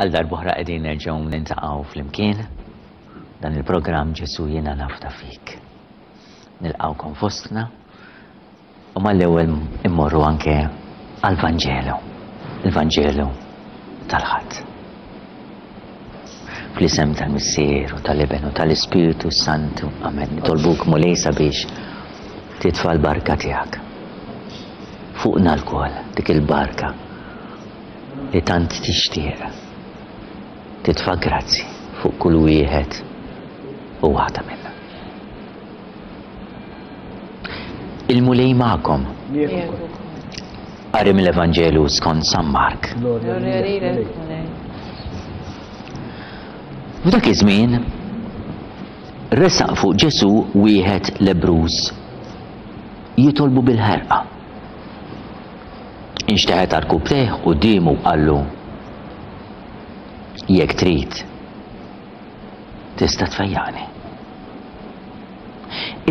Għal darb'oħra qegħdin nerġgħu niltaqgħu flimkien dan il-programm Ġesu jiena nafda fik. Nilqgħukom fostna u mal-ewwel immorru anke għall-Vanġelu, il-Vanġelu tal-Ħadd. Fl-isem tal-Missier u tal-Iben u tal-Ispirtu Santu. Amen. Nitolbuk Mulej sabiex titfa' l-barka tiegħek fuqna lkoll dik il-barka li tant tixtieq titfa' grazzi fuq kull wieħed u waħda minna. Il-Mulej magħkom. Qari mill-Evanġelju skont San Mark. F'dak iż-żmien resaq fuq Ġesù wieħed lebbruż jitolbu bil-ħerqa. Inxteħet għarkupptejh quddiemu u qallu, Jekk trid, tista' tfejjaqni.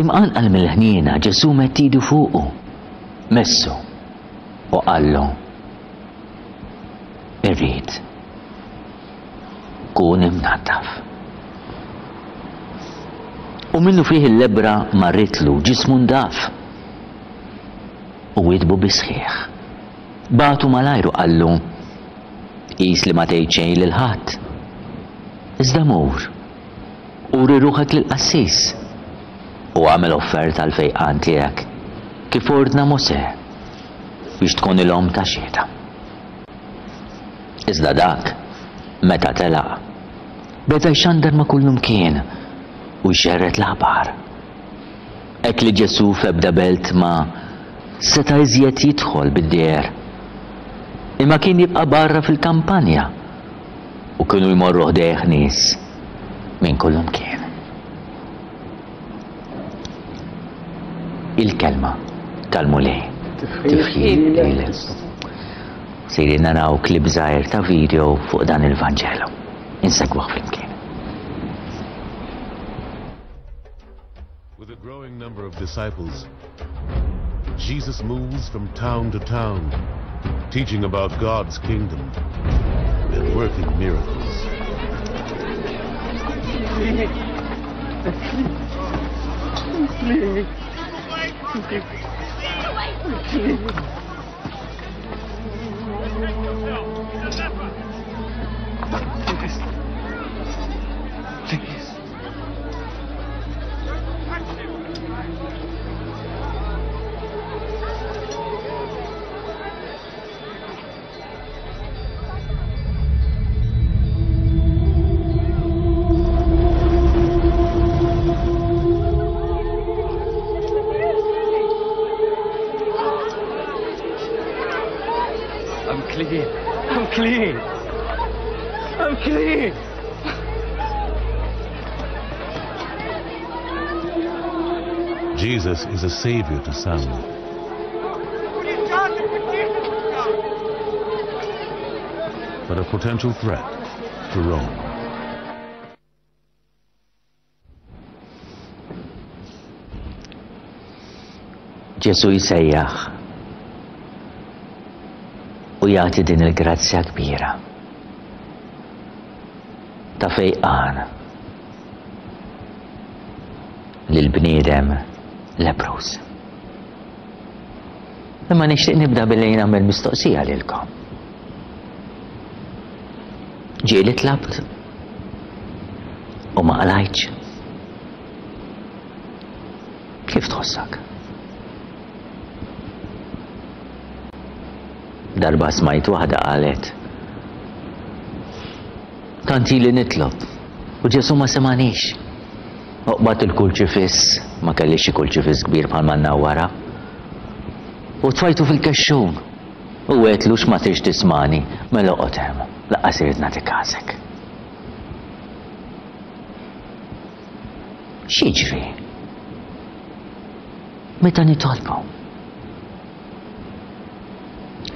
Imqanqal mill-ħniena, Ġesù medd idu fuqu, messu u qallu, Irrid, kun imnaddaf. U minnufih il-lebbra marritlu, ġismu ndaf u witbu bis-sħiħ. Bagħtu malajr u qallu, Qis li ma tgħid xejn lil ħadd. Iżda mur, uri ruħek lill-qassis, u agħmel offerta għall-fejqan tiegħek, kif ordna Mosè, biex tkunilhom ta' xhieda. Iżda dak, meta telaq, beda jxandar ma' kullumkien u jxerred l-aħbar. Hekk li Ġesù f'ebda belt ma seta' iżjed jidħol bid-dieher, imma kien jibqa' barra fil-kampanja u kienu jmorru ħdejh nies minn kullumkien. Il-kelma tal-Mulej. Tifħir lilek. Sejrin naraw klip żgħir ta' video fuq dan il-Vanġelu. Insegwuh flimkien. With a growing number of disciples, Jesus moves from town to town, teaching about God's kingdom and working miracles. Please. I'm clean. I'm clean. I'm clean. Jesus is a savior to some. But a potential threat to Rome. Ġesù jsejjaħ u jagħti din il-grazzja kbira ta' fejqan lil bniedem leprus. Imma nixtieq nibda billi nagħmel mistoqsija lilkom. Ġieli tlabt u ma qlajtx? Kif tħossok? Darba smajt waħda qalet Tant ili nitlob u Ġesù ma semanix. Oqbad il-kurċifiss, ma kellix xi kurċifiss kbir bħal ma wara. U tfajtu fil-kexxun. U għedtlu x'ma tridx tismagħni, mela oqgħod hemm, lanqas irrid nagħti każek. X'jiġri meta nitolbu?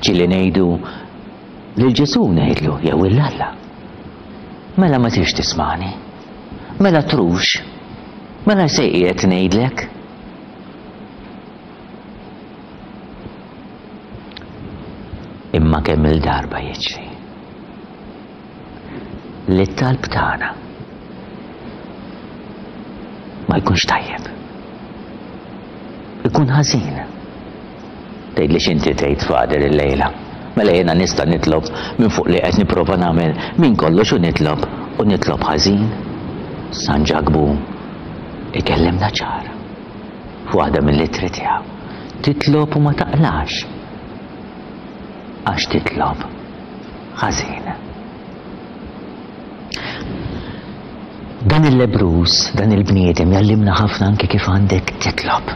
Ġieli ngħidu lil Ġesù ngħidlu jew 'il Alla. Mela ma tridx tismagħni. Mela trux. Mela se qiegħed ngħidlek. Imma kemm-il darba jiġri. Li t-talb tagħna ma jkunx tajjeb. Ikun ħażin. Tgħidli x'inti tgħid Father illejla. Mela jiena nista' nitlob minn fuq li qed nipprova nagħmel minn kollox u nitlob u nitlob ħażin? San Ġakbu ikellimna ċar f'waħda mill-ittri tiegħu. Titlob u ma taqlax għax titlob ħażin. Dan il-lebbruż, dan il-bniedem jgħallimna ħafna anke kif għandek titlob.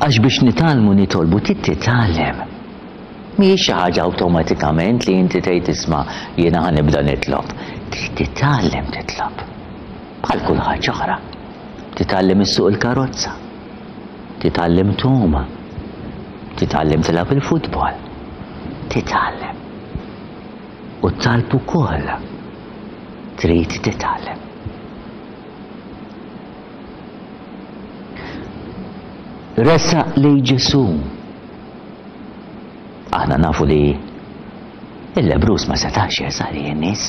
Għax biex nitgħallmu nitolbu trid titgħallem. Mhijiex xi ħaġa awtomatikament li inti tgħid isma' jiena ħa nibda nitlob. Trid titgħallem titlob. Bħal kull ħaġa oħra. Titgħallem issuq il-karozza. Titgħallem tgħum. Titgħallem tilgħab il-futbol. Titgħallem. U t-talb ukoll trid titgħallem. Resaq lejn Ġesù. Aħna nafu li il-lebrus ma setax jersaq lejn in-nies.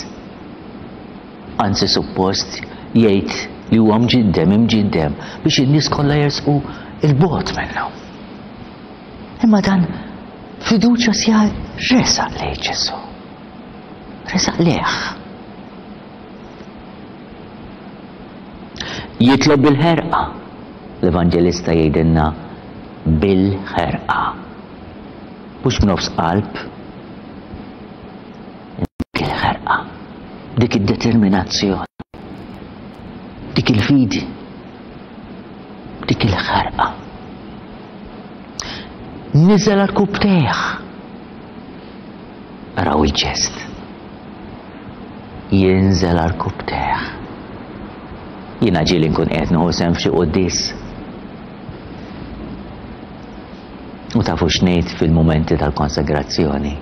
Anzi suppost jgħid li huwa mġiddem, imġiddem biex in-nies kollha jersqu 'l bogħod minnu. Imma dan fiduċja sja resaq lejn Ġesù. Resaq lejh. Jitlob bil-ħerqa. L-Evanġelista jgħidilna bil-ħerqa. Mhux b'nofs qalb. Dik il-ħerqa, dik id-determinazzjoni, dik il-fidi, dik il-ħerqa. Niżel għal-kubtejh. Araw il-ġest. Jinżel għarkupptejh. Jiena ġieli nkun qiegħed nieħu sehem f'xi quddies. U tafu x'ngħid fil-mumenti tal-konsagrazzjoni.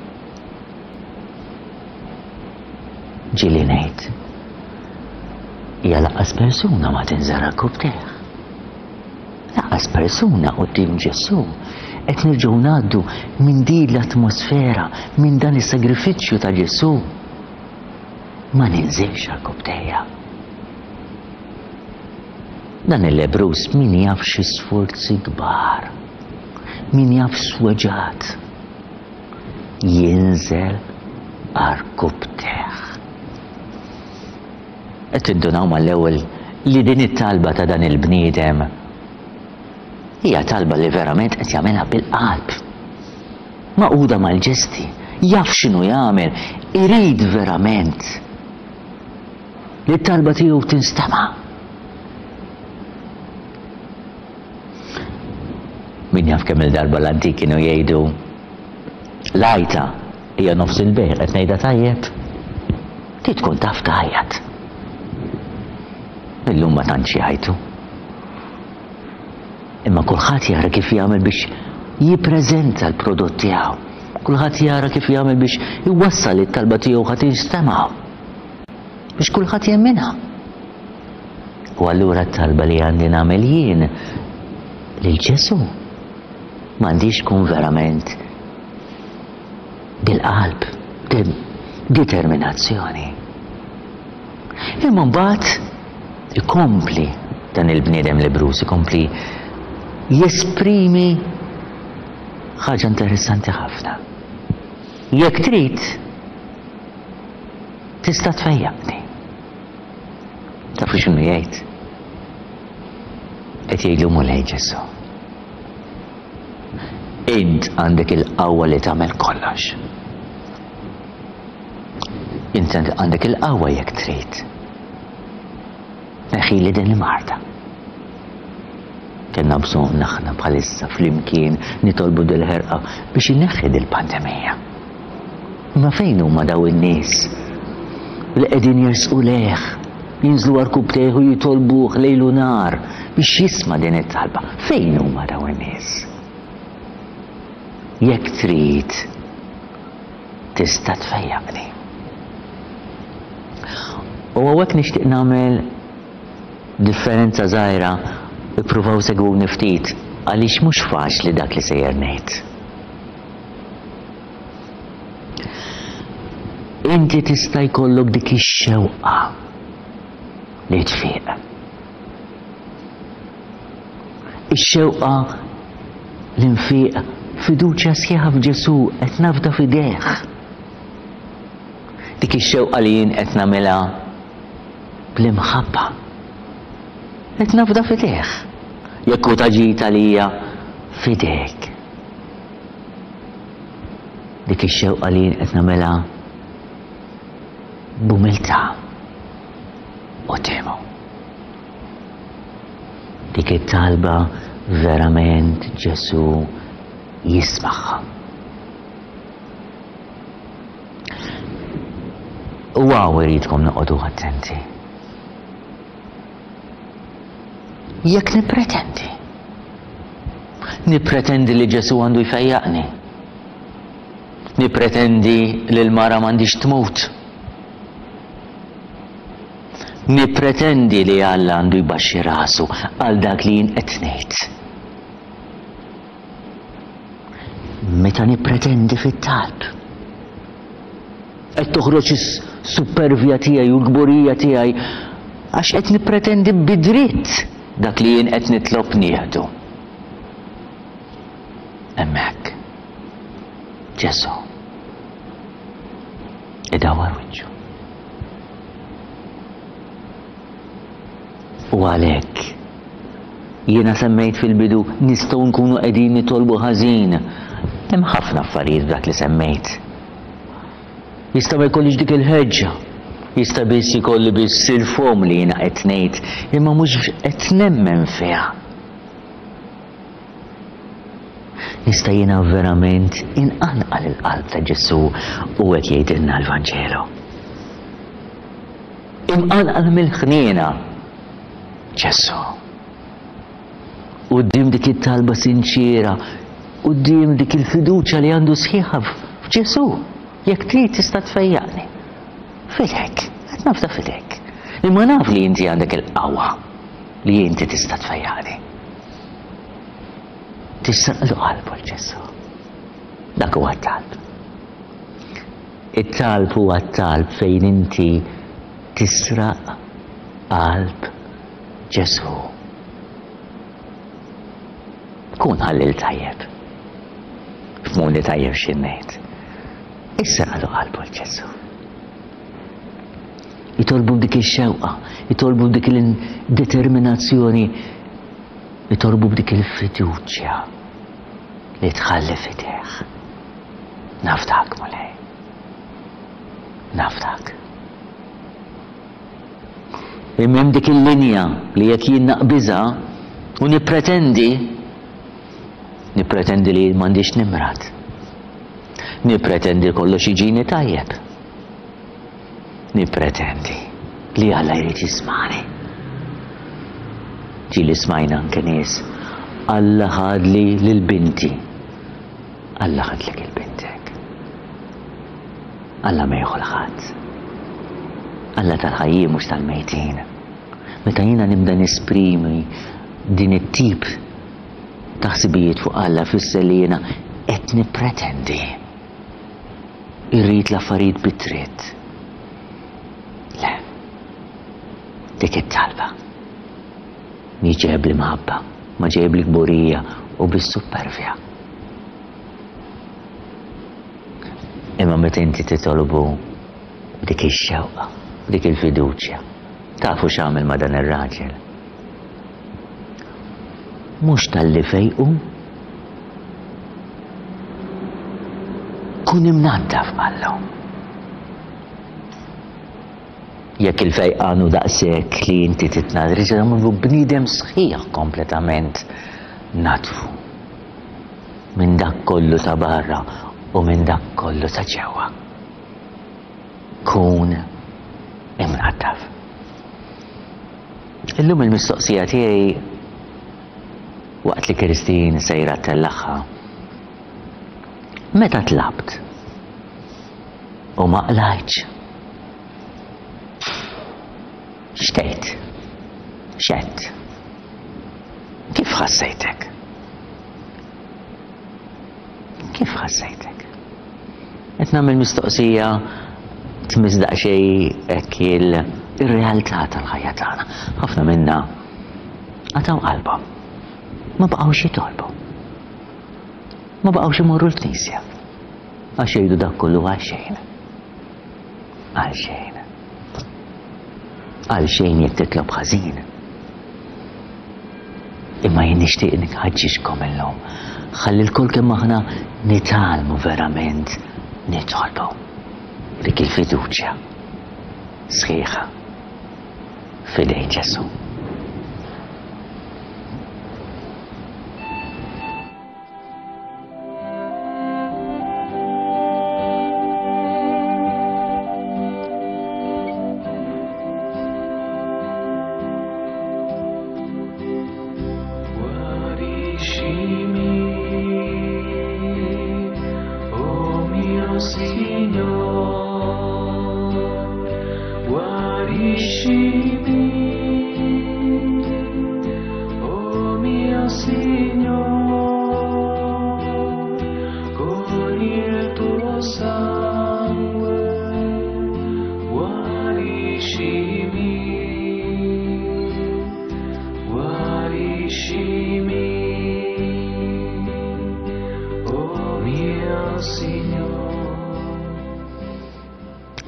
Ġieli ngħid. Hija laqqas persuna ma tinżel għarkupptejh. Lanqas persuna quddiem Ġesù. Qed nerġgħu ngħaddu minn din l-atmosfera, minn dan is-sagrifiċċju ta' Ġesù. Ma ninżilx għarkupptejja. Dan il-lebbruż min jaf xi sforzi kbar, min jaf x'weġgħat. Jinżel għarkupptejh. Qed tindunaw mal-ewwel li din it-talba ta' dan il-bniedem hija talba li verament qed jagħmilha bil-qalb. Magħquda mal-ġesti, jaf x'inhu jagħmel, irid verament li t-talba tiegħu tinstema'. Min jaf kemm il-darba l-antik kienu jgħidu l-għajta hija nofs il-bejgħ, qed ngħidha tajjeb? Trid tkun taf tgħajjat. Illum ma tantx jgħajtu. Imma kulħadd jara kif jagħmel biex jippreżenta l-prodott tiegħu. Kulħadd jara kif jagħmel biex iwassal it-talba tiegħu ħa tinstema'. Biex kulħadd jemminha. U allura t-talba li għandi nagħmel jien lil Ġesù m'għandix tkun verament bil-qalb, determinazzjoni. Imma mbagħad ikompli dan il-bniedem lebbruż, ikompli jesprimi ħaġa interessanti ħafna. Jekk trid, tista' tfejjaqni. Tafu x'inhu jgħid? Qed jgħidlu Mulej Ġesù. Int għandek il-qawwa li tagħmel kollox. Int għandek il-qawwa jekk trid. Neħili din il-marda. Kellna bżonn aħna bħalissa flimkien nitolbu dil-ħerqa biex ineħħi dil-pandemija. Imma fejn huma daw in-nies li qegħdin jersqu lejh, jinżlu għarkubbtejh u jitolbuh lejl u nhar biex jisma' din it-talba? Fejn huma daw in-nies? Jekk trid, tista' tfejjaqni. U hawnhekk nixtieq nagħmel differenza żgħira, ippruvaw segwuni ftit għaliex mhux faċli dak li sejjer ngħid. Inti tista' jkollok dik ix-xewqa li tfiq. Ix-xewqa li nfiq fiduċja sħiħa f'Ġesù qed nafda f'idejh. Dik ix-xewqa li jien qed nagħmilha bl-imħabba. Qed nafda f'idejh. Jekk hu ta' ġid għalija, f'idejk. Dik ix-xewqa li jien qed nagħmilha b'umiltà quddiemu. Dik it-talba verament Ġesù jismagħha. U hawn iridkom noqogħdu attenti. Jekk nippretendi. Nippretendi li Ġesù għandu jfejjaqni. Nippretendi li l-mara m'għandhiex tmut. Nippretendi li Alla għandu jbaxxi rasu għal dak li jien qed ngħid. Meta nippretendi fit-talb, qed toħroġ is-suppervja tiegħi u l-kburija tiegħi għax qed nippretendi bi dritt dak li jien qed nitlob nieħdu. Hemmhekk Ġesù idawwar wiċċu. U għalhekk, jiena semmejt fil-bidu nistgħu nkunu qegħdin nitolbu ħażin. Hemm ħafna affarijiet f'dak li semmejt. Jista' ma jkollix dik il-ħeġġa. Jista' biss ikolli biss il-fomm li jiena qed ngħid, imma mhux qed nemmen fiha. Nista' jiena verament inqanqal il-qalb ta' Ġesù u hekk jgħidilna l-Vanġelu. Imqanqal mill-ħniena, Ġesù. Quddiem dik it-talba sinċiera, quddiem dik il-fiduċja li għandu sħiħa f'Ġesù, jekk trid tista' tfejjaqni. Fidek, qed nafda fidek. Imma naf li inti għandek il-qawwa li inti tista' tfejjaqni. Tisraqlu qalbu l-Ġesù. Dak huwa t-talb. It-talb huwa t-talb fejn inti tisraq qalb Ġesù. Kun ħallil tajjeb. Fmuni tajjeb xi ngħid. Israqlu qalbu l-Ġesù. Itolbu b'dik ix-xewqa, itolbu b'dik il-determinazzjoni, itolbu b'dik il-fiduċja li tħalli f'idejh. Nafdak, Mulej. Nafdak. Imma hemm dik il-linja li jekk jien naqbiżha u nippretendi, nippretendi li m'għandix nimrad. Nippretendi kollox jiġini tajjeb. Nippretendi li Alla jrid jismagħni. Ġieli smajna anke nies, Alla ħadli lil binti. Alla ħadlek il bintek. Alla ma jieħu l-ħadd. Alla tal-ħajjin mhux tal-mejtin. Meta jiena nibda nesprimi din it-tip ta' ħsibijiet fuq Alla fisser li jiena qed nippretendi. Irrid l-affarijiet bi dritt. Le. Dik it-talba. Mhi ġejja bl-imħabba, ma ġejja bl-kburija u bis-suppervja. Imma meta inti titolbu b'dik ix-xewqa, b'dik il-fiduċja, tafu x'għamel ma' dan ir-raġel? Mhux talli fejqu, kun imnaddaf qallu. Jekk il-fejqan hu daqshekk li inti titnadri, se nagħmlu bniedem sħiħ kompletament nadfu minn dak kollu ta' barra u minn dak kollu ta' ġewwa. Kun imnaddaf. Illum il-mistoqsija tiegħi waqt li Christine sejra ttellagħha, meta tlabt u ma qlajtx? X'tgħid? X'għedt? Kif ħassejtek? Kif ħassejtek? Qed nagħmel mistoqsija. Tmiss daqsxejn hekk il-realtà tal-ħajja tagħna. Ħafna minna qatgħu qalbhom. Ma baqgħux jitolbu. Ma baqgħux imorru l-knisja. Għax jgħidu dak kollu għal xejn. Għal xejn. Għal xejn jekk titlob ħażin. Imma jien nixtieq nħaġġiġkom illum. Ħalli lkoll kemm aħna nitgħallmu verament nitolbu dik il-fiduċja sħiħa f'idejn Ġesù.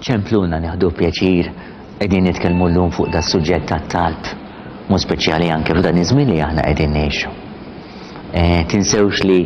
Ċempluna nieħdu pjaċir qegħdin nitkellmu llum fuq da suġġett tat-talb, mod speċjali anke f'dan iż-żmien li aħna qegħdin ngħixu. Eh, tinsewx li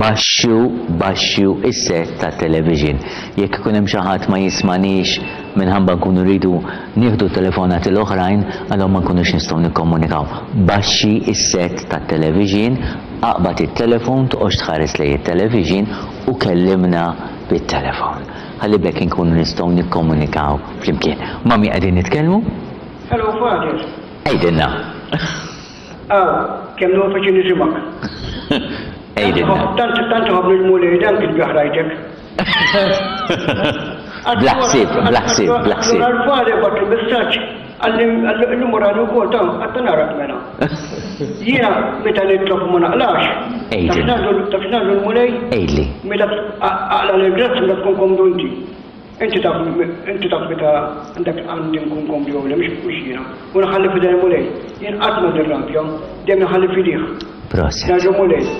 baxxu baxxu is-set tat-television. Jekk ikun hemm xi ħadd ma jismanix minħabba nkunu rridu nieħdu telefonati l-oħrajn, allura ma nkunux nistgħu nikkomunikaw. Baxxi is-set tat-television, aqbad it-telefon, toqgħodx tħares lejn it-television u kellimna bit-telefon. Ħalli b'hekk inkunu nistgħu nikkomunikaw flimkien. Ma' min qegħdin nitkellmu? Hello, Father. Għidilna. Aw, kemm nieħu pjaċir nisimgħek. Għidilna. Tant tant iħobbni l-Mulej dan kien biħ rajtek. Bla ħsieb, bla ħsieb, bla ħsieb. Allura l-Father bagħatli messaġġ qalli llum urani wkoll ta' għadda narak mela. Jiena meta nitlob u ma naqlax. Għidilna. Taf x'ngħidlu l-Mulej? Għidli. Meta aqla l-grazzja meta tkun komdu inti. Inti taf inti taf meta għandek għandi nkun komdu jew le, mhux mhux jiena. U nħalli f'idejn il-Mulej. Jien qatt ma nirrabja, dejjem inħalli f'idih. Proset. Ngħidlu Mulej,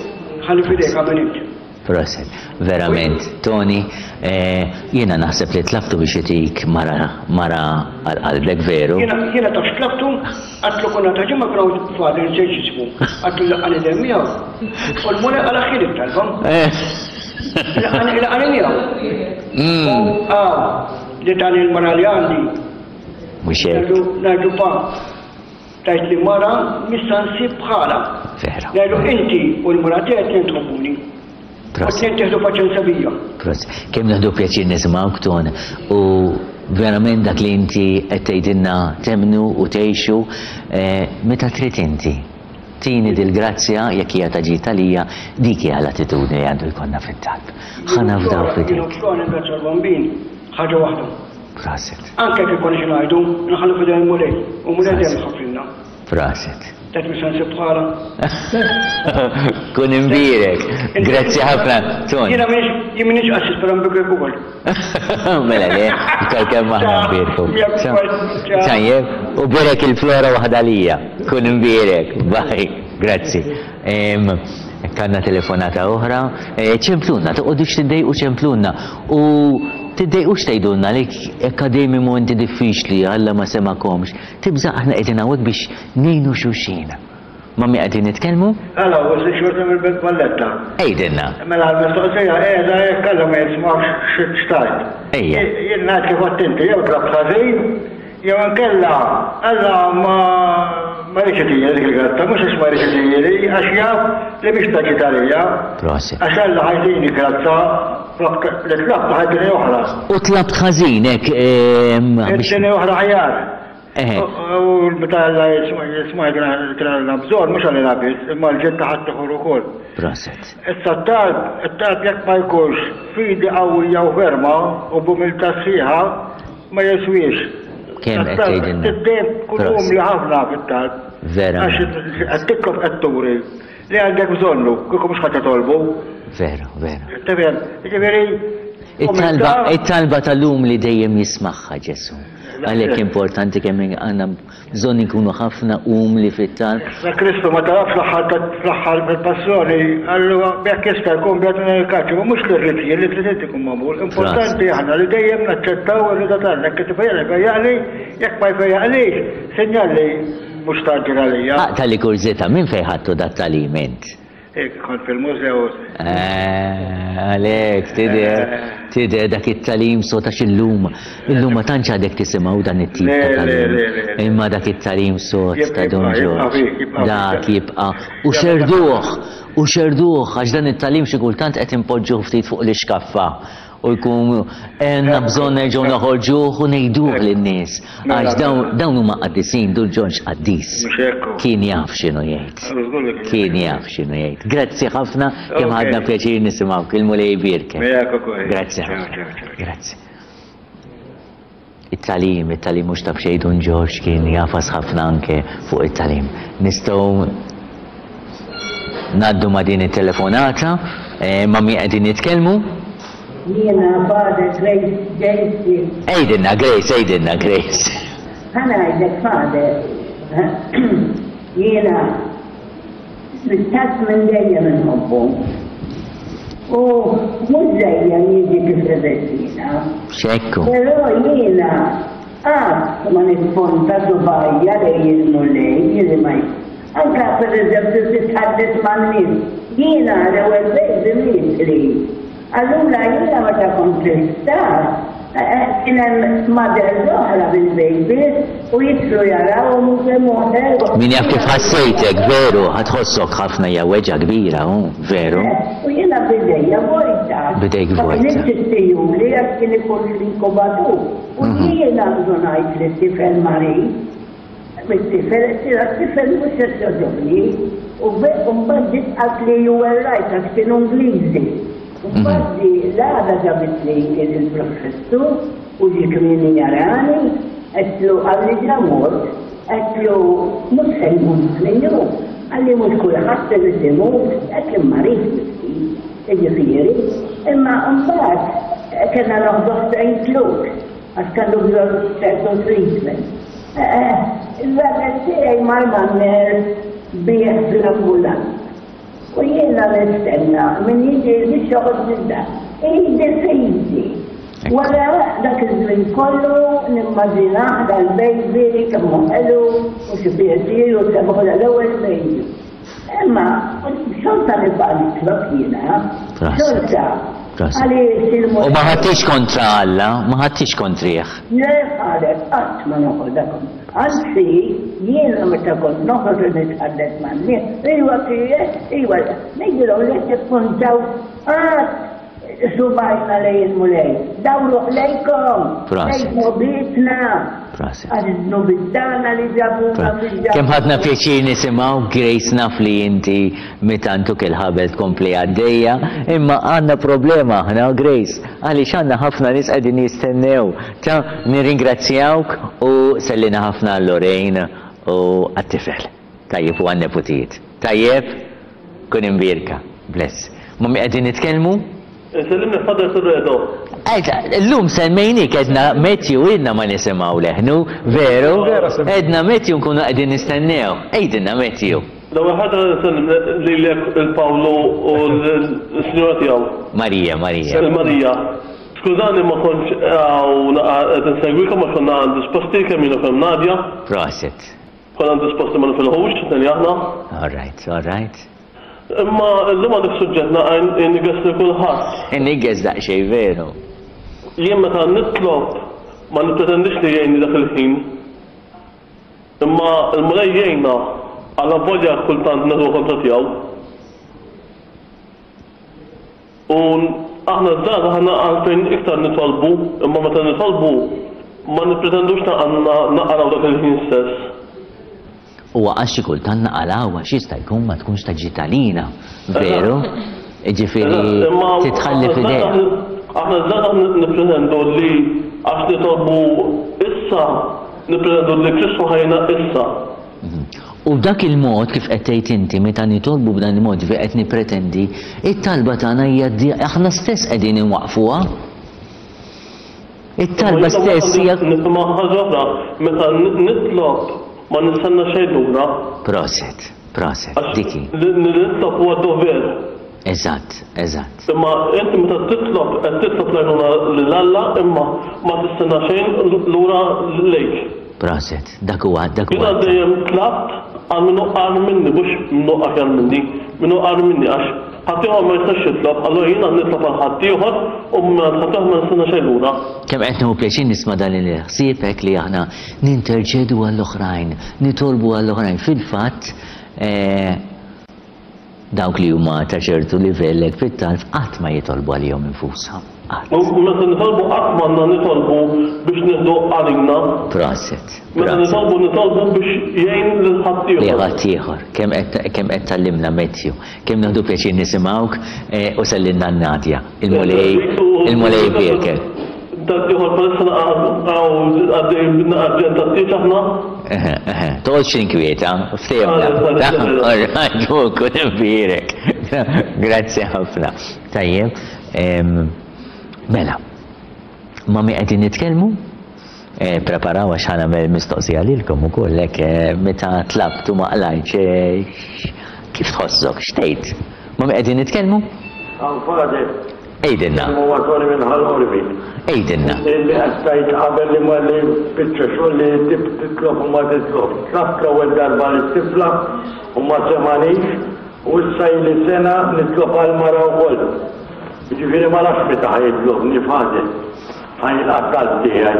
nħalli f'idejk agħmel int. Proset. Verament, Tony, eh, jiena naħseb li tlabtu biex itik mara mara għal qalbek veru. Jiena jiena taf x'tlabtu? Għadtlu konna ta' ġimgħa kien hawn father nsejt x'ismu. Għadtlu laqqani dejjem miegħu. U l-Mulej qalaħħieli t-talba. Eh. Laqani miegħu. Mm. U għaw li tani l-mara li għandi. Mhux hekk. Ngħidu pa, tajt li mara missa nsib bħala. Vera. Ngħidu inti u l-mara tiegħek tnejn tħobbuni. Proset. Tnejn tieħdu paċenzja bija. Proset. Kemm nieħdu pjaċir nisimgħuk Ton u verament dak li inti qed tgħidilna temmnu u tgħixu eh, meta trid inti. Tini dil-grazzja jekk hija ta' ġid għalija, dik hija l-attitudni li għandu jkollna fit-talb. Ħa nafdaw f'idejk. Jien u Flora ningrazzja l-Bambin ħaġa waħda. Proset. Anke jekk ikollna xi ngħidu, nħallu f'idejn il-Mulej u l-Mulej dejjem iħaffrilna. Proset. Tgħid mhux se nsib bħala. Kun imbierek. Grazzi ħafna, Tony. Jiena m'iniex jien m'iniex qassis però nbierek ukoll. Mela le, iktar kemm aħna nbierku. Tajjeb, u bierek il-Flora waħda lija. Kun imbierek. Bye. Grazzi. Kanna telefonata oħra. Eh, ċemplunna, toqgħodux tiddejqu ċemplunna. U tiddejqux tgħidulna li akkademi momenti diffiċli Alla ma semakomx. Tibża' aħna qegħdin hawnhekk biex ngħinu xulxin. Ma' min qegħdin nitkellmu? Hello, Wesley Xorta mill-Belt Valletta. Għidilna. Mela l-mistoqsija qiegħda jekk Alla ma jismax x'tgħid. Ejja. Jien ngħid kif għedt inti, jew tlabt ħażin, jew inkella Alla ma ma jridx itini dik il-grazzja, mhux għax ma jridx itini, għax jaf li mhix ta' ġid għalija. Prosit. Għax Alla ħa jtini grazzja flok li tlabt ħa jtini oħra. U tlabt ħażin hekk. Itini oħra aħjar. Eħe. U meta Alla jisma' kien għandna bżonn, mhux għalina biss, imma l-ġid ta' ħaddieħor ukoll. Proset. Issa t-talb, it-talb jekk ma jkunx fidi qawwija u ferma u b'umiltà sħiħa, ma jiswiex. Kemm qed tgħidilna. Dejjem tkun umli ħafna fit-talb. Vera. Għax qed titlob qed turi li għandek bżonnu, kieku mhux ħadd titolbu. Vera, vera. Tifhem, jiġifieri. It-talba, it-talba tal-lum li dejjem jismagħha Ġesù. Għalhekk importanti kemm għandna bżonn inkunu ħafna umli fit-talb. Issa Kristu ma talab fl-aħħar fl-aħħar fil-passjoni, qallu jekk jista' jkun bjad minn il-kaċċa, ma mhux li rrid jien li trid inti jkun magħmul. Importanti aħna li dejjem naċċettaw ir-rieda t'Alla, jekk qed ifejjaqli jfejjaqli, jekk ma jfejjaqlix, sinjal li mhux tgħaġġel għalija. Aqta' li kurżità, minn fejn ħadtu dat-tagħlim int? Hekk kont fil-mużew. Eh, għalhekk tidher, eh. tidher dak it-tagħlim sod għax illum, illum ma tantx għadek tisimgħu dan it-tip ta' tagħlim. Imma dak it-tagħlim sod ta' Dun Ġorġ. Dak jibqa' u xerduh, u xerduh għax dan it-tagħlim xi kultant qed inpoġġuh ftit fuq l-ixkaffa u jkun għandna bżonn nerġgħu noħorġuh u ngħiduh lin-nies. Għax dawn huma qaddisin, Dun Ġorġ qaddis. Kien jaf x'inhu jgħid. Kien jaf x'inhu jgħid. Grazzi ħafna kemm ħadna pjaċir nisimgħuk. Il-Mulej jbierkek. Grazzi ħafna. Grazzi. It-tagħlim, it-tagħlim mhux ta' b'xejn Dun Ġorġ kien jagħfas ħafna anke fuq it-tagħlim. Nistgħu ngħaddu ma' din it-telefonata, eh, ma' min qegħdin nitkellmu? Jiena Father Grace Jensen. Għidilna Grace, għidilna Grace. Ħa ngħidlek Father, jiena L-istat minn dejjem inħobbu. U mhux dejjem jiġi kif irrid jiena. X'hekk hu. Però jiena qatt ma nipponta subgħajja lejn il-Mulej li ma Anke pereżempju titħaddet man-nies. Jiena l-ewwel baby mietli. Allura jiena meta kont l-isptar, kien hemm mothers oħra bil-babies u jidħlu jarawhom u kemm hu ħelu. Min jaf kif ħassejtek, veru, ħa tħossok ħafna hija weġgħa kbira, hu, veru. U jiena b'idejja vojta. B'idejk vojta. Ma kinitx ittihuli għax kien ikun fl-inkubatur. U jiena ndunajt li t-tifel marid. Mit-tifel, it-tifel mhux qed jogħġobni. U mbagħad ġiet qaltli you were right għax kienu Ingliżi. U mbagħad ġie l-għada ġabitli il-professur u ġie kmieni jarani, għedtlu qalli ġa mort, għedtlu mhux se jmut minnu, qalli mhux kulħadd irid imut, hekk kien marid miskin, jiġifieri. Imma mbagħad kellna noħduh St. Luke's għax kellu bżonn ċertu treatment. Il-raġel tiegħi mar man-nurse bih fl-ambulanza. U jiena nistenna min jiġi biex joħodni d-dar. Idi f'idi. Wara dak iż-żmien kollu nimmaġinah dal-baby kemm hu ħelu u xi pjaċir u sebħu l-ewwel baby. Imma xorta nibqa' nitlob jiena. Xorta. Għaliex il-Mulej. U ma ħadtix kontra Alla, ma ħadtix kontrih. Le qalet, qatt ma noħodha kontra. Anzi, jiena meta kont noħroġ u nitħaddet man-nies, iwa kienet, iwa, ngħidilhom li qed tippuntaw qatt subgħajna lejn il-Mulej. Dawruh lejkom, lejn dnubietna. Għax id-dnubiet tagħna li ġabuna fil-ġabuna. Kemm ħadna pjaċir nisimgħu, Grace naf li inti mitantuk il-ħabel tkompli għaddejja, imma għandna problema aħna Grace, għaliex għandna ħafna nies qegħdin jistennew. Ta' nirringrazzjawk u sellina ħafna għal Lorraine u għat-tifel. Tajjeb u għan-neputijiet. Tajjeb? Kun imbierka. Bless. Ma' min qegħdin nitkellmu? Insellimlek Father Surredo. Illum semmejnik għedna Matthew ilna ma nisimgħu leħnu, veru? Għedna Matthew nkunu qegħdin nistennew. Għidilna Matthew. L-ewwel ħaġa nsellem lilek il-Pawlu u l-sinjura tiegħu. Marija, Marija. Il-Marija. Skużani ma kontx hawn qed insegwikom għax konna għand disposti kemm jien u kemm Nadia. Prosit. Konna disposti ma nifilħux, it-tnejn li aħna. All right, all right. Imma llum għandek suġġett naqra iniggeż lil kulħadd. Iniggeż daqsxejn veru. Jien meta nitlob ma nippretendix li jgħinni dak il-ħin. Imma l-Mulej jgħinna allavolja kultant neħduha kontra tiegħu. U aħna ż-żgħażagħ għandna għalfejn iktar nitolbu, imma meta nitolbu ma nippretendux naqalgħu dak il-ħin stess. Huwa għax xi kultant naqalgħu għax jista' jkun ma tkunx ta' ġid għalina, veru? Jiġifieri titħalli f'idejh. Aħna ż-żgħażagħ nippretendu li għax nitolbu issa, nippretendu li Kristu ħa jgħinna issa. U b'dak il-mod, kif qed tgħid inti, meta nitolbu b'dan il-mod, ġifieri qed nippretendi, it-talba tagħna hija aħna stess qegħdin inwaqqfuha. It-talba stess hija. Nifhimha ħaġa oħra, meta nitlob ma nistenna xejn lura. Proset, proset, dik hi. Li nitlob huwa dover. Eżatt, eżatt. Imma inti meta titlob qed titlob l-għajnuna lil Alla imma ma tistenna xejn lura lejk. Proset, dak huwa dak huwa. Jiena dejjem tlabt għal min hu agħar minni mhux min hu aħjar minni, min hu agħar minni għax ħaddieħor ma jistax jitlob, allura jiena nitlob għal ħaddieħor u mingħand ħaddieħor ma nistenna xejn lura. Kemm qed nieħu pjaċir nisma' dan il-ħsieb hekk li aħna ninterċedu għall-oħrajn, nitolbu għall-oħrajn. Fil-fatt, Dawk li huma ta' ċertu livell hekk fit-talb qatt ma jitolbu għalihom infushom. Qatt. U meta nitolbu qatt m'għandna nitolbu biex nieħdu għalina. Proset. Meta nitolbu nitolbu biex jgħin lil ħaddieħor. Lil ħaddieħor. Kemm qed kemm qed tgħallimna Matthew. Kemm nieħdu pjaċir nisimgħuk u sellilna lil Nadia. Il-Mulej il-Mulej ibierkek. Dak ieħor bħalissa hawn għaddej bin-naqar ġenn tat-tieġ aħna. Eħe, eħe, toqgħodx tinkwieta, ftehimna. All right, u kun imbierek. Grazzi ħafna. Tajjeb, mela, ma' min qegħdin nitkellmu? Eh, preparaw għax ħa nagħmel mistoqsija lilkom ukoll hekk eh, meta tlabt u ma qlajtx eh, kif tħossok, x'tgħid? Ma' min qegħdin nitkellmu? Hawn Father. Għidilna. Huwa Tony minn Ħal Qormi. Għidilna. Illi qed tgħid qabel li ma li biċċa xogħol li titlob u ma titlob. Tlabt l-ewwel darba lit-tifla u ma semgħanix u issa ili sena nitlob għall-mara wkoll. Jiġifieri ma nafx meta ħa jitlobni Father. Ħa jilqa' t-talb tiegħi.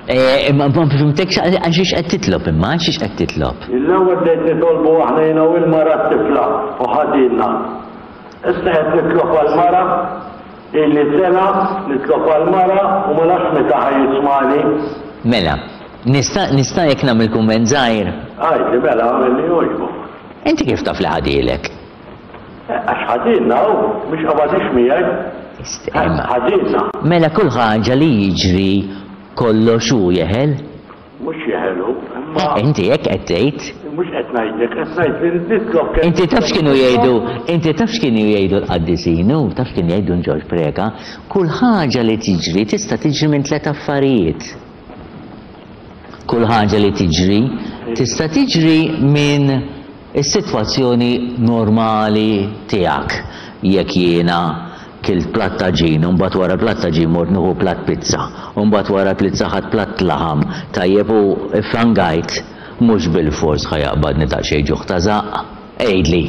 Eh, ma fhimtekx għal xiex qed titlob imma, għal xiex qed titlob? L-ewwel bdejt nitolbu aħna jiena u l-mara t-tifla u ħadilna. Issa qed nitlob għall-mara, ili sena nitlob għall-mara u ma nafx meta ħa jismagħni. Mela, nista' nista' jekk nagħmel kumment żgħir? Għidli mela, agħmel li jogħġbok. Inti kif taf li ħadielek? Eh, għax ħadilna hu, mhux qabadix miegħi. Ħadilna. Mela kull ħaġa li jiġri kollox hu jeħel? Mhux jeħelu, imma. Inti hekk qed tgħid. Mhux qed ngħidlek, qed ngħid li nitlob kemm. Inti taf x'kienu jgħidu, inti taf x'kienu jgħidu l-qaddisin, u taf x'kien jgħid Dun Ġorġ Preca, kull ħaġa li tiġri tista' tiġri minn tlett affarijiet. Kull ħaġa li tiġri tista' tiġri minn is-sitwazzjoni normali tiegħek. Jekk jiena Kilt platt għaġin u mbagħad wara l-platt għaġin mort nieħu platt pizza u mbagħad wara l-pizza ħadt platt laħam tajjeb u ffangajt, mhux bilfors ħa jaqbadni daqsxejn ġuħ ta' żaqq? Għidli.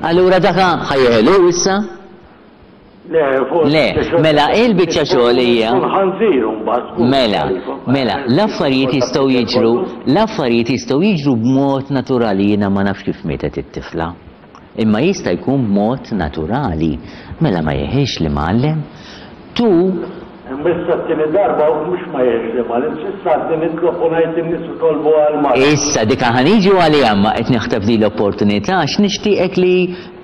Allura dak ħa jeħel hu issa? Le, mela il-biċċa xogħol hija. Mela, mela, l-affarijiet jistgħu jiġru, l-affarijiet jistgħu jiġru b'mod naturali jiena ma nafx kif mietet it-tifla. Imma jista' jkun b'mod naturali. Mela ma jeħilx l-imgħallem? Tu. Imma issa t-tieni darba u mhux ma jeħilx l-imgħallem, s'issa għadni nitlob u ngħid lin-nies itolbu għall-mara. Issa dik ħa niġu għaliha imma qed naħtaf din l-opportunità għax nixtieqek li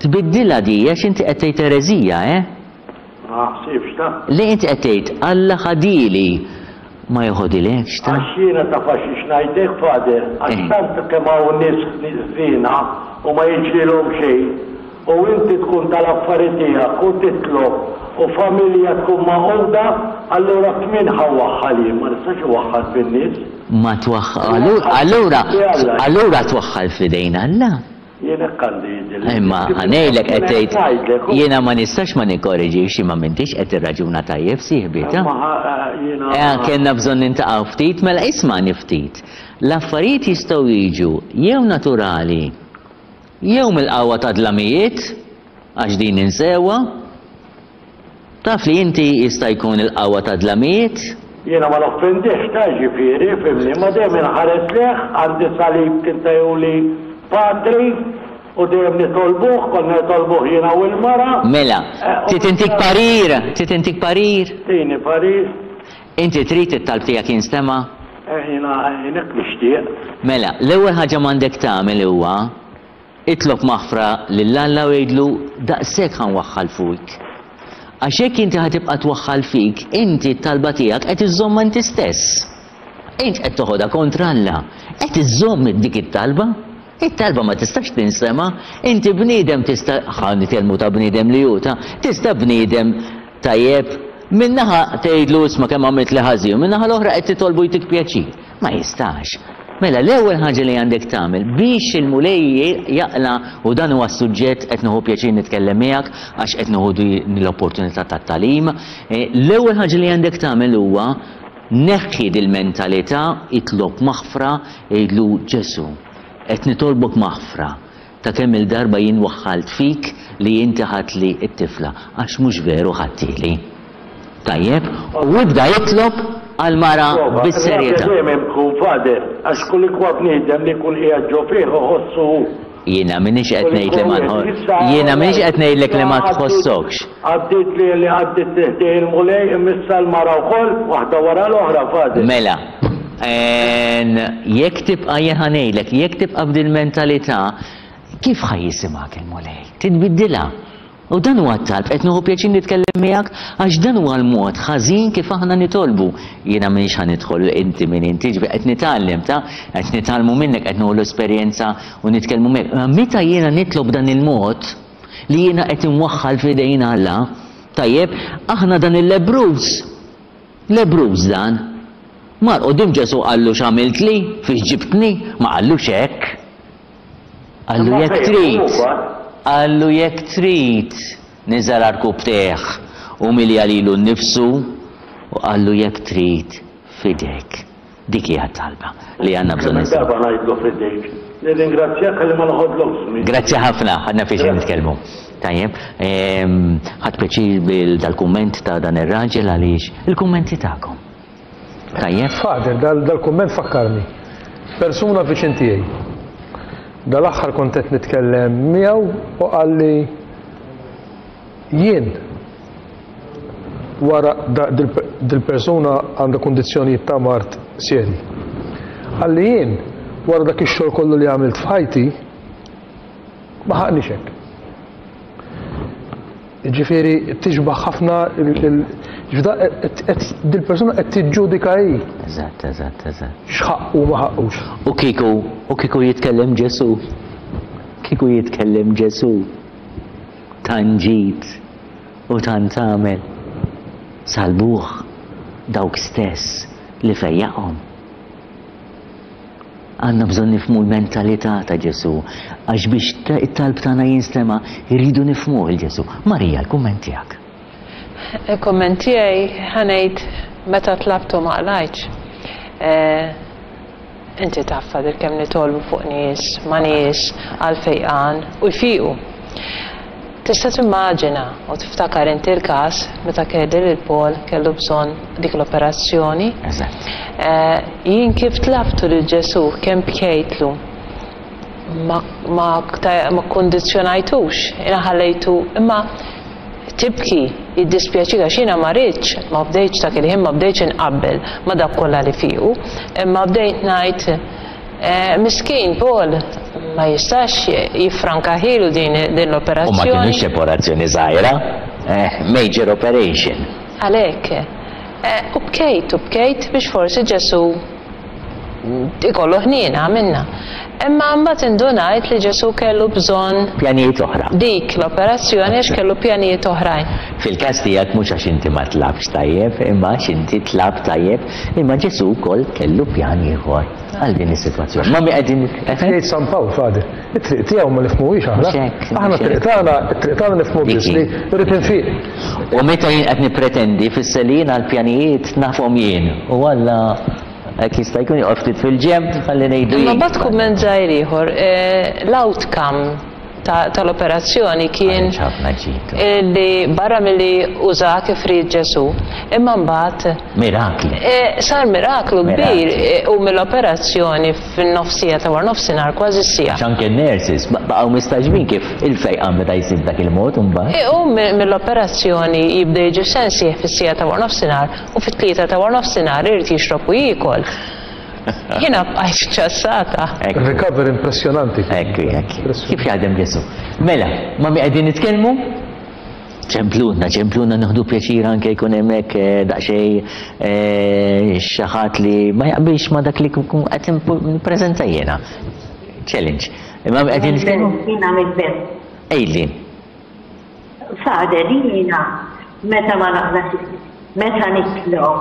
tbiddilha di għax inti qed tgħid ereżija, eh? Ma ħsibx ta. Le inti qed tgħid Alla ħadili ma joħodilekx ta. Għax jiena taf għax ngħid hekk Father, għax tant kemm hawn nies ħżiena u ma jiġrilhom xejn, u inti tkun tal-affari tiegħek u titlob u familja tkun magħquda, allura f'min ħa waħħal jien? Ma nistax iwaħħal fin-nies. Ma twaħħal, allura allura twaħħal f'idejn Alla. Jien hekk għandi jidhirli. Imma ħa ngħidlek qed tgħid jiena ma nistax ma nikkoreġikx imma m'intix qed tirraġuna tajjeb sieħbi ta. Imma jiena. Kellna bżonn nintaqgħu ftit, mela ismagħni ftit. L-affarijiet jistgħu jiġu jew naturali jew mill-qawwa tad-dlamijiet, għax din ninsewha, Taf li inti jista' jkun il-qawwa tad-dlamijiet? Jiena ma noffendihx ta' jiġifieri, fhimni, imma dejjem inħares lejh, għandi salib kien tahuli patri u dejjem nitolbuh, konna nitolbuh jiena u l-mara. Mela, trid intik parir? Trid intik parir? Tini parir. Inti trid it-talb tiegħek jinstema'? Eh, jiena jien hekk nixtieq. Mela, l-ewwel ħaġa m'għandek tagħmel huwa Itlob maħfra lil Alla u għidlu, Daqshekk ħa nwaħħal fik. Għax jekk inti ħa tibqa' twaħħal fik, inti t-talba tiegħek qed iżżommha inti stess. Int qed toħodha kontra Alla. Qed iżżomm dik it-talba. It-talba ma tistax tinsema'. Inti bniedem tista', ħa nitkellmu ta' bniedem li hu ta', tista' bniedem tajjeb. Minn naħa tgħidlu isma' kemm għamiltli ħażin, u min-naħa l-oħra qed titolbu jtik pjaċir. Ma jistax. Mela l-ewwel ħaġa li għandek tagħmel biex il-Mulej jaqla' u dan huwa s-suġġett qed nieħu pjaċir nitkellem miegħek għax qed nieħu din l-opportunità tat-tagħlim, l-ewwel ħaġa li għandek tagħmel huwa neħħi dil-mentalità, itlob maħfra, għidlu Ġesù, qed nitolbok maħfra ta' kemm-il darba jien waħħalt fik li inti ħadtli t-tifla, għax mhux veru ħadthieli. Tajjeb? U ibda itlob għall-mara bis-serjetà. Ir-rabja dejjem hemm tkun, Father, għax kulikwa bniedem li jkun qiegħed ġo fih iħossu hu. Jiena m'iniex qed ngħid li ma Jiena m'iniex qed ngħidlek li ma tħossokx. Għaddiet li li għaddiet ħdejn il-Mulej imma issa l-mara wkoll, waħda wara l-oħra, Father. Mela, jekk tibqa' jien ħa ngħidlek, jekk tibqa' b'dil-mentalità, kif ħa jisimgħek il-Mulej? Titbiddilha. U dan huwa t-talb, qed nieħu pjaċir nitkellem miegħek għax dan huwa l-mod ħażin kif aħna nitolbu. Jiena m'iniex ħa nidħol inti min inti, ġifieri qed nitgħallem ta, qed nitgħallmu minnek, qed nieħu l-esperjenza u nitkellmu miegħek. Imma meta jiena nitlob b'dan il-mod, li jiena qed inwaħħal f'idejn Alla, tajjeb, aħna dan il-lebbruż, lebbruż dan, mar quddiem Ġesù qallu x'għamiltli, fiex ġibtni, ma qallux hekk. Qallu jekk trid, qallu jekk trid, niżel għarkupptejh, umilja lilu nnifsu u qallu jekk trid, f'idejk. Dik hija t-talba li għandna bżonn Kemm-il darba ngħidlu f'idejk. Nirringrazzjak ħalli ma noħodlokx żmien. Grazzi ħafna, ħadna pjaċir nitkellmu. Tajjeb, ħadt pjaċir bil dal-kumment ta' dan ir-raġel għaliex il-kummenti tagħkom. Tajjeb. Father, dal-kumment fakkarni. Persuna viċin tiegħi. Dal-aħħar kont qed nitkellem miegħu u qalli jien wara dil-persuna għandha kundizzjonijiet ta' mard serji. Qalli jien wara dak ix-xogħol kollu li għamilt f'ħajti ma ħaqnix hekk. Ġifieri tixbaħ ħafna dil-persuna qed tiġġudika hi. Eżatt, eżatt, eżatt. X'ħaqqu ma ħaqqux. U kieku, u kieku jitkellem Ġesù. Kieku jitkellem Ġesù. Tant ġid u tant għamel. Salbuh dawk stess li fejjaqhom. Għandna bżonn nifhmu l-mentalità ta' Ġesù, għax biex it-talb tagħna jinstema' irridu nifhmuh 'il Ġesù. Marija, l-kumment tiegħek. Il-kumment tiegħi ħa ngħid meta tlabtu ma qlajtx. Inti taf Father kemm nitolbu fuq nies, ma' nies għall-fejqan u jfiqu. Tista' timmaġina u tiftakar inti l-każ meta kelli lil Paul kellu bżonn dik l-operazzjoni. Eżatt. Jien kif tlabtu lil Ġesù, kemm bkejtlu, ma ma ma kkundizzjonajtux, jiena ħallejtu imma tibki, jiddispjaċik għax jiena ma ridtx, ma bdejtx dak il-ħin ma bdejtx inqabbel ma' dawk kollha li fiequ, imma bdejt ngħid Miskin Paul ma jistax jiffranka ħilu din U ma l-operazzjoni. kinitx operazzjoni żgħira, eh, major operation. Għalhekk. U bkejt u bkejt biex forsi Ġesù ikollu ħniena minna. Imma mbagħad indunajt li Ġesù kellu bżonn Pjanijiet oħra. dik l-operazzjoni għax kellu pjanijiet oħrajn. Fil-każ tiegħek mhux għax inti ma tlabtx tajjeb, imma għax inti tlabt tajjeb, imma Ġesù wkoll kellu pjan ieħor. Għal din is-sitwazzjoni. Ma mi qegħdin. Qed jgħid San Pawl, Father, it-triq tiegħu ma nifhmuhiex aħna. Aħna t-triq tagħna, it-triq tagħna nifhmu biss li rrid infiq. U meta jien qed nippretendi fisser li jien għall-pjanijiet nafhom jien. U Alla hekk jista' jkun joqgħod ftit fil-ġenb ħalli ngħidu jien. Imma mbagħad kumment żgħir ieħor, l-outcome tal-operazzjoni kien li barra milli uża kif ried Ġesù, imma mbagħad Mirakli. Sar miraklu kbir u mill-operazzjoni fin-nofsija ta' wara nofsinhar kważi s-siegħa. Għax anke n-nurses baqgħu mistagħġbin kif il-fejqan beda jsir b'dak il-mod imbagħad. Iqum mill-operazzjoni jibda jiġi f'sensih fis-siegħa ta' wara nofsinhar u fit-tlieta ta' wara nofsinhar irid jixrob u jiekol. Jiena bqajt ċassata. Recovery impressjonanti. Ekku, ekku. Kif jaħdem Ġesù. Mela, ma' min qegħdin nitkellmu? Ċempluna, ċempluna nieħdu pjaċir anke jkun hemmhekk eh, daqsxejn eh, xi ħadd li ma jaqbilx ma dak li kun qed nippreżenta jiena. Challenge. Imma qegħdin nitkellmu? Jiena mill-belt. Ejli. Father, jiena meta ma naqlax. Meta nitlob,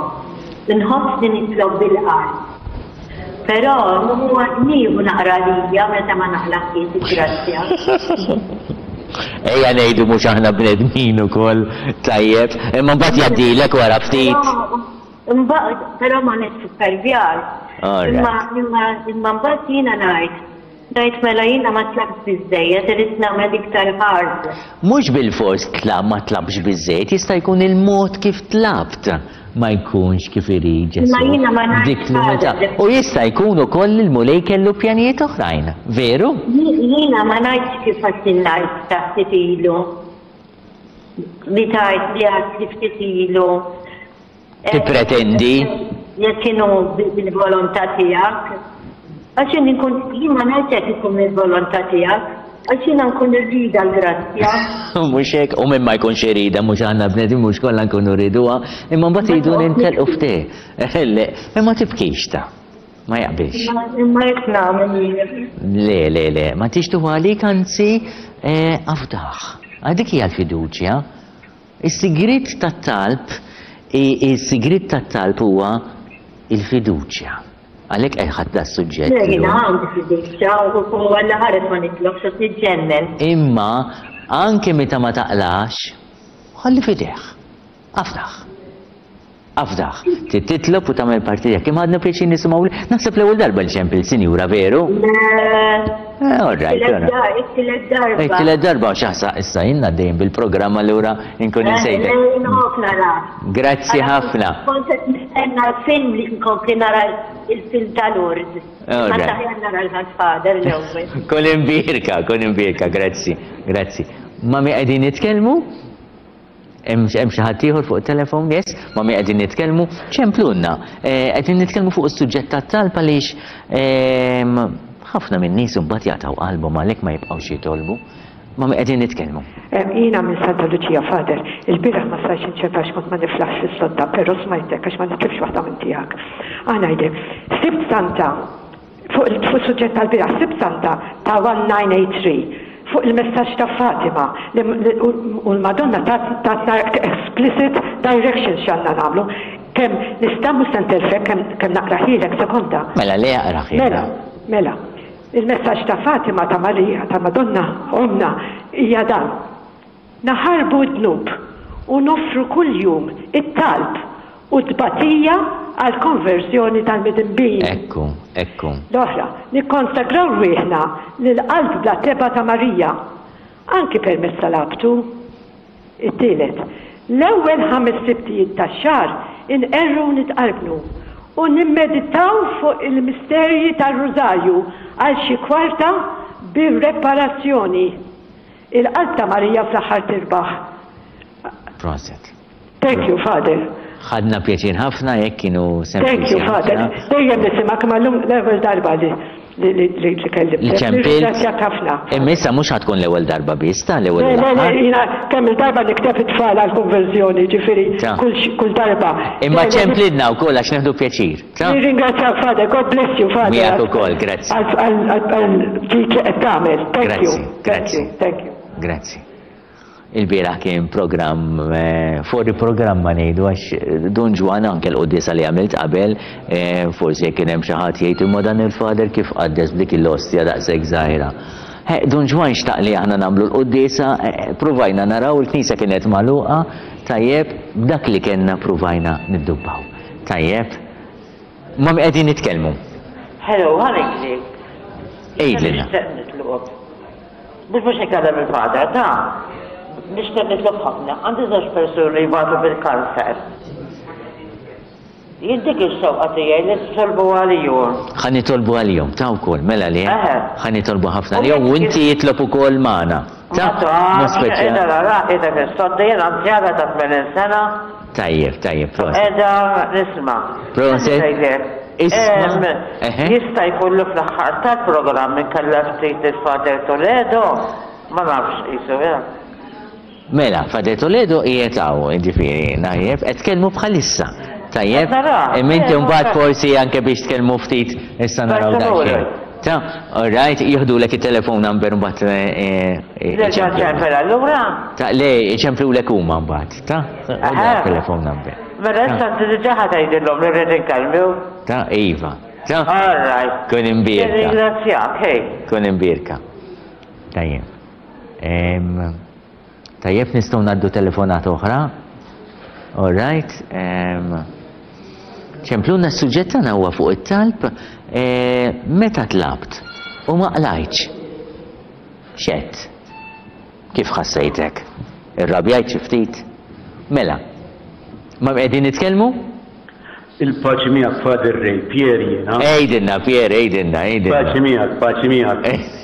inħossni nitlob bil-qalb. Però huwa nieħu naqra lija meta ma naqlagħhiex il-grazzja. Ejja ngħidu mhux aħna bnedmin ukoll, tajjeb, imma mbagħad jgħaddilek wara ftit. Imbagħad, però ma nissupervjax. Imma imma imma mbagħad jiena ngħid, ngħid mela jiena ma tlabtx biżżejjed, irid nagħmel iktar hard. Mhux bilfors tla ma tlabtx biżżejjed, jista' jkun il-mod kif tlabt ma jkunx kif irid Ġesù. Imma jiena ma ngħidx Dik l-umiltà. U jista' jkun ukoll li l-Mulej kellu pjanijiet oħrajn, veru? Jiena ma ngħidx kif għedtilna issa ftit ilu. Li tgħid li għedt li ftit ilu. Tippretendi? Jekk inhu bil-volontà tiegħek. Għax jien inkun jien ma ngħidx jekk ikun mill-volontà tiegħek, għax jiena nkun irridha l-grazzja. Mhux hekk, u min ma jkunx iridha, mhux aħna bnedmin mhux kollha nkunu rriduha, imma mbagħad iridu nintelqu ftit. Le, imma tibkix ta. Ma jaqbilx. Imma hekk nagħmel jien. Le, le, le, ma tix tuħu għalik anzi eh, afdaħ. Dik hija l-fiduċja. Is-sigriet tat-talb Is-sigriet tat-talb huwa l-fiduċja. Għalhekk qed ħadt das-suġġett. Le, jiena għandi fiduċja u Alla ħares ma nitlobx għax niġġennen. Imma anke meta ma taqlax, ħalli f'idejh. Afdah. Afdah. Trid titlob u tagħmel parti tiegħek. Imma għadna pjaċir nisimgħu li naħseb l-ewwel darba li ċempil sinjura veru? Le. Eh, all right, all right. It-tielet darba. It-tielet darba għax aħsa issa jien għaddejjin bil-programm allura inkun eh, insejtek. Grazzi ħafna. Kont qed nistenna l-film li nkompli nara il-film tal-Ord. Ma taħjar nara l-Godfather l-ewwel. Kun imbierka, kun imbierka, grazzi, grazzi. Mami qegħdin nitkellmu? Hemm xi ħadd ieħor fuq it-telefon? Yes, ma' min qegħdin nitkellmu? Ċemplulna. Eh, qegħdin nitkellmu fuq is-suġġett tat-talb għaliex ehm, ħafna minn nies imbagħad jaqtgħu qalbhom għalhekk ma jibqgħux jitolbu. Ma' min qegħdin nitkellmu? Eh, jiena minn Santa Luċija Father, il-bieraħ ma stajtx inċempel għax kont ma niflaħx fis-sodda, però smajtek għax ma nitlifx waħda minn tiegħek. Ħa ngħidlek, sibt Santa Fuq is-suġġett tal-bieraħ, Sibt Santa ta' 1983 fuq il-messaġġ ta' Fatima li u l-Madonna tatna explicit directions x'għandna nagħmlu. Kemm nista' mhux se ntelfek kemm kemm naqrahielek sekonda. Mela le aqrahielna. Mela, mela. Il-messaġġ ta' Fatima ta' Marija ta' Madonna Ommna hija dan. Naħarbu d-dnub u noffru kuljum it-talb u t-tbatija għall-konverżjoni tal-midinbin. Ekku, ekku. L-oħra, nikkonsagraw rwieħna lill-Qalb bla tebgħa ta' Marija, anki permezz tal-Abtu. It-tielet, l-ewwel ħames Sibtijiet tax-xahar inqerru u nitqarbnu u nimmeditaw fuq il-misterji tar-Rużarju għal xi kwarta bir-reparazzjoni. Il-qalb ta' Marija fl-aħħar tirbaħ. Proset. Thank you, Father. Ħadna pjaċir ħafna jekk kienu sempliċi. Thank you, Father. Dejjem nisimgħek imma llum l-ewwel darba li li li kellimtek. Li ċempilt. Nirringrazzjak ħafna. Imma issa mhux ħa tkun l-ewwel darba biss, ta' l-ewwel u Le, le, le, l-aħħar. jiena kemm il-darba nikteb it-tfal għall-konverżjoni, ġifieri Ta. kull kull darba. Imma Le, le, ċemplilna wkoll għax nieħdu pjaċir. Ta. Nirringrazzjak, Father. God bless you, Father. Miegħek ukoll, grazzi. Għal ġid li qed tagħmel. Thank you. Grazzi, grazzi. Thank you. Grazzi. Il-bieraħ kien programm eh, fuori programma ngħidu għax eh, Dun Ġwan anke l-quddiesa li għamilt qabel, eh, forsi jekk kien hemm xi ħadd jgħid imma dan il-fader kif qaddes b'dik il-ostja daqshekk żgħira. Dun Ġwan xtaq li aħna nagħmlu l-quddiesa, pruvajna naraw il-knisja kienet magħluqa, tajjeb, b'dak li kellna pruvajna niddubbaw. Tajjeb. Ma' min qegħdin nitkellmu? Hello, ħa ngħidlek. Għidlilna. Nixtieq nitlob. Mhux biex ikellem il-father, ta' nixtieq nitlob ħafna. Għandi żewġ persuni jbatu bil-kanser. Jien dik ix-xewqa tiegħi li titolbu għalihom. Ħa nitolbu għalihom, ta' wkoll, mela le? Ħa nitolbu ħafna għalihom u inti jitlob ukoll magħna. Ta' mod speċjali. Qiegħda nara, qiegħda fis-sodda, jien anzjana ta' 80 sena. Tajjeb, tajjeb, proset. Qiegħda nisma'. Proset. Isma'. Jista' jkun li fl-aħħar tal-programm inkellem ftit lil Father Toledo? Ma nafx qisu, eh. Mela, Father Toledo qiegħed hawn, jiġifieri, tajjeb, qed tkellmu bħalissa. Tajjeb? Imma inti mbagħad forsi anke biex tkellmu ftit issa naraw daqsxejn. Ta, all right, jieħdulek it-telephone number mbagħad Nerġa' nċempel allura? Ta, le, iċemplulek huma mbagħad, ta? Telefon number. Mela issa inti diġà ħa tgħidilhom li rrid inkellmu. Ta' iva. Ta' All right. Kun imbierka. Nirringrazzjak, hej. Kun imbierka. Tajjeb. Tajjeb nistgħu ngħaddu telefonata oħra. All right. Ċempluna s-suġġett tagħna huwa fuq it-talb e, meta tlabt u ma qlajtx. X'għedt? Kif ħassejtek? Irrabjajt xi ftit? Mela, ma' min qegħdin nitkellmu? Il-paċi miegħek Father Ray, Pierre jiena. Għidilna Pierre, għidilna, għidilna. Paċi miegħek, paċi miegħek.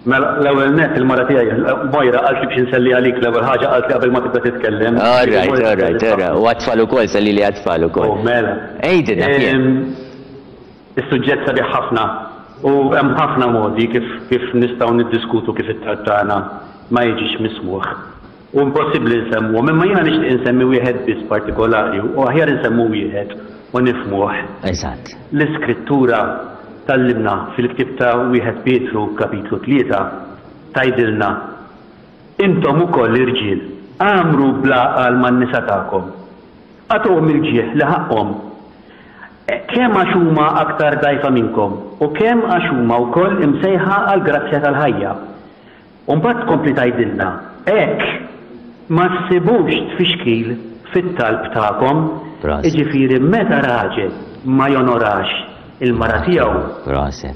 Mela, l-ewwel nett il-mara tiegħi Moira qaltli biex inselli għalik l-ewwel ħaġa qaltli qabel ma tibda titkellem. All right, all right, all right. U għat-tfal ukoll, sellili għat-tfal ukoll. Oh, mela. Għidilna Pierre. Is-suġġett sabiħ ħafna u hemm ħafna modi kif kif nistgħu niddiskutu kif it-talb tagħna ma jiġix mismugħ. U impossibbli nsemmuhom, imma jiena nixtieq insemmi wieħed biss partikolari u aħjar insemmu wieħed u nifhmuh. Eżatt. L-Iskrittura tgħallimna fil-ktieb ta' wieħed Pietru kapitlu 3 tgħidilna, Intom ukoll irġiel, għammru bl-għaqal man-nisa tagħkom. Agħtuhom il-ġieħ li ħaqqhom, kemm għax huma aktar dgħajfa minnkom u kemm għax huma wkoll imsejħa għall-grazzja tal-ħajja. U mbagħad tkompli tgħidilna, Hekk ma ssibux tfixkil fit-talb tagħkom. Jiġifieri meta raġel ma jonorax il-mara tiegħu,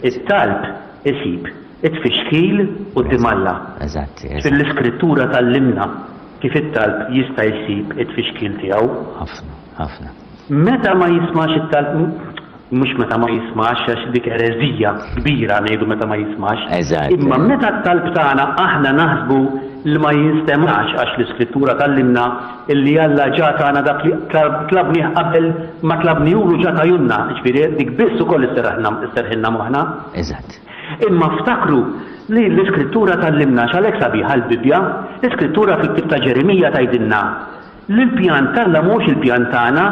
it-talb isib it-tfixkil quddiem Alla. Ġifieri l-Iskrittura tgħallimna kif it-talb jista' jsib it-tfixkil tiegħu. Ħafna, ħafna. Meta ma jismax it-talb, mhux meta ma jismax għax dik ereżija kbira ngħidu meta ma jismax. Eżatt. Imma meta t-talb tagħna aħna naħsbu li ma jinstemax għax l-Iskrittura tgħallimna illi Alla ġa tana dak li tlabnih qabel ma tlabnihulu ġa tajulna, jiġifieri dik biss ukoll isserrħilna moħħna. Eżatt. Imma ftakru li l-Iskrittura tgħallimna, għax għalhekk sabiħa l-Bibbja, l-Iskrittura fil-ktieb ta' Ġeremija tgħidilna li l-pjan t'Alla mhuwiex il-pjan tagħna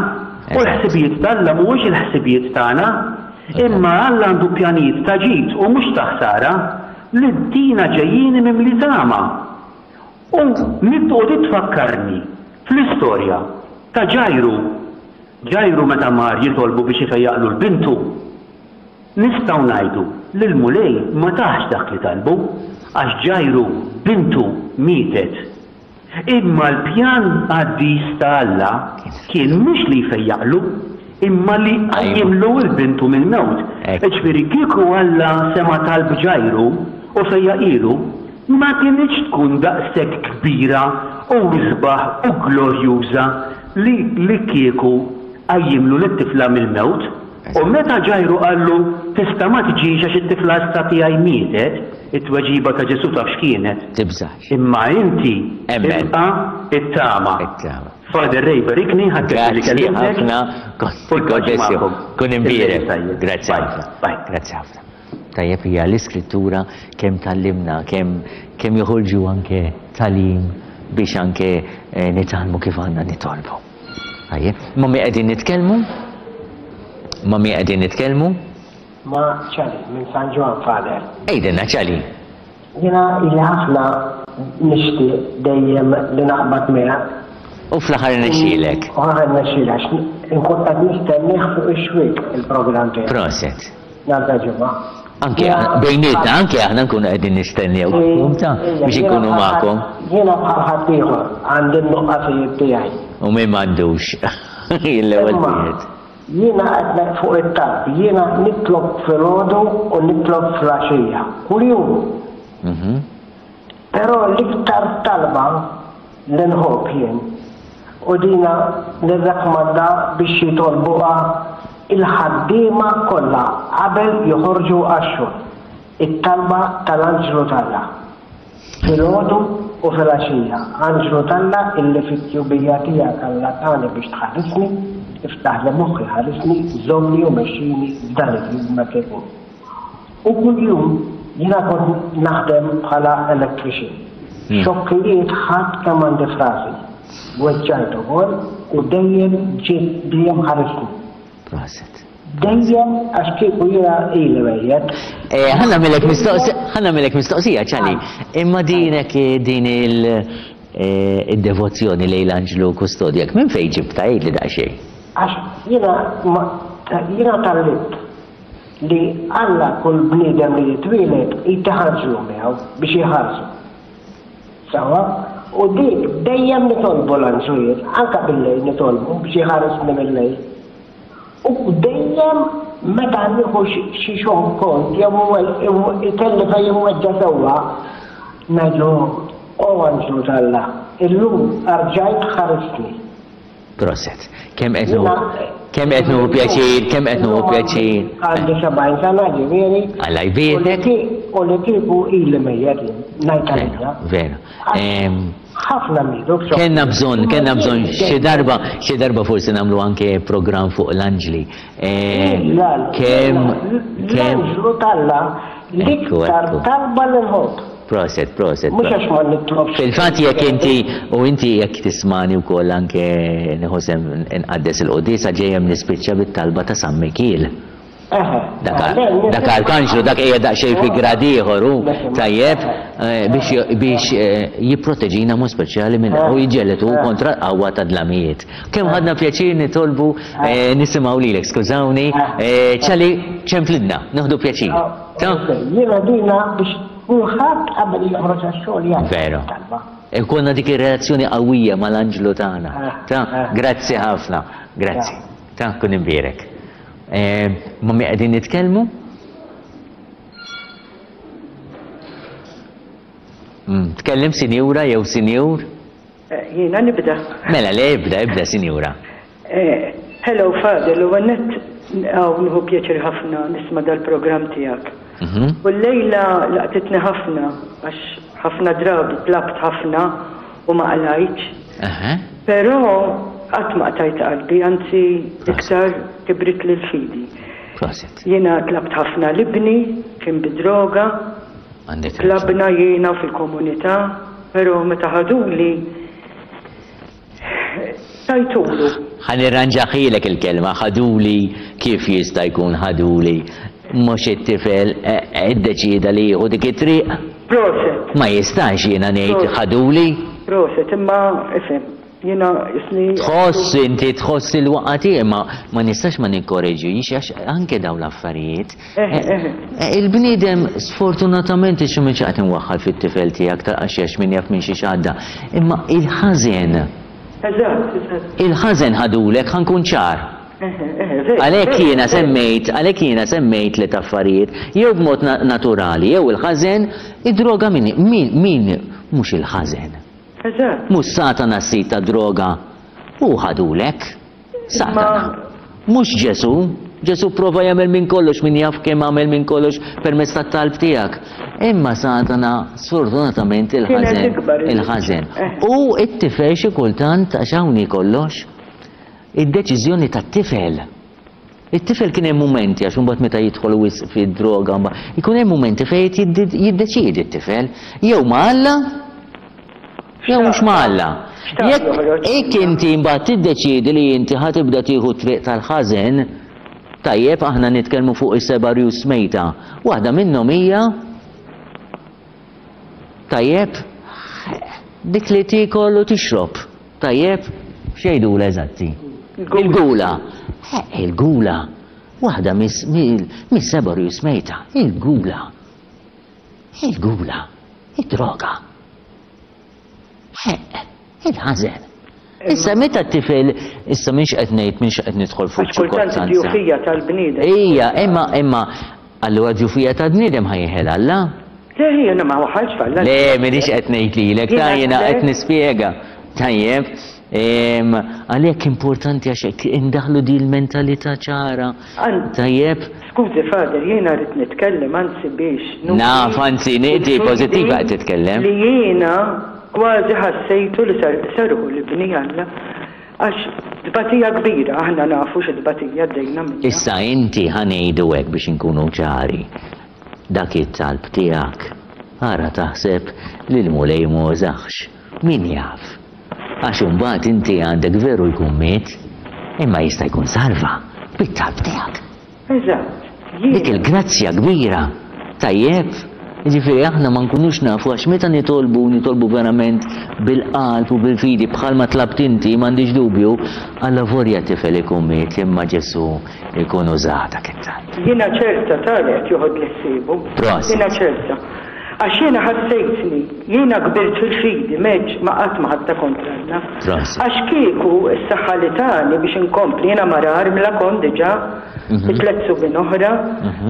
u l-ħsibijiet t'Alla mhuwiex il-ħsibijiet tagħna. Imma Alla għandu pjanijiet ta' ġid u mhux ta' ħsara, li ttina ġejjieni mimli tama. U u din tfakkarni fl-istorja ta' Ġajru. Ġajru meta mar jitolbu biex ifejjaqlu 'l bintu, Nistgħu ngħidu li l-Mulej ma tahx dak li talbu, għax Ġajru bintu mietet. Imma l-pjan qaddis ta' Alla kien mhux li jfejjaqlu, imma li jqajjimlu 'l bintu mill-mewt. Jiġifieri kieku Alla sema' talb Ġajru u fejjaqhielu, ma kinitx tkun daqshekk kbira u isbaħ u glorjuża li li kieku qajjimlu lit-tifla mill-mewt. U meta Ġajru qallu, Tista' ma tiġix għax it-tifla issa tiegħi mietet, it-tweġiba ta' Ġesù taf x'kienet? Tibżax. Imma inti ibqa' ittama. Ittama. Father Ray berikni, ħadt pjaċir li kellimtek. Grazzi ħafna. God bless you. Kun imbierek. Grazzi ħafna. Grazzi ħafna. Tajjeb hija l-iskrittura kemm tgħallimna, kemm kemm joħorġu anke tagħlim biex anke eh, nitgħallmu kif għandna nitolbu. Tajjeb, ma' min qegħdin nitkellmu? Ma' min qegħdin nitkellmu? Ma' Ċali minn San Ġwann, Father. Għidilna Ċali. Jiena ili ħafna nixtieq dejjem li naqbad miegħek. U fl-aħħar irnexxielek. U fl-aħħar irnexxieli għax inkun qed nistennieh fuq ix-xwiek il-programm tiegħek. Proset. Nhar ta' Ġimgħa. Anke bejnietna, anke aħna nkunu qegħdin nistennew ta' biex inkunu magħkom. Jiena bħal ħaddieħor għandi n-nuqqasijiet tiegħi. U min m'għandux. Jien l-ewwel wieħed. Jiena qed ngħid fuq it-talb, jiena nitlob filgħodu u nitlob filgħaxija, kuljum. Mhm. Però l-iktar talba li nħobb jien, u dina nirrakmanda biex jitolbuha il-ħaddiema kollha qabel joħorġu għax-xogħol, it-talba tal-Anġlu t'Alla. Filgħodu u filgħaxija, Anġlu t'Alla illi fit-tjubija tiegħek Alla tani biex tħarisni, iftaħli moħħi ħarisni, żommni u mexxini f'dan il-jum hekk ikun. U kuljum jiena kont naħdem bħala electrician. Xokkijiet ħadt kemm għandi f'rasi. Weġġajt ukoll u dejjem ġiet dejjem ħarisni. Proset. Dejjem għax kieku jiena ili mejjet. Ħa nagħmilek mistoqsija, ħa nagħmilek mistoqsija Ċali. Imma din hekk din il. Id-devozzjoni lejn l-anġlu kustodjak minn fejn ġibtha għidli daqsxejn. Għax jiena jiena tgħallimt li Alla kull bniedem li jitwieled jtih anġlu miegħu biex iħarsu. Sewwa? U dik dejjem nitolbu l-anġlu jien, anke bil-lejl nitolbu biex iħarisni mil-lejl. U dejjem meta nieħu xi xonkont jew ikelli fejn inweġġa' sewwa, ngħidlu, O anġlu t'Alla, illum arġajt ħaristni. Proset. Kemm qed nieħu kemm qed nieħu pjaċir, kemm qed nieħu pjaċir. Għandi 70 sena ġifieri. Alla jbierek. U li kieku ili mejjet jien, ngħid għalija. Vera. Ħafna mietu. Kellna bżonn, kellna bżonn xi darba, xi darba forsi nagħmlu anke programm fuq l-anġli. Kemm kemm L-anġlu t'Alla l-iktar talba li nħobb. Proset, proset. Mhux għax ma nitlobx. Fil-fatt jekk inti u inti jekk tismani wkoll anke nieħu sehem inqaddes il-quddiesa ġejjem nispiċċa bit-talba ta' San Mikiel. Dak arkanġlu, dak qiegħed daqsxejn fi grad ieħor hu, tajjeb, biex jipproteġina mod speċjali minn u jiġġieled hu kontra l-qawwa tad-dlamijiet. Kemm ħadna pjaċir nitolbu nisimgħu lilek, skużawni, ċali ċemplidna, nieħdu pjaċir. Jiena dina biex kulħadd qabel joħroġ għax-xogħol jgħid. Veru. Ikollna dik ir-relazzjoni qawwija mal-anġlu tagħna. Ta, grazzi ħafna. Grazzi. Ta, kun imbierek. Ma' min qegħdin nitkellmu? Mm, tkellem sinjura jew sinjur? Eh, jiena nibda. Mela, le ibda, ibda sinjura. Eh, hello Father, l għannet għaw nħu pjaċir ħafna nisma dal-program tijak. Mhm. U l-lejla laqtitni ħafna, għax ħafna drabi tlabt ħafna u ma qlajtx. Però qatt ma qtajt qalbi, anzi iktar kibritli l-fidi. Proset. Jiena tlabt ħafna 'l ibni, kien bid-droga. Għandek raġun. Tlabna jiena u fil-komunità, però meta ħaduli tajtulu. Ħa nirranġahielek il-kelma, ħaduli kif jista' jkun ħaduli? Mhux it-tifel iddeċieda li jieħu dik it-triq? Proset. Ma jistax jiena ngħid ħaduli. Proset, imma ifhem, jiena isni. Tħoss inti tħoss il-waqgħa tiegħi imma ma nistax ma nikkoreġix għax anke dawn l-affarijiet. Il-bniedem sfortunatament ix mhux qed inwaħħal fit-tifel tiegħek ta' għax min jaf minn xiex għadda, imma il-ħażen. Eżatt, eżatt. Il-ħażen ħadulek ħa nkun ċar. Għalhekk jiena semmejt, għalhekk jiena semmejt tliet affarijiet, jew b'mod naturali, jew il-ħażen, id-droga min, min, min mhux il-ħażen. Eżatt. Mhux Satana s-sid tad-droga, hu ħadulek. Satana. Mhux Ġesù. Ġesù pprova jagħmel minn kollox, min jaf kemm għamel minn kollox permezz tat-talb tiegħek. Imma Satana sfortunatament il-ħażen, il-ħażen. U t-tifel xi kultant għax hawn hi kollox. Id-deċiżjoni tat-tifel. It-tifel kien hemm mumenti, għax imbagħad meta jidħol wisq fid-droga, ikun hemm mumenti fejn jiddeċiedi t-tifel, jew ma' Alla, jew mhux ma' Alla. Jekk inti mbagħad tiddeċiedi li inti ħa tibda tieħu t-triq tal-ħażen, tajjeb aħna nitkellmu fuq is-seba' rjus mejta. Waħda minnhom hija tajjeb dik li tiekol u tixrob. Tajjeb, x'jgħidulha eżatti? Il-gula. Eh, il-gula. Waħda mis-seba' rjus mejta. Il-gula. Il-gula. Id-droga. Eh, il-ħażen. Issa meta t-tifel, issa minx qed ngħid minx qed nidħol fuq ċirkostanza. Kultant id-djufija tal-bniedem. Ija, imma imma allura djufija tal-bniedem ħajjeħel Alla? Le, jiena ma waħħalx f'Alla. Le, m'iniex qed ngħid lilek, ta' jiena qed nispjega. Tajjeb, għalhekk importanti għax hekk indaħħlu din il-mentalità ċara. Tajjeb. Skużi Father, jiena rrid nitkellem anzi biex nuri. Naf, anzi, inti pożittiva qed titkellem. Li jiena kważi ħassejtu li serħu l-ibni Alla għax tbatija kbira, aħna nafu xi tbatija għaddejna minnha. Issa inti ħa ngħidu hekk biex inkunu ċari. Dak it-talb tiegħek, ara taħseb li l-Mulej m'għożahx. Min jaf? Għax imbagħad inti għandek veru jkun miet, imma jista' jkun salva bit-talb tiegħek. Eżatt. Dik il-grazzja kbira. Tajjeb? Jiġifieri aħna ma nkunux nafu għax meta nitolbu, nitolbu verament bil-qalb u bil-fidi bħalma tlabt inti, m'għandix dubju, allavolja tifel ikun miet imma Ġesù ikun uża dak it-talb. Jiena ċerta ta' li qed joħodli ħsiebu. Prosit. Jiena ċerta. Għax jiena ħassejtni, jiena kbirt fil-fidi, m'għedtx, ma qatt ma ħadtha kontra Alla. Prosit. Għax kieku s-saħħa li tani biex inkompli, jiena mara armla kont diġà, bi tlett subien oħra,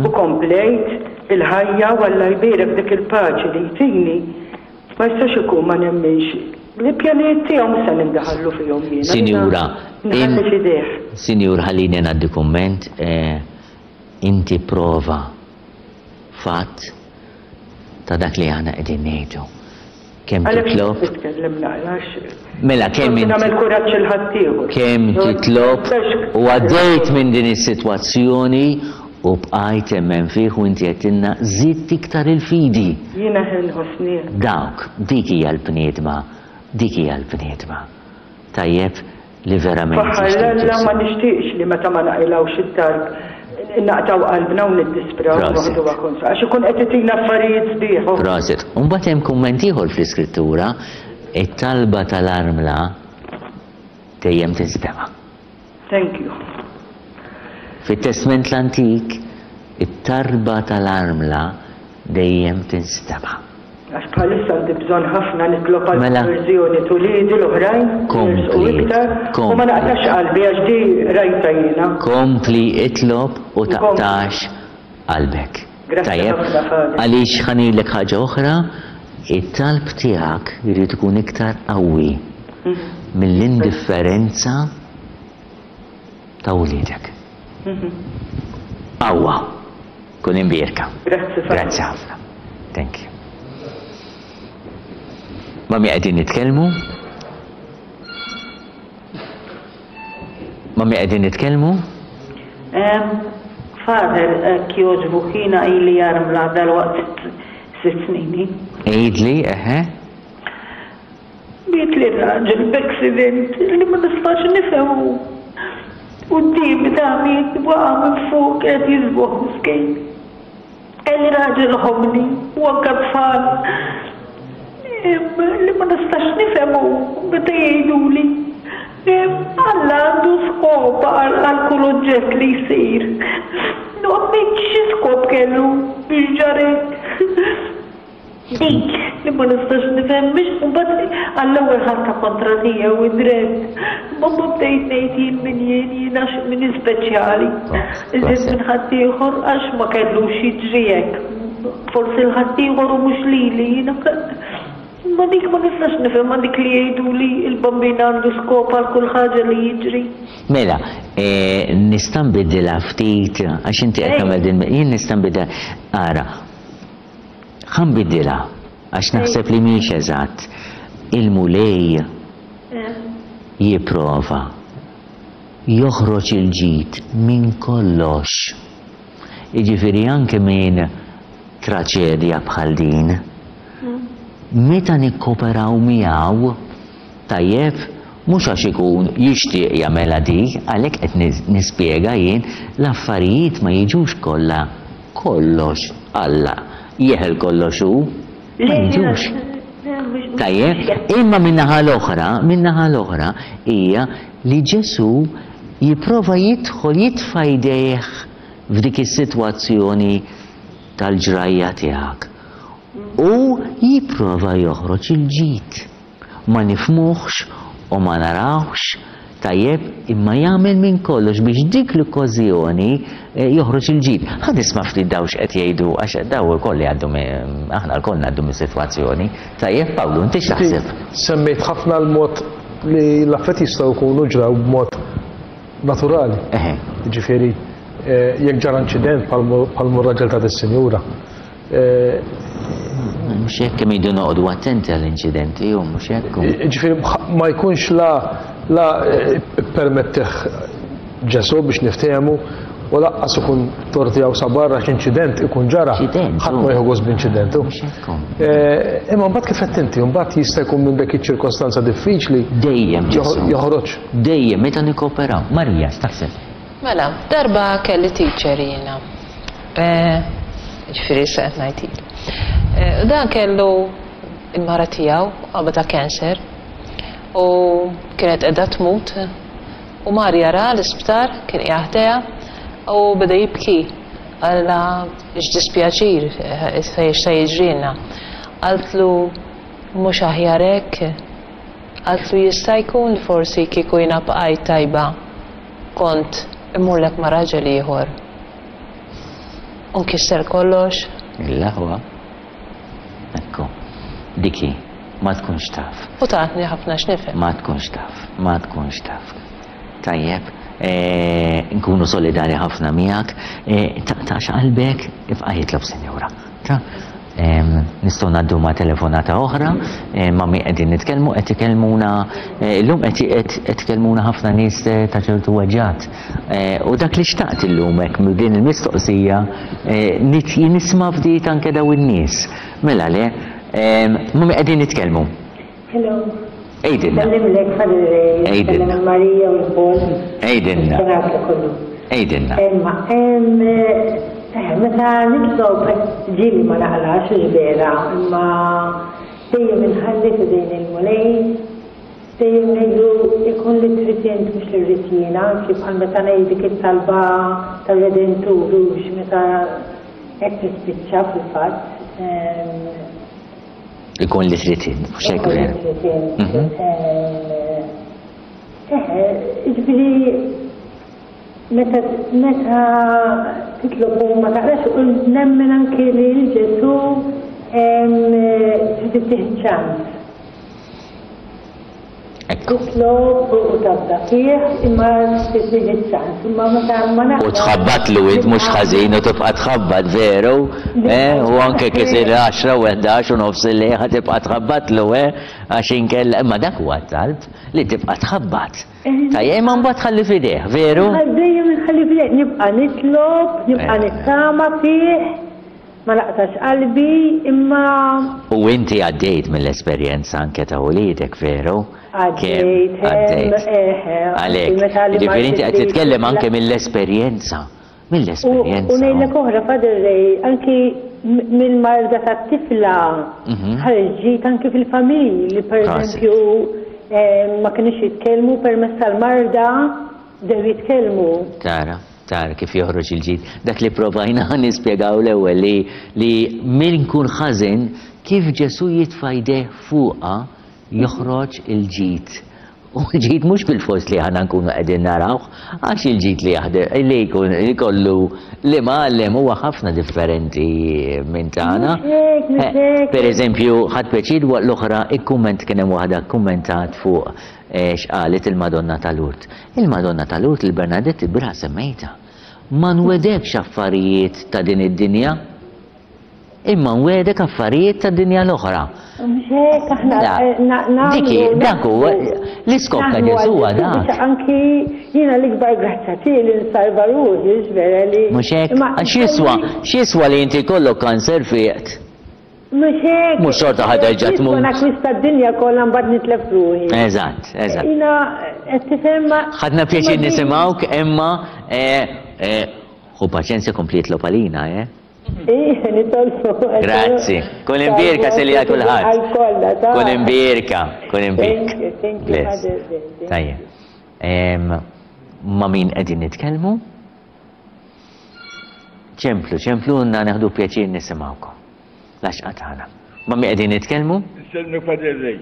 u komplejt il-ħajja u Alla jbierek dik il-paċi li jtini, ma jistax ikun ma nemminx li pjanijiet tiegħu mhux se nindaħallu fihom jiena. Jiena Sinjura, nħalli f'idejh. Sinjur ħallini ngħaddi kumment, inti prova fatt ta' dak li aħna qegħdin ngħidu. Kemm titlob. Nitkellem naqra għax. Mela kemm inti. Nagħmel kuraġġ il ħaddieħor. Kemm titlob u għaddejt minn din is-sitwazzjoni u bqajt temmen fih u inti għedtilna żidt iktar il-fidi. Jiena nħossni. Dawk, dik hija l-bniedma, dik hija l-bniedma. Tajjeb, li verament Faħħar jixtieq 'l Alla Ġesù. ma nixtieqx li meta ma naqilgħux it-talb naqtgħu qalbna u niddispraw u Prosit. noħduha kontra għax ikun qed itina affarijiet sbieħ u. Prosit. U mbagħad hemm kumment ieħor fl-Iskrittura, it-talba tal-armla dejjem tinstema'. Thank you. Fit-Testment l-Antik, it-talba tal-armla dejjem tinstema'. Għax bħalissa għandi bżonn ħafna nitlob għal Mela. konverżjoni t'uliedi l-oħrajn li jersqu Kompli, iktar u ma kompli. naqtax qalbi għax di rajtha jiena. Kompli itlob u Nkompli. taqtax qalbek. Grazzi Tajjeb? ħafna Father. Għaliex ħa ngħidlek ħaġa oħra, it-talb tiegħek irid ikun iktar qawwi mill-indifferenza ta' wliedek. Qawwa. Kun imbierka. Grazzi Father. Grazzi ħafna. Thank you. Ma' min qegħdin nitkellmu? Ma' min qegħdin nitkellmu? Father, hekk jogħġbok jiena ili armla dalwaqt sitt snin. Għidli, eħe. Mietli raġel b'accident li ma nistax nifhemu. Quddiemi ta' miet waqa' minn fuq qiegħed jiżboħ miskin. Kelli raġel ħobbni u anke tfal li ma nistax nifhem hu meta jgħiduli Alla għandu skop għal kull oġġett li jsir. Noqgħod ngħid xi skop kellu biex ġara hekk. Dik li ma nistax nifhem biex mbagħad għall-ewwel ħadtha kontra tiegħu id-dritt. Imma mbagħad bdejt ngħid jien min jien, jien għax min speċjali. Iżjed minn ħaddieħor għax ma kellux jiġri hekk. Forsi 'l ħaddieħor u mhux lili jiena Imma dik ma nistax nifhimha dik li jgħidu li l-Bambin għandu skop għal kull ħaġa li jiġri. Mela, nista' nbiddilha ftit għax inti qed tagħmel din jien nista' nbiddilha. Ara, Ħa nbiddilha, għax naħseb li mhijiex eżatt. Il-Mulej jipprova joħroġ il-ġid minn kollox. Jiġifieri anke minn traċedja bħal din. Meta nikkoperaw miegħu, tajjeb, mhux għax ikun jixtieq jagħmilha dik, għalhekk qed nispjega jien, l-affarijiet ma jiġux kollha Kollox Alla jeħel kollox hu, ma jiġux. Tajjeb, imma min-naħa l-oħra, min-naħa l-oħra hija li Ġesù jipprova jidħol jitfa' jdejh f'dik is-sitwazzjoni tal-ġrajja tiegħek u jipprova joħroġ il-ġid. Ma nifhmuhx u ma narawhx tajjeb imma jagħmel minn kollox biex dik l-okkażjoni joħroġ il-ġid. Ħa nisma' ftit dawn x'qed jgħidu għax dawn ukoll jgħaddu aħna lkoll ngħaddu mis-sitwazzjoni. Tajjeb Pawlu, inti x'taħseb? Semmejt ħafna l-mod li l-affarijiet jistgħu jkunu ġraw b'mod naturali. Jiġifieri jekk ġara inċident bħal mhu r-raġel ta' dis-sinjura, Mhux hekk kemm iridu noqogħdu attenti għall-inċidenti u mhux hekk. Ġifieri ma jkunx la la permettih Ġesù biex niftehmu u laqqas ikun tort tiegħu sabar għax inċident ikun ġara. Ħadd ma jieħu gost b'inċident. Imma mbagħad kif qed inti, mbagħad jista' jkun minn dik iċ-ċirkostanza diffiċli. Dejjem Ġesù. Joħroġ. Dejjem meta nikkooperaw. Marija, x'taħseb? Mela, darba kelli teacher jiena. Ġifieri issa qed ngħid ili. Dan kellu il-mara tiegħu qabadha cancer u kienet qiegħda tmut u mar jaraha l-isptar, kien qiegħed ħdejha u beda jibki qalilha x'dispjaċir x'se jiġrilna. Qaltlu mhux aħjar hekk? Qaltlu jista' jkun li forsi kieku jiena bqajt tajba kont immurlek ma' raġel ieħor u nkisser kollox? L-aħwa. Ekku. Dik hi. Ma tkunx taf. U tatni ħafna x'nifhem. Ma tkunx taf. Ma tkunx taf. Tajjeb. Nkunu solidali ħafna miegħek. Taqtax qalbek, ibqa' jitlob Sinjura. Ta? Nistgħu ngħaddu ma' telefonata oħra, ma' min qegħdin nitkellmu, qed ikellmuna illum qed qed ikellmuna ħafna nies ta' ċertu weġgħat. U dak li xtaqt illum hekk minn din il-mistoqsija nisma' ftit anke dawn in-nies. Mela le, ma' min qegħdin nitkellmu? Hello. Għidilna. Nsellimlek Father Ray. Għidilna. Nsellem il-Marija u l-Paul. Għidilna. Il-Senat kollu. Għidilna. Imma, eh, meta nitlob ġieli ma naqlax hux vera, imma dejjem inħalli f'idejn il-Mulej, dejjem ngħidlu ikun li trid int mhux li rrid jiena, anki bħal meta ngħid dik it-talba tar-Redentur hux meta hekk tispiċċa fil-fatt. Ikun li trid int, mhux hekk vera. Ikun li trid int. Mhm. Eh, jiġifieri meta meta titlob u ma taqrax u nemmen anki li Ġesù trid ittih ċans. Titlob u tafda fih imma trid iċ-ċans. Imma meta ma naqra. U tħabbatlu int mhux ħażin u tibqa' tħabbat veru, eh? U anke kif isir għaxra u 11 u nofs il-lejl ħa tibqa' tħabbatlu, eh? Għax inkella imma dak huwa t-talb li tibqa' tħabbat. Tajjeb, imma mbagħad tħalli f'idejh, veru? Dejjem inħalli f'idejh, nibqa' nitlob, nibqa' nittama fih. Ma naqtax qalbi, imma. U inti għaddejt mill-esperjenza anke ta' uliedek, veru? Għaddejt, Għaddejt. Eħe. Għalhekk. Jiġifieri inti qed titkellem anke mill-esperjenza. Mill-esperjenza. U ngħidlek oħra, Father Ray, anki mill-marda tat-tifla ħareġ ġid anki fil-familji li pereżempju ma kinux jitkellmu permezz tal-marda bdew jitkellmu. Tara. Tara kif joħroġ il-ġid. Dak li pprovajna nispjegaw l-ewwel li li min ikun ħażin kif Ġesù jitfa' jdejh fuqha joħroġ il-ġid. U l-ġid mhux bilfors li aħna nkunu qegħdin narawh, għax il-ġid li jaħdem li jkun li jkollu l-imgħallem huwa ħafna differenti minn tagħna. Mhux hekk, mhux hekk. Per eżempju, ħadt pjaċir waqt l-oħra ikkumment kien hemm waħda kkummentat fuq x'qalet il-Madonna ta' Lourdes. Il-Madonna ta' Lourdes lil Bernadette il-bieraħ semmejtha. Ma nwegħdekx affarijiet ta' din id-dinja, imma nwegħdek affarijiet tad-dinja l-oħra. Mhux hekk aħna Mela, dik hi, dak huwa l-iskop ta' Ġesù huwa dak. Anki jiena l-ikbar grazzja tiegħi li nsalva ruħi, vera li. Mhux hekk? Għax x'jiswa, x'jiswa li inti jkollok kanser fiqt? Mhux hekk. Mhux xorta ħa terġa' tmut. Jien nakwista d-dinja kollha mbagħad nitlef ruħi. Eżatt, eżatt. Jiena qed tifhem ma. Ħadna pjaċir nisimgħuk imma ħu paċenzja kompli jitlob għalina, eh? Ih, nitolbu. Grazzi. Kun imbierka Silja kulħadd. Għal kollha, ta. Kun imbierka, kun imbierka. Thank you, thank you. Tajjeb. Ma' min qegħdin nitkellmu? Ċemplu, ċemplulna neħdu pjaċir nisimgħukom. L-għaxqa tagħna. Ma' min qegħdin nitkellmu? Insellmek Father Ray,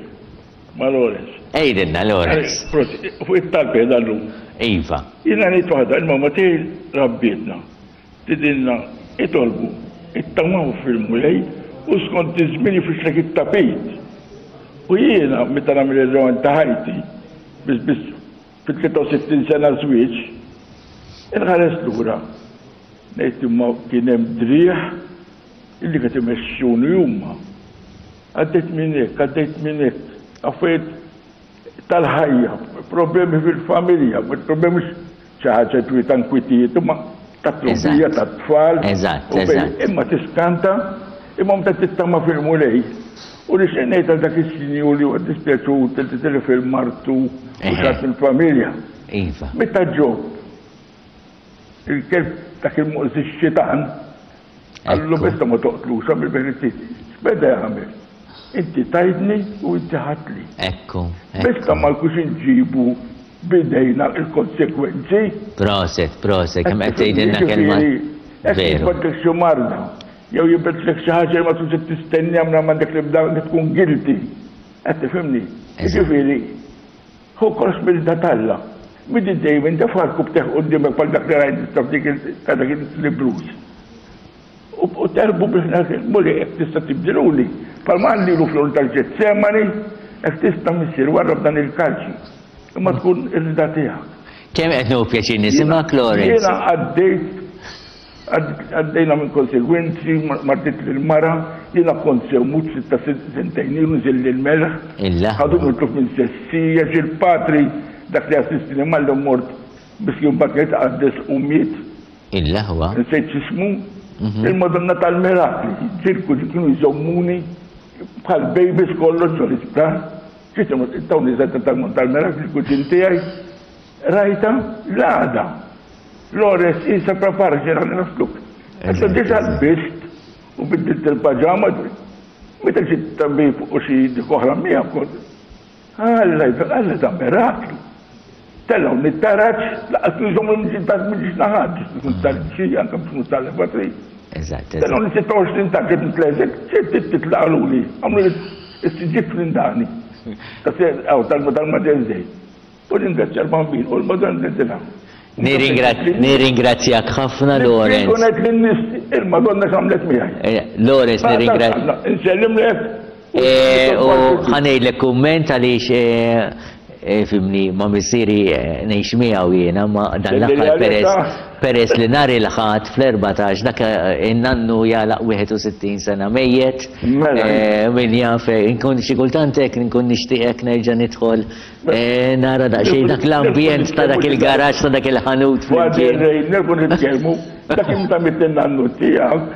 ma' Lawrence. Għidilna Lawrence. Prosit, fuq it-talb qiegħda llum. Iva. Jiena ngħid waħda, il-mamma tiegħi rabbietna. Tgħidilna itolbu, ittamaw fil-Mulej u skont iż-żmien jifrixlek it-tapit. U jiena meta nagħmel ir-rewind ta' ħajti, biss biss Fit-63 sena żwieġ, inħares lura, ngħid imma kien hemm driegħ illi qed imexxuni huma. Għaddejt minn hekk, għaddejt minn hekk, affarijiet tal-ħajja, problemi fil-familja, problemi mhux xi ħaġa ġifieri ta' nkwitijiet, imma ta' trobija, ta' tfal. Eżatt, eżatt. Imma tiskanta, imma meta tittama fil-Mulej, U nixtieq ngħid għal dak is-sinjur li huwa ddispjaċut li tilef il-martu u xi ħadd mill-familja. Iva. Meta Ġob, il-kelb dak il-moqżi x-xitan. Qallu besta ma toqtlux għamil bih X'beda jagħmel? Inti tajtni u inti ħadtli. Ekku. Besta ma jkunx inġibu bidejna il-konsekwenzi. Proset, proset, kemm qed tgħidilna kelma. Jekk jibgħatlek xi marda, jew jibgħatlek xi ħaġa li ma tkunx qed tistenniha minn m'għandek l-ebda li tkun guilty. Qed tifhimni? Jiġifieri, hu kollox mill-da t'Alla. Minn dejjem indefa' rkubtejh quddiemek bħal dak li rajt issa f'dik ta' dak il-librus. U terbu biex ngħid, Mulej, jekk tista' tibdiluli, bħalma qal lilu fl-għorn tal-Ġetsemani, jekk tista' Missier, warrab dan il-kalċi, imma tkun ir-rieda tiegħek. Kemm qed nieħu pjaċir nisimgħek, Lawrence. Jiena għaddejt għaddejna minn konsegwenzi, martit lil-mara, jiena kont sew mut sitta sentejn ilu nżilli l-melħ. Ħaduni tluf minn sessija, xi l-patri dak li assistini malli mort biex kien mbagħad kien jitqaddes u miet. Il-aħwa. Nsejt x'ismu. Il-Madonna tal-Mirakli. Ġirku kienu jżommuni bħal babies kollox ġol isptar. Tawni żgħar tal-Mirakli l-kuġin tiegħi. Rajta l-għada. Lores isa prepara xi ħalli nasluk. Issa diġà lbist u biddilt il-paġama. Meta xi tabib u xi dik oħra miegħek kont Alla, Alla ta' miraklu. Tellgħu mit-taraġ, laqas kienu jżommu mill-ġiex naħat, biex tkun tal-ġi, anke biex tkun tal-levatri. Eżatt. Tellgħu li 26 ta' kif nitlezek, ċert titlaqaluli, għamlu s-siġġiet fl-indani. Tal-Mater Dei. U ringrazzja l-Bambin u l-Madonna ngħidilha. Nirringrazzjak ħafna Lawrence. Nkun qed lin-nies il-Madonna x'għamlet miegħi. Eh, Lawrence nirringrazzjak. Insellimlek. Eh, u ħanejdlek kumment għaliex eh, fimni ma missieri ngħix miegħu jiena ma dan l-aħħar peress peress li nhar il-Ħadd fl-14 dak in-nannu jagħlaq 61 sena mejjet. Mela. Min jaf inkun xi kultant hekk nkun nixtieqek nerġa' nidħol Eh, nara daqsxejn dak l-ambjent ta' dak il-garaġġ ta' dak il-ħanut. Father Ray, nerġgħu nitkellmu, dak meta mitt in-nannu tiegħek,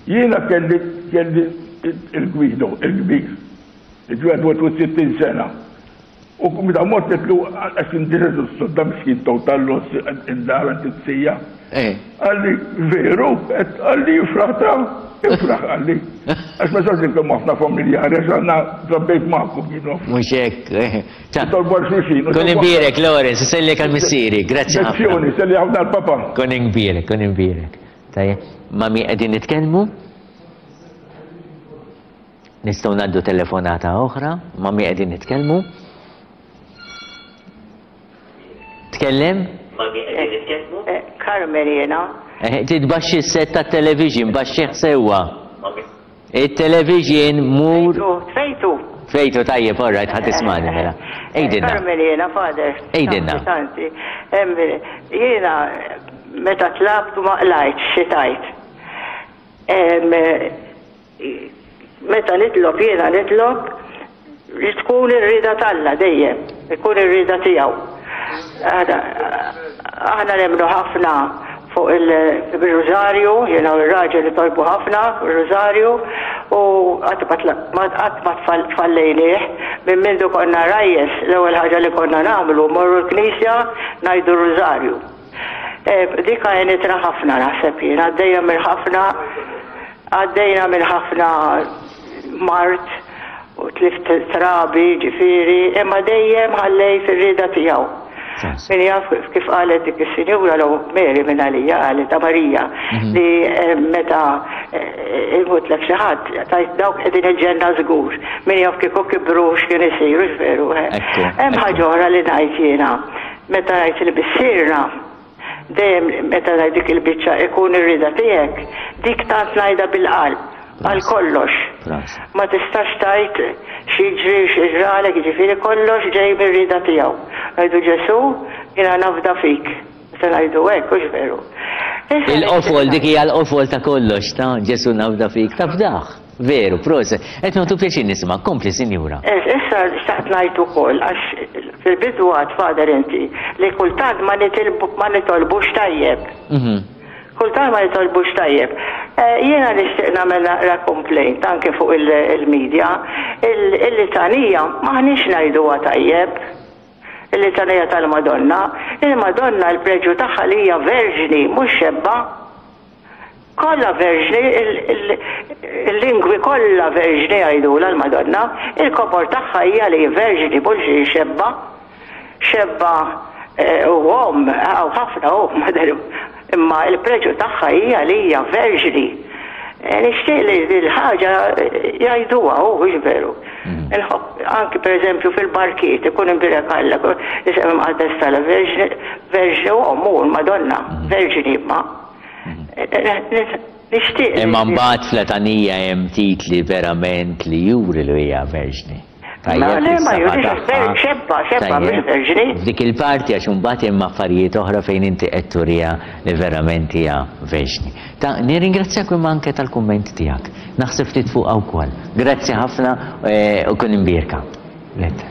jiena kelli kelli il-Gwido, il-kbir, il-61 sena. U meta mort għedtlu għax indirret s-sodda miskin total loss id-dar għand it-sija. Qalli veru, qalli ifraħ ta' ifraħ qalli. Għax ma sarx inkellmu ħafna familjari għax aħna trabbejt magħkom jien. Mhux hekk. Nitolbu għal xulxin. Kun imbierek Lawrence, sellek għal missieri, grazzi ħafna. Lezzjoni, selli ħafna għal papa. Kun imbierek, kun imbierek. Tajjeb, ma' min qegħdin nitkellmu? Nistgħu ngħaddu telefonata oħra, ma' min qegħdin nitkellmu? Tkellem? Ma' min qegħdin nitkellmu? Eh, Carmen jiena. Eh, titbaxxi s-set tat-television, baxxih sewwa. Il-television mur. Tfejtu. Tfejtu tajjeb, all right, ħa tismani mela. Għidilna. Carmen jiena, father. Għidilna. Tanti. Jiena meta tlabt ma qlajtx xi tajt. Meta nitlob jiena nitlob li tkun ir-rieda t'Alla dejjem, ikun ir-rieda tiegħu. Aħna nemmnu ħafna fuq il-rużarju, jiena u r-raġel nitolbu ħafna fuq ir-rużarju u qatt ma tfallejnieh. Minn mindu konna rajjes l-ewwel ħaġa li konna nagħmlu mmorru l-knisja ngħidu r-rużarju. Dik għenitna ħafna naħseb jien, għaddejja minn ħafna għaddejna minn ħafna mard u tlift trabi ġifieri, imma dejjem ħallejt ir-rieda tiegħu. Min jaf kif qalet dik is-sinjura l Mary minn għalija qalet ta' Marija mhm. li eh, meta eh, imutlek xi ħadd tajt dawk qegħdin il-ġenna żgur. Min jaf kieku kibru x'kien isiru veru. Eh. Hemm ħaġa oħra li ngħid jiena. Meta ngħid li missierna, dejjem meta ngħid dik il-biċċa ikun ir-rieda tiegħek, dik tant ngħidha bil-qalb, għal kollox. Ma tistax tgħid x'jiġri x'jiġralek, jiġifieri kollox ġej mir-rieda tiegħu. Ngħidu Ġesù, jiena nafda fik. Meta ngħidu hekk, hux veru. Il-qofol, dik hija l-qofol ta' kollox, ta' Ġesù nafda fik, tafdah. Veru, proset. Qed nagħtu pjaċir nisma'. Kompli, sinjura. Issa xtaqt ngħid ukoll għax fil-bidu għad Father inti li kultant ma ma nitolbux tajjeb. Mhm. Kultant ma nitolbux tajjeb. Eh, jiena nixtieq nagħmel naqra complaint anke fuq il-media. Il-litanija m'aħniex ngħiduha tajjeb. Il-litanija tal-Madonna. Il-Madonna l-preġju tagħha li hija verġni mhux xebba. Kollha verġni, il-lingwi kollha verġni jgħidulha l-Madonna, il-kobor tagħha hija li hi verġni mhux li xebba. Xebba eh, u omm, hawn ħafna omm, imma l-preġu tagħha hija li hija verġni. Eh, nixtieq li dil-ħaġa eh, jgħiduha hu mhux veru. Mm. Inħobb anki pereżempju fil-barkiet ikun imbirek Alla, isem imqaddes tal verġni u omm u l-Madonna, mm. verġni imma. Nixtieq. Imma mbagħad fl-letanija hemm titli verament li juri li hija verġni. Tajjeb, le, ma jurix xebba, xebba mhux verġni. F'dik il-parti għax imbagħad hemm affarijiet oħra fejn inti qed turiha li verament hija verġni. Ta' nirringrazzjak imma anke tal-kumment tiegħek. Naħseb ftit fuqha wkoll. Grazzi ħafna eh, u kun imbierka. Let.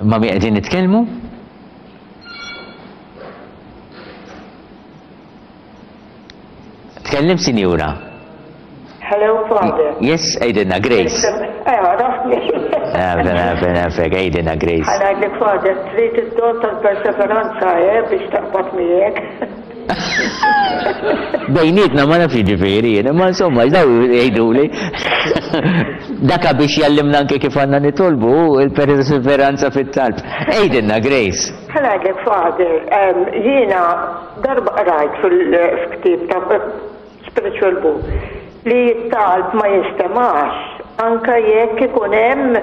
Ma' min qegħdin nitkellmu? Tkellem sinjura. Hello, Father. Yes, għidilna Grace. Eh, għarafni. Nafek, nafek, nafek, għidilna Grace. Ħanajdlek, Father, trid id-don tal-perseveranza, eh, biex taqbad miegħek. Bejnietna ma nafx jiġifieri jien, imma insomma daw jgħiduli. Daka biex jallimna anke kif għandna nitolbu il-perseveranza fit-talb. Għidilna Grace. Ħa ngħidlek Father, jiena darba qrajt fil-ktieb ta' spiritual book li t-talb ma jinstemax anke jekk ikun hemm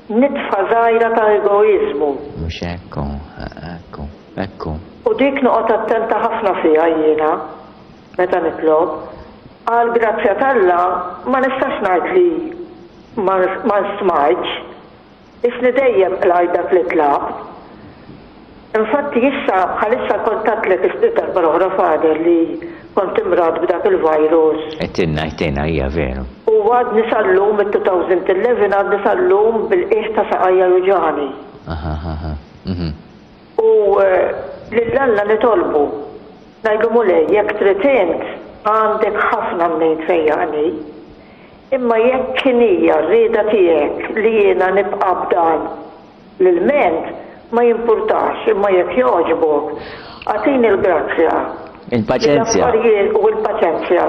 Nitfa żgħira ta' egoiżmu. Mhux hekk hu, hekk hu, hekk hu. U dik noqgħod attenta ħafna fiha jiena meta nitlob. Għall-grazzja t'Alla ma nistax ngħid li ma ma smajtx. Isni dejjem qlajt dak li tlabt. Infatti issa bħalissa kont għedtlek id-darba l-oħra Father li kont imradt b'dak il-virus. Għedtilna, għedtilna, hija veru. U għadni sal-lum mit-2011 għadni sal-lum bil-qiegħ ta' saqajja juġagħni. Aha, aha, mhm. U lil Alla nitolbu. Ngħidlu Mulej jekk trid int għandek ħafna mnejn tfejjaqni. Imma jekk inhija r-rieda tiegħek li jiena nibqa' b'dan L-ilment ma jimpurtax imma jekk jogħġbok agħtini l-grazzja li Il-paċenzja. l-affarijiet u l-paċenzja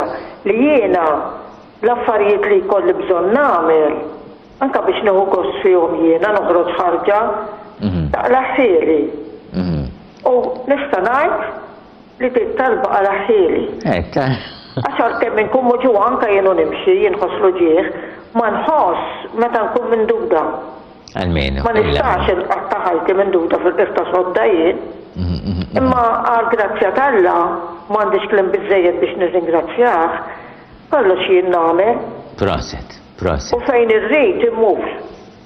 li jiena l-affarijiet li jkolli bżonn nagħmel anke biex nieħu gost fihom jiena noħroġ ħarġa taqlagħhieli. U nista' ngħid li din talba qalagħhieli. Għax għalkemm inkun muġugħa anke jien u nimxi inħoss l-uġigħ, ma nħoss meta nkun minduda. Almenu. Ma nistax inqatta' ħajti minduda fil-qiegħ ta' sodda jien. Imma għall-grazzja t'Alla, m'għandix kliem biżżejjed biex nirringrazzjah, kollox jien nagħmel. Proset, proset. U fejn irrid immur.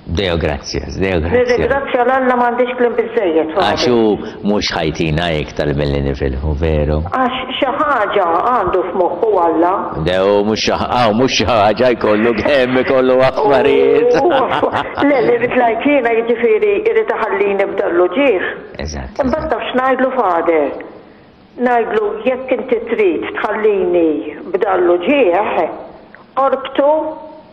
Deo gracias, Deo gracias. Nirringrazzja 'l Alla m'għandix kliem biżżejjed. Għax hu mhux ħa jtina iktar milli nifilħu, veru? Għax xi ħaġa għandu f'moħħu Alla. Deo mhux xi hawn mhux xi ħaġa jkollu kemm ikollu affarijiet. Le, li rrid ngħid jiena jiġifieri jrid iħallini b'dan l-uġigħ. Eżatt. Imbagħad taf x'ngħidlu Father? Ngħidlu jekk inti trid tħallini b'dan l-uġigħ, orbtu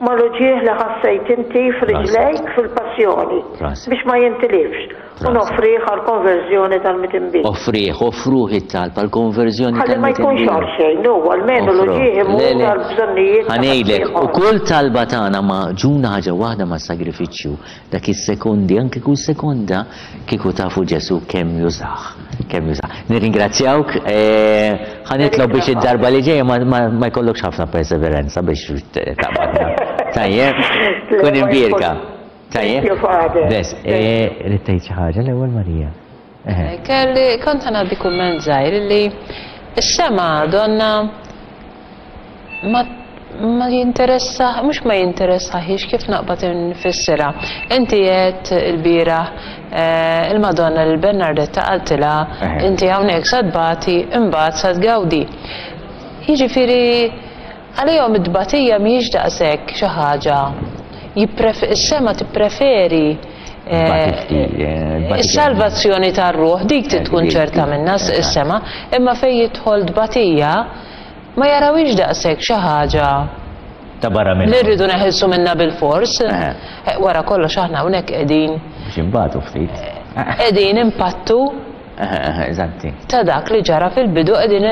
mal-uġigħ li ħassejt inti f'riġlejk fil-passjoni, biex ma jintilifx, u noffrih għall-konverżjoni tal-midinbin. Offrih, offruh it-talb għall-konverżjoni Ħalli ma jkunx tal-midinbin. għal xejn, hu almenu l-uġigħ imur għall-bżonnijiet Ħa ta' ngħidlek, u ħaddieħor. kull talba tagħna magħġuna ħaġa waħda mas-sagrifiċċju, Dak is-sekondi, anke kull sekonda, kieku tafu Ġesù kemm jużah, kemm jużah. Nirringrazzjawk, ħa nitlob biex id-darba li ġejja ma jkollokx ħafna perseveranza biex taqbadna. Tajjeb, kun imbierka. Tajjeb. Bes, ridt tgħid xi ħaġa l-ewwel Marija. Kelli kont ħa ngħaddi kumment żgħir li s-sema donna ma ma jinteressa, mhux ma jinteressahiex kif naqbad infissirha. Inti għedt ilbieraħ eh, il-Madonna lil Bernardetta qaltilha inti hawnhekk sa tbati imbagħad sa tgawdi. Jiġifieri għalihom it-tbatija mhijiex daqshekk xi ħaġa is-sema tippreferi eh, eh, is-salvazzjoni tar-ruħ dik trid tkun ċerta minnha s-sema, imma fejn jidħol tbatija Ma jarawhiex daqshekk xi ħaġa Ta' barra minn li rridu neħilsu minnha bilfors. Wara kollox aħna hawnhekk qegħdin Biex inbatu ftit. qegħdin impattu. Eżatti. Ta' dak li ġara fil-bidu qegħdin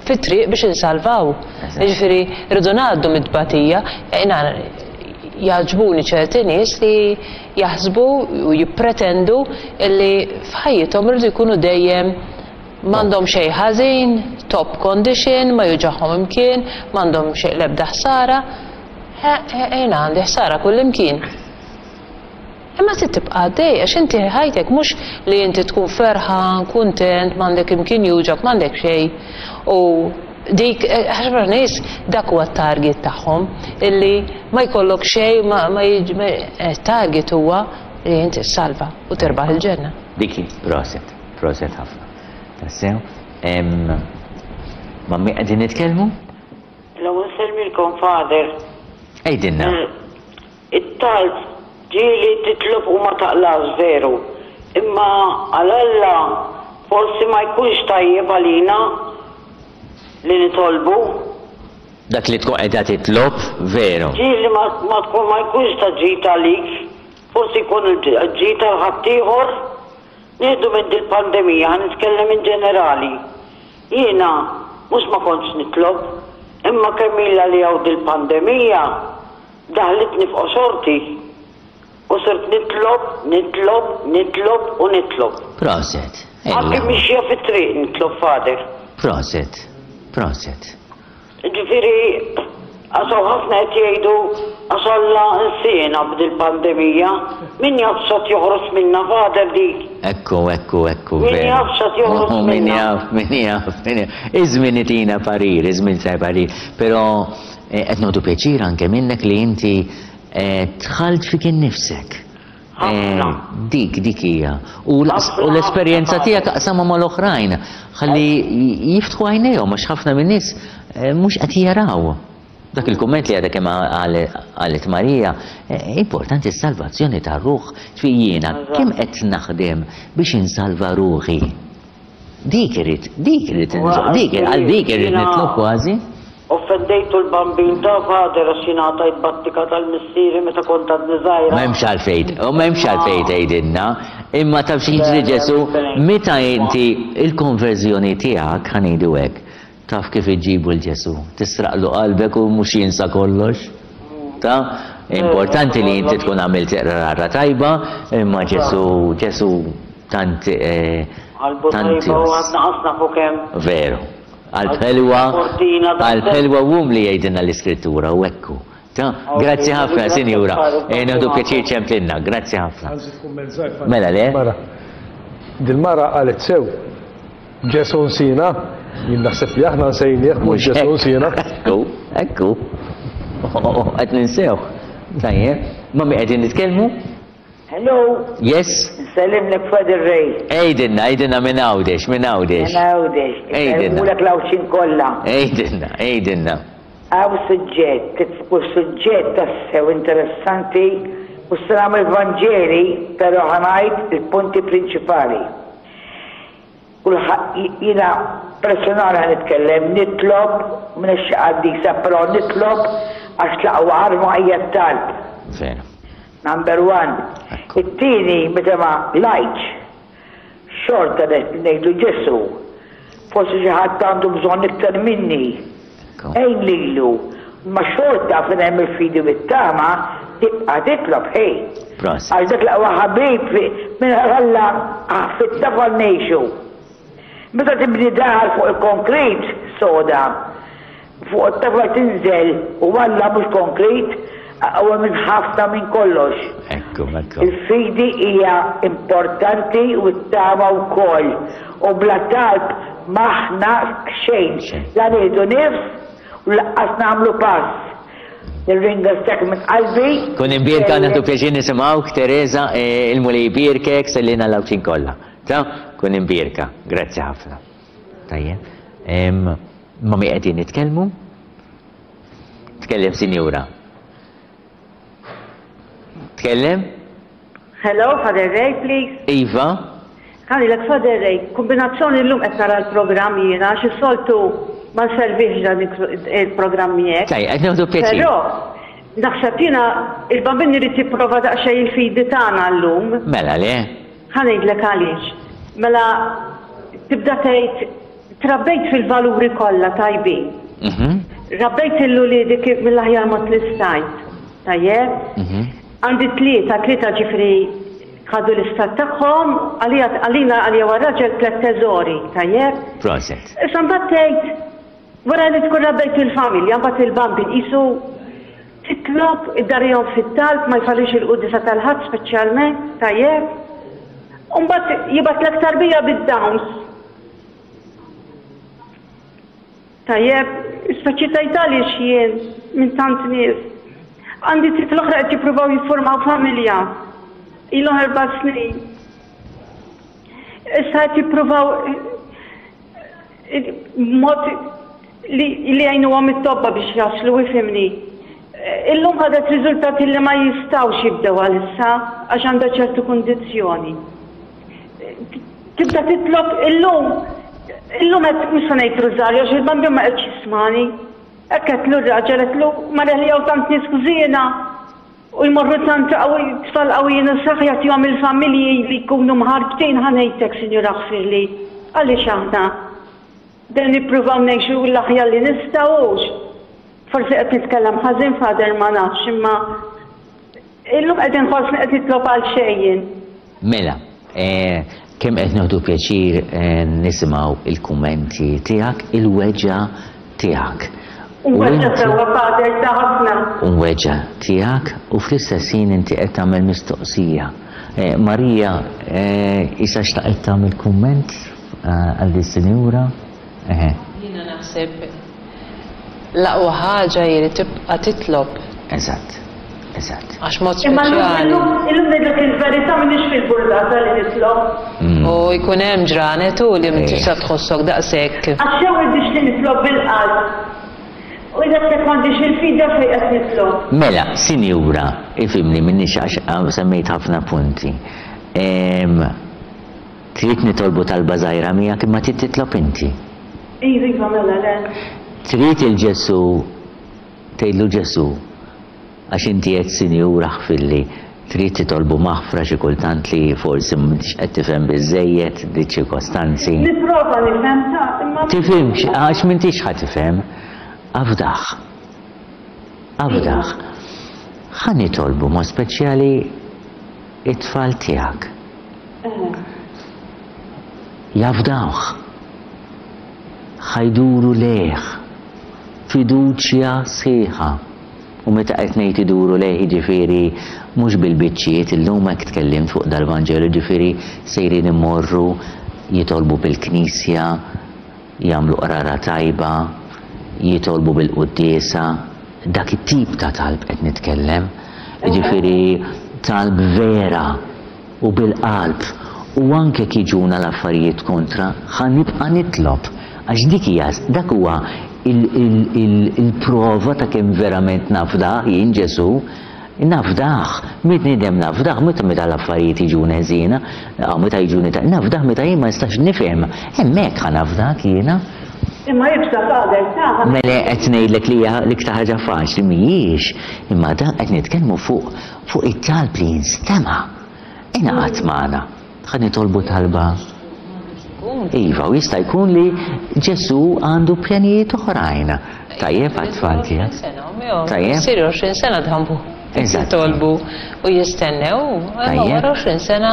fit-triq biex insalvaw. Jiġifieri rridu ngħaddu mit-tbatija. Jiena jagħġbuni ċerti nies li jaħsbu u jippretendu li f'ħajjithom iridu jkunu dejjem m'għandhom xejn ħażin, top condition, ma juġagħhom imkien, m'għandhom xejn l-ebda ħsara. Jiena għandi ħsara kullimkien. Imma trid tibqa' għaddej għax inti ħajtek mhux li inti tkun ferħan, kuntent, m'għandek imkien juġgħek, m'għandek xejn. U dik, ħafna nies dak huwa t-target tagħhom, illi ma jkollok xejn, ma, ma, target huwa li inti ssalva u tirbaħ il-ġenna. Dik hi, proset, proset ħafna. Tassew. Ma' min qegħdin nitkellmu? L-ewwel insellmilkom Father. Għidilna. It-talb ġieli titlob u ma taqlax veru, imma għal Alla forsi ma jkunx tajjeb għalina li nitolbu. Dak li tkun qiegħda titlob, veru. Ġieli ma ma tkun ma jkunx ta' ġid għalik, forsi jkun ġid għal ħaddieħor. Nieħdu minn dil-pandemija, ħa nitkellem in ġenerali. Jiena mhux ma kontx nitlob, imma kemm ilha li hawn dil-pandemija, Daħlitni f'qoxorti u sirt nitlob, nitlob, nitlob u nitlob. Proset. Anki mixja fit-triq nitlob Father. Proset. Proset. Ġifieri għax hawn ħafna qed jgħidu għax Alla nsiena b'dil-pandemija. Min jaf x'għad joħroġ minnha Father dik. Ekku, ekku, ekku. Min jaf x'għad joħroġ minnha. Min jaf, min jaf, min jaf. Iż-żmien itina parir, iż-żmien itina parir. Però Qed nieħdu pjaċir anke minnek li inti dħalt fik innifsek. Dik, dik hija. U l-esperjenza tiegħek aqsamha mal-oħrajn ħalli jiftħu għajnejhom għax ħafna min-nies mhux qed jaraw. Dak il-kumment li għadha kemm qalet Marija, importanti s-salvazzjoni tar-ruħ. Ġifieri jiena kemm qed naħdem biex insalva ruħi? Dik irrid, dik irrid, dik għal dik irrid nitlob kważi. Offendejtu l-Bambin ta' Father għax jien għatajt battika tal-missieri meta kont għadni żgħira. M'hemmx għalfejn, u m'hemmx għalfejn tgħidilna, imma taf xi jiġri Ġesù, meta inti il-konverżjoni tiegħek, ħa ngħidu hekk, taf kif iġġibu 'l Ġesù, tisraqlu qalbek u mhux jinsa kollox. Ta? Importanti li inti tkun għamilt rara tajba, imma Ġesù, Ġesù tant Qalbu tant tajba u għadna qas nafu kemm. Veru. Qalb ħelwa, qalb ħelwa u umli jgħidilna l-Iskrittura u hekk hu. Ta? Grazzi ħafna, Sinjura. Eh, Nieħdu pjaċir ċemplilna. Grazzi ħafna. Mela le? Mara. Dil-mara qalet sew. Ġesu nsina, jien naħseb li aħna nsejnieh mhux Ġesu nsina. Ekku, ekku. Qed ninsew. Tajjeb, ma mi qegħdin nitkellmu? Hello. Yes. Nsellimlek Father Ray. Għidilna, għidilna minn Għawdex, minn Għawdex. Minn Għawdex. Għidilna. Insellmulek l-Għawdxin kollha. Għidilna, għidilna. Hawn suġġett, u suġġett tassew interessanti, mhux se nagħmel Vanġeli, però ħa ngħid il-punti prinċipali. Kulħadd, jiena personali ħa nitkellem, nitlob, m'iniex xi qaddisa, però nitlob għax l-aqwa arma hija t-talb. Veru. Number one. It-tieni, meta ma qlajtx, xorta ngħidlu Ġesù, forsi xi ħadd għandu bżonn iktar minni. Għin lilu. Imma xorta fejn hemm il-fidi u t-tama, tibqa' titlob, ħej. Għax dak l-aqwa ħabib mingħajr Alla fit-tafal ngħixu. Meta tibni dar fuq il-konkrit soda, Fuq it-tafal tinżel u Alla mhux konkrit, aqwa minn ħafna minn kollox. Ekku, ekku. Il-fidi hija importanti u t-tama wkoll. U bla talb m'aħna xejn. La nieħdu nifs u lanqas nagħmlu pass. Nirringrazzjak minn qalbi. Kun imbierka, nieħdu pjaċir nisimgħuk, Teresa, il-Mulej ibierkek, sellilna l-Għawdxin kollha. Ta? Kun imbierka. Grazzi ħafna. Tajjeb. Ma' min qegħdin nitkellmu? Tkellem sinjura. Tkellem? Hello, Father Ray, please. Iva. Ħanilek Father Ray, kombinazzjoni llum qed nara l-programm jiena għax is-soltu ma nservix dan il-programm miegħek. Taj, qed nieħdu pjaċir. Però naħseb jiena il-bambin irid jipprova daqsxejn il-fidi tagħna llum. Mela le. Ħa ngħidlek għaliex. Mela tibda tgħid trabbejt fil-valuri kollha tajbin. Mhm. Rabbejt il-uliedi kif mill-aħjar mod li stajt. Tajjeb? Mhm. Għandi tlieta, tlieta ġifri ħadu l-istat tagħhom, għalija għalina għalija war-raġel tliet teżori, tajjeb? Proset. Issa mbagħad tgħid wara li tkun rabbejt il-familja, mbagħad il-bambin qisu titlob iddarihom fit-talb ma jfallix il-quddiesa tal-Ħadd speċjalment, tajjeb? U mbagħad jibgħatlek tarbija bid-downs. Tajjeb, speċi tgħid għaliex jien minn tant nies. Għandi tifla oħra qed jippruvaw jiffurmaw familja. Ilhom erba' snin. Issa qed jippruvaw mod li li jgħinuhom it-tobba biex jaslu ifhimni. Illum ħadet riżultati li ma jistgħux jibdew għalissa għax għandha ċertu kundizzjoni. Tibda titlob illum, illum qed mhux se ngħid rużarju għax il-bambin ma qedx jismani. Hekk għedtlu r-raġel għedtlu mara li hawn tant nies ħżiena u jmorru tant tfal qawwijin u saħ jagħtihom il-familji li jkunu mħarbtin ħa ngħidlek Sinjur aħfirli. Għaliex aħna dejjem nippruvaw ngħixu l-aħjar li nistgħu hux. Forsi qed nitkellem ħażin Father ma nafx imma Illum qed inħossni qed nitlob għal xejn jien. Mela, kemm qed nieħdu pjaċir nisimgħu il-kummenti tiegħek, il-weġgħa tiegħek. Mweġġa' sewwa Father, ta' ħafna. Mweġġa' tiegħek u fl-istess ħin inti qed tagħmel mistoqsija. Marija, isa xtaqet tagħmel kumment għal dis-sinjura? Eħe. Jiena naħseb L-aqwa ħaġa hi li tibqa' titlob. Eżatt. Eżatt. Għax mod speċjali. Imma llum, illum ngħidlek il-verità m'iniex fil-burdata li nitlob. U jkun hemm ġranet hu li m'intix sa tħossok daqshekk. Għax jew irridx li nitlob bil-qalb. U jekk m'għandix il-fidi għalfejn qed nitlob. Mela, sinjura, ifhimni m'iniex għax semmejt ħafna punti. Trid nitolbu talba żgħira miegħek imma trid titlob inti. Iva, iva, mela le. Trid 'il Ġesù tgħidlu Ġesù, għax inti għedt Sinjur aħfirli, trid titolbu maħfra xi kultant li forsi m'intix qed tifhem biżżejjed di ċirkostanzi. Nipprova nifhem ta' imma. Tifhimx, għax m'intix ħa tifhem. Afdah. Afdah. Ħa nitolbu mod speċjali it-tfal tiegħek. Jafdawh. Ħa jduru lejh. Fiduċja sħiħa. U meta qed ngħid iduru lejh jiġifieri mhux bil-biċċiet, illum hekk tkellimt fuq dal-Vanġelu, jiġifieri sejrin imorru jitolbu bil-Knisja, jagħmlu qrara tajba, jitolbu bil-quddiesa, dak it-tip ta' talb qed nitkellem. Jiġifieri talb vera u bil-qalb u anke jekk jiġuna l-affarijiet kontra, ħa nibqa' nitlob għax dik hija dak huwa il-prova ta' kemm verament nafdah jien Ġesù. Nafdah, bniedem nafdah meta meta l-affarijiet jiġuni ħżiena, aw meta jiġuni ta' nafdah meta jien ma nistax nifhem, hemmhekk ħa nafdak jiena. Imma iebsa Father, ta'. Mela qed ngħidlek li hija l-iktar ħaġa faċli, mhijiex, imma dan qed nitkellmu fuq fuq it-talb li jinstema'. Ingħaqad magħna. Ħa nitolbu talba. Iva, u jista' jkun li Ġesù għandu pjanijiet oħrajn. Tajjeb għat-tfal tiegħek. Tajjeb. Sir 20 sena dħambu. Eżatt. Jitolbu u jistennew, imma wara 20 sena.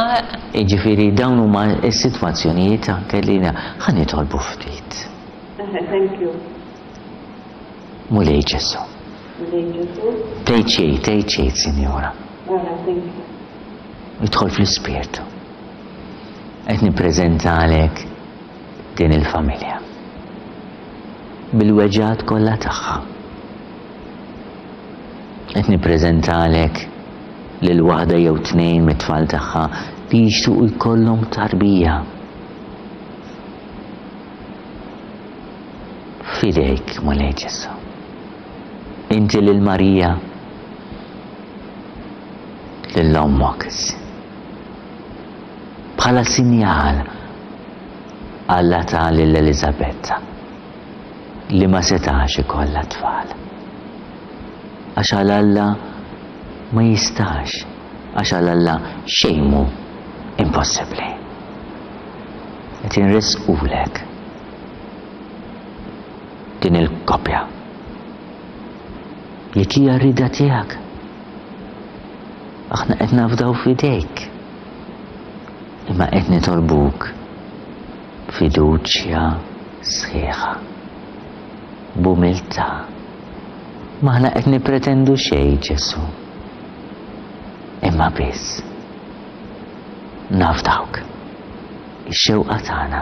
Jiġifieri dawn huma s-sitwazzjonijiet anke li ħa nitolbu ftit. Thank you. Mulej Ġesù. Mulej Ġesù. Tgħid xejn, tgħid xejn, Sinjura. Thank you. Idħol fl-Ispirtu. Qed nippreżentalek din il-familja. Bil-weġgħat kollha tagħha. Qed nippreżentalek lil waħda jew tnejn mit-tfal tagħha li jixtiequ jkollhom tarbija. F'idejk, Mulej Ġesù. Inti lil Marija lil ommok issa. Bħala sinjal Alla ta lil Eliżabetta li ma setax ikollha tfal. Għax għal Alla ma jistax, għax għal Alla xejn mhu impossibbli. Qed inressqulek din il-koppja. Jekk hija r-rieda tiegħek, aħna qed nafdaw f'idejk. Imma qed nitolbuk b'fiduċja sħiħa, b'umiltà. M'aħna qed nippretendu xejn, Ġesù, imma biss nafdawk. Ix-xewqa tagħna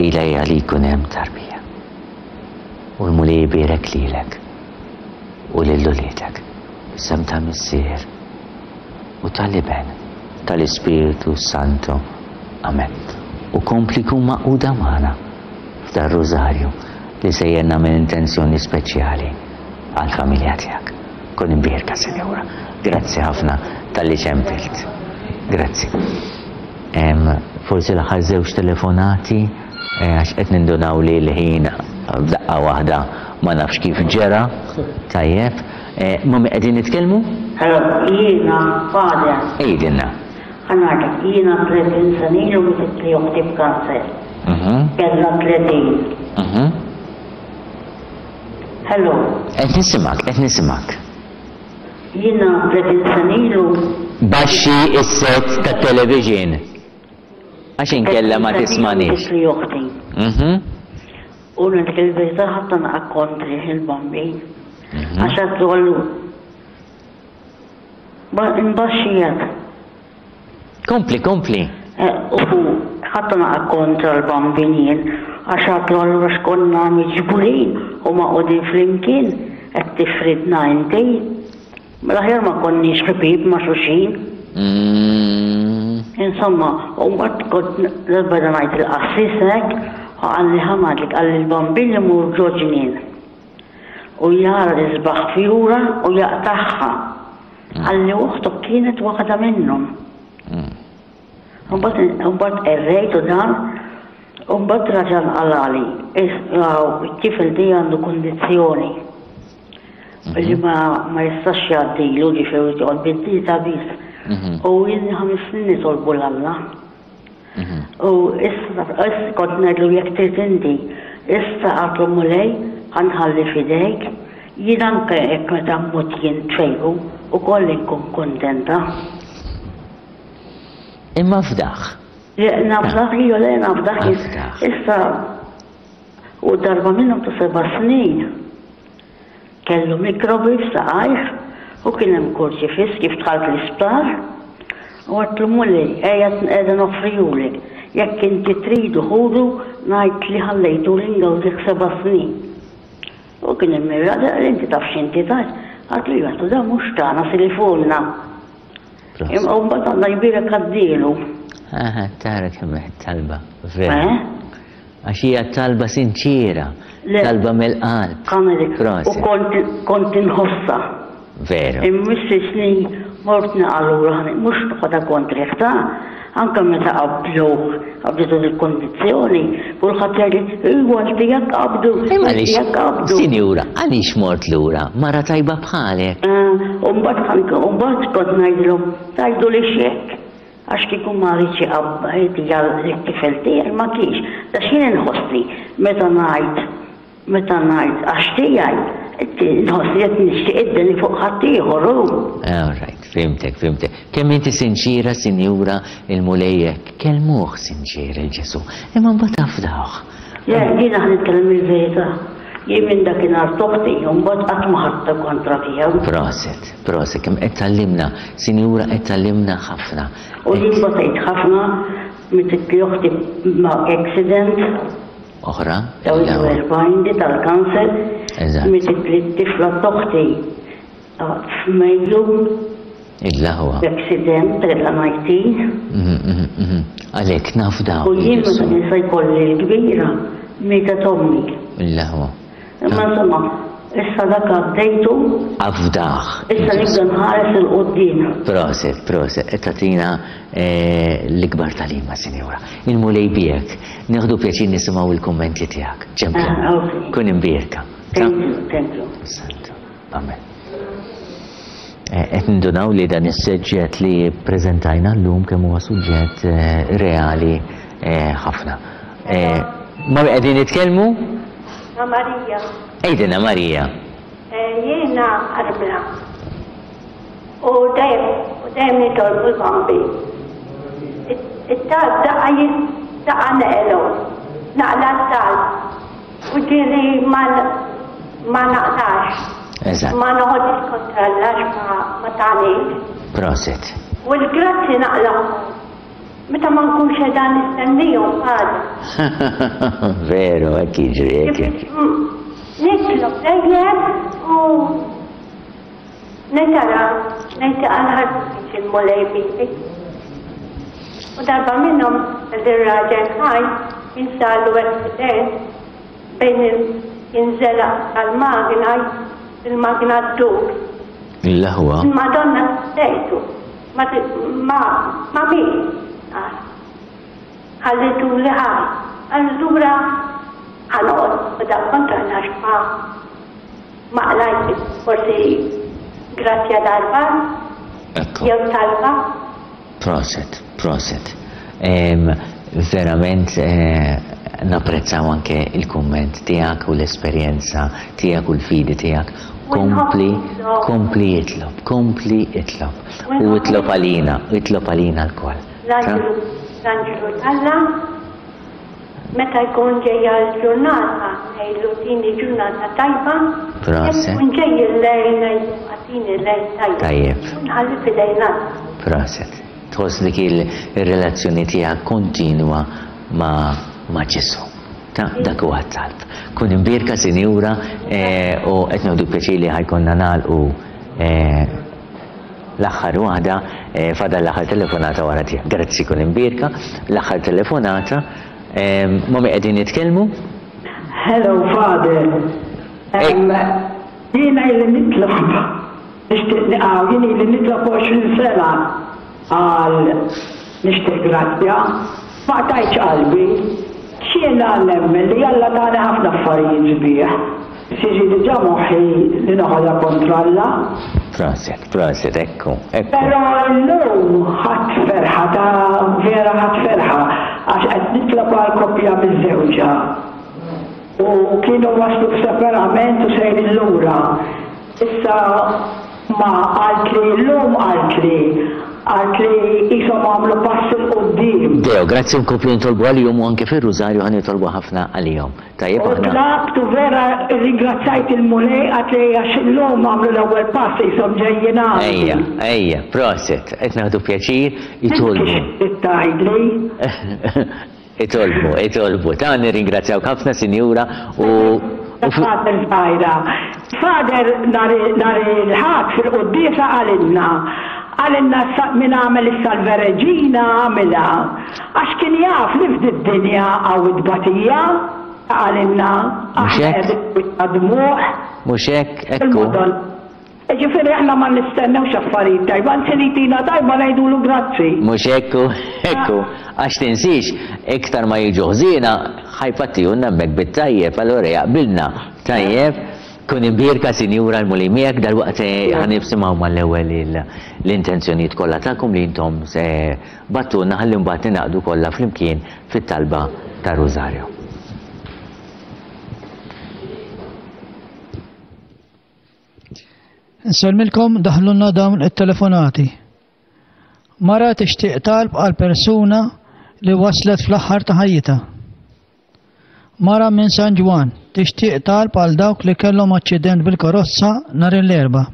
ilha hija li jkun hemm tarbija. U l-Mulej ibierek lilek u lil uliedek. F'isem tal-Missier u tal-Iben tal-Ispirtu Santu. Amen. U kompli kun magħquda magħna f'dar-Rużarju li sejjer nagħmel intenzjoni speċjali għall-familja tiegħek. Kun imbierka, Sinjura. Grazzi ħafna talli ċempilt. Grazzi. Forsi l-aħħar żewġ telefonati eh, għax qed nindunaw li l-ħin f'daqqa waħda ma nafx kif ġera. Tajjeb. Eh, ma' min qegħdin nitkellmu? Hello, jiena Father. Għidilna. Ħa ngħidlek, jiena 30 sena ilu mititli oħti b'kanser. Mhm. Kellha 30. Mhm. Hello. Qed nisimgħek, qed nisimgħek. Jiena 30 sena ilu. Baxxi s-set tat-television. Għax inkella ma tismanix. Mititli oħti. Mhm. U ngħidlek il-verità ħadd naqa' kontrih il-Bambin. Għax għaddu għallu. Imbaxxijak. Kompli, kompli. Eh, u ħadd naqa' kontra l-Bambin jien għax għadlu allura x'konna miġburin u maqgħudin flimkien qed tifridna inti. Mela aħjar ma konniex ħbieb ma' xulxin. Insomma, u mbagħad kont darba ngħid il-qassis hekk, u qalli ħa ngħidlek qalli l-bambin imur ġo ġnien u jara l-isbaħ fjura u jaqtagħha. Qalli oħtok kienet waħda minnhom. Mbagħad qerrejt u dan, u mbagħad raġa' nqalali, it-tifel tiegħi għandu kundizzjoni. Li ma ma jistax jgħaddilu ġifieri joqgħod bid-dieta biss. Mhm. U jien ħames snin nitolbu 'l Alla. Mhm. U issa kont ngħidlu jekk trid inti, issa għatlu Mulej ħanħalli f'idejk, jien anke jekk meta mmut jien tfejqu ukoll inkun kuntenta. Imma fdaħ. Nafdaħ, jew le nafdaħ. Issa U darba minnhom ta' seba' snin kellu mikrobi f'saqajh u kien hemm kurċifiss kif dħalt l-isptar u għedtlu Mulej ejja qiegħda noffrihulek jekk inti tridu ħudu ngħid li ħallejtuli ngawdih seba' snin. U kien hemm ir-raġel qal inti taf x'inti tgħid? Għedtlu iva għedtlu dan mhux tagħna silifulna. Imma mbagħad Alla jbierek għaddielu. Aha, tara kemm talba, vera. Eh? Għax hija talba sinċiera, talba mill-qalb. U kont kont inħossha. Veru. Imma snin mort naqalura mhux noqgħodha kontrih ta' anke meta qablu qabditu il-kondizzjoni, kulħadd jgħidli iwa tiegħek qabdu, tiegħek qabdu. Sinjura, għaliex mort lura? Mara tajba bħalek. Eh, u mbagħad u mbagħad kont ngħidilhom tgħidu li x'hekk. Għax kieku ma riedx iqabbad lit-tifel tiegħi ma kienx. Għax jien inħossni meta ngħid meta ngħid għax tiegħi, inħossni qed nixtieq id-deni fuq ħaddieħor hu. All right, fhimtek, fhimtek. Kemm inti sinċiera, sinjura, il-Mulej hekk, kellmuh sinċier il Ġesù, imma mbagħad afdawh. Le, jiena ħa nitkellem il-verità. Jien minn dakinhar t'oħti u mbagħad qatt ma ħadtha kontra tiegħu. Proset, proset, kemm qed tgħallimna, sinjura qed tgħallimna ħafna. U jien batejt ħafna, mititli oħti ma' accident. Oħra? Ta' 41 di tal-kanser. Eżatt. Mititli t-tifla t'oħti f'Mejju. Il-aħwa. Accident kellha 19. Mhm, mhm, mhm. Għalhekk naf dawn. U jien meta nisa jkolli l-kbira, mietet ommi. Il-aħwa. Imma insomma, issa dak għaddejtu. Afdaħ. Issa nibda nħares 'il quddiem. Proset, proset, qed tagħtina eh, l-ikbar tagħlima, sinjura. Il-Mulej biegħek. Nieħdu pjaċir nisimgħu l-kummenti tiegħek. Ċempel. Ah, Kun imbierka. Thank you, thank you. Amen. Qed nindunaw li dan is-suġġett li ppreżentajna llum kemm huwa suġġett reali ħafna. Ma' min qegħdin nitkellmu? Ma' Marija. Għidilna Marija. Jiena armla u dejjem u dejjem nitolbu l-Bambin. It-talb daqqa daqqa neqlu, naqla t-talb u ġieli ma ma naqlax. Eżatt. Ma noħodx kontra Alla għax ma ma tagħnix. Prosit. U l-grazzi naqlahom meta ma nkunx qiegħda nistennihom għada. Veru, hekk jiġri, hekk jiġri. Nitlob dejjem u ngħid ara ngħid għal ħadd il-Mulej bili. U darba minnhom ir-raġel ħaj jinsallu accident bejn jinżelaq tal-magna il-magna ddur. Il-aħwa. Il-Madonna sejtu ma ma ma min ħallitu li ħaj. Allura ħa noqgħod da kontra għax ma ma qlajt forsi grazzja darba jew talba. Proset, proset. Verament napprezzaw anke il-kumment tiegħek u l-esperjenza tiegħek u l-fidi tiegħek. Kompli, kompli itlob, kompli itlob. U itlob għalina, itlob għalina lkoll. L-anġlu t'Alla meta jkun ġejja l-ġurnata ngħidlu tini ġurnata tajba, Proset. Jekk ikun ġej il-lejl ngħidlu agħtini lejl tajjeb. Tajjeb. U nħalli f'idejn Alla. Proset. Tħoss dik il-relazzjoni tiegħek kontinwa ma' ma' Ġesù. Ta' dak huwa t-talb. Kun imbierka Sinjura u qed nieħdu pjaċir li ħa jkollna nagħlqu L-aħħar waħda, fadal l-aħħar telefonata wara tiegħek. Grazzi kun imbierka. L-aħħar telefonata, ma' min qegħdin nitkellmu? Hello Father. Jiena ili nitlob nixtieq naqgħu, jien ili nitlob 20 sena għal nixtieq grazzja. Ma qtajtx qalbi. X'jiena nemmen li Alla tani ħafna affarijiet sbieħ. Siġi diġà moħħi li noħodha kontra Alla. Proset, proset, ekku, ekku. Però illum ħadt ferħa ta' vera ħadt ferħa għax qed nitlob għal koppja miżżewġa u kienu waslu f'separament u sejrin lura. Issa ma qaltli llum qaltli qaltli qishom għamlu pass 'il quddiem. Deo, grazzi nkomplu nitolbu għalihom u anke fir-Rużarju ħa nitolbu ħafna għalihom. Tajjeb U aħna. tlabt u vera rringrazzjajt il-Mulej qaltli għax illum għamlu l-ewwel pass qishom ġejjin għandi. Ejja, ejja, proset, qed nieħdu pjaċir itolbu. Xi trid tgħidli? Itolbu, itolbu. Ta' nirringrazzjawk ħafna, Sinjura, u Father żgħira. Father nhar il-Ħadd fil-quddiesa qalilna, qalilna min għamel is-Salve Regina għamilha għax kien jaf li f'did-dinja hawn it-tbatija, qalilna aħna qegħdin wiċċna dmugħ. Mhux hekk, hekk hu. Jiġifieri aħna ma nistennewx affarijiet tajba, anzi li jtina tajba ngħidulu grazzi. Mhux hekk hu, hekk hu. Għax tinsiex, iktar ma jiġu ħżiena, ħa jpattihulna hemmhekk bit-tajjeb, allura jaqbilna. Tajjeb? Kun imbierka Sinjura l-Mulej miegħek, dalwaqt ħa nisimgħu mal-ewwel l-intenzjonijiet kollha tagħkom li intom bagħtulna ħalli mbagħad ningħaqdu kollha flimkien fit-talba tar-Rużarju. Insellmilkom daħlulna dawn it-telefonati. Mara tixtieq talb għal persuna li waslet fl-aħħar ta' ħajjitha. Mara minn San Ġwann tixtieq talb għal dawk li kellhom aċċident bil-karozza nhar l-Erbgħa.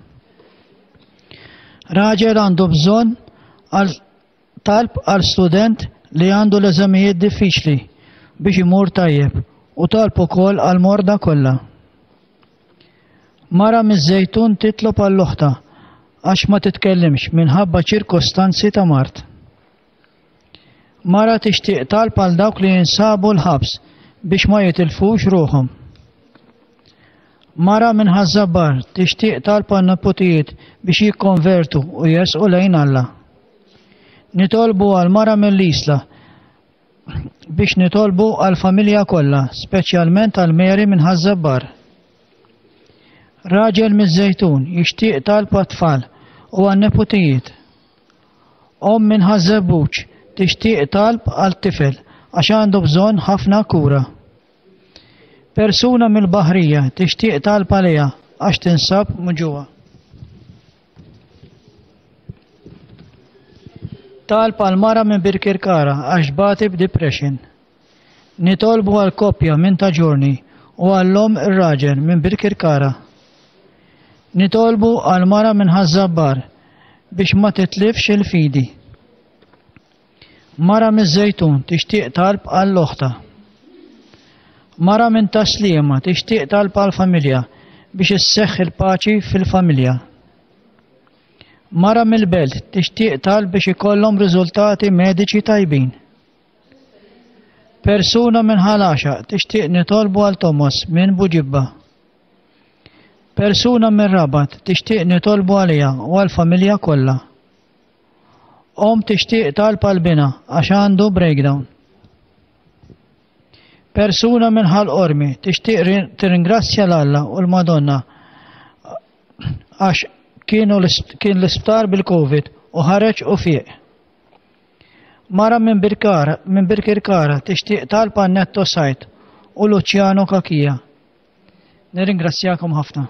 Raġel għandu bżonn għal talb għal student li għandu l-eżamijiet diffiċli biex imur tajjeb u talb ukoll għal morda kollha. Mara miż-Żejtun titlob għal oħtha għax ma titkellimx minħabba ċirkostanzi ta' mard. Mara tixtieq talb għal dawk li jinsabu l-ħabs biex ma jitilfux ruħhom. Mara minn Ħaż-Żabbar tixtieq talb għan-neputijiet biex jikkonvertu u jersqu lejn Alla. Nitolbu għal mara mill-Isla biex nitolbu għall-familja kollha, speċjalment għal Mary minn Ħaż-Żabbar. Raġel miż-Żejtun jixtieq talb għat-tfal u għan-neputijiet. Omm minn Ħaż-Żebbuġ tixtieq talb għal tifel għax għandu bżonn ħafna kura. Persuna mill-Baħrija tixtieq talb għaliha għax tinsab muġugħa. Talb għal mara minn Birkirkara għax tbati b'depression. Nitolbu għal koppja minn Ta' Ġurni u għall-omm ir-raġel minn Birkirkara. Nitolbu għal mara minn Ħaż-Żabbar biex ma titlifx il-fidi. Mara miż-Żejtun tixtieq talb għal oħtha. Mara minn Tas-Sliema tixtieq talb għall-familja biex isseħħ il-paċi fil-familja. Mara mill-Belt tixtieq talb biex ikollhom riżultati mediċi tajbin. Persuna minn Ħal Għaxaq tixtieq nitolbu għal Thomas minn Buġibba. Persuna mir-Rabat tixtieq nitolbu għaliha u għall-familja kollha. Omm tixtieq talb għal binha għax għandu breakdown. Persuna minn Ħal Qormi tixtieq tirringrazzja 'l Alla u l-Madonna għax kienu kien l-isptar bil-Covid u ħareġ u fieq. Mara minn Birkara minn Birkirkara tixtieq talb għal Netto Said u Luciano Cachia. Nirringrazzjakom ħafna.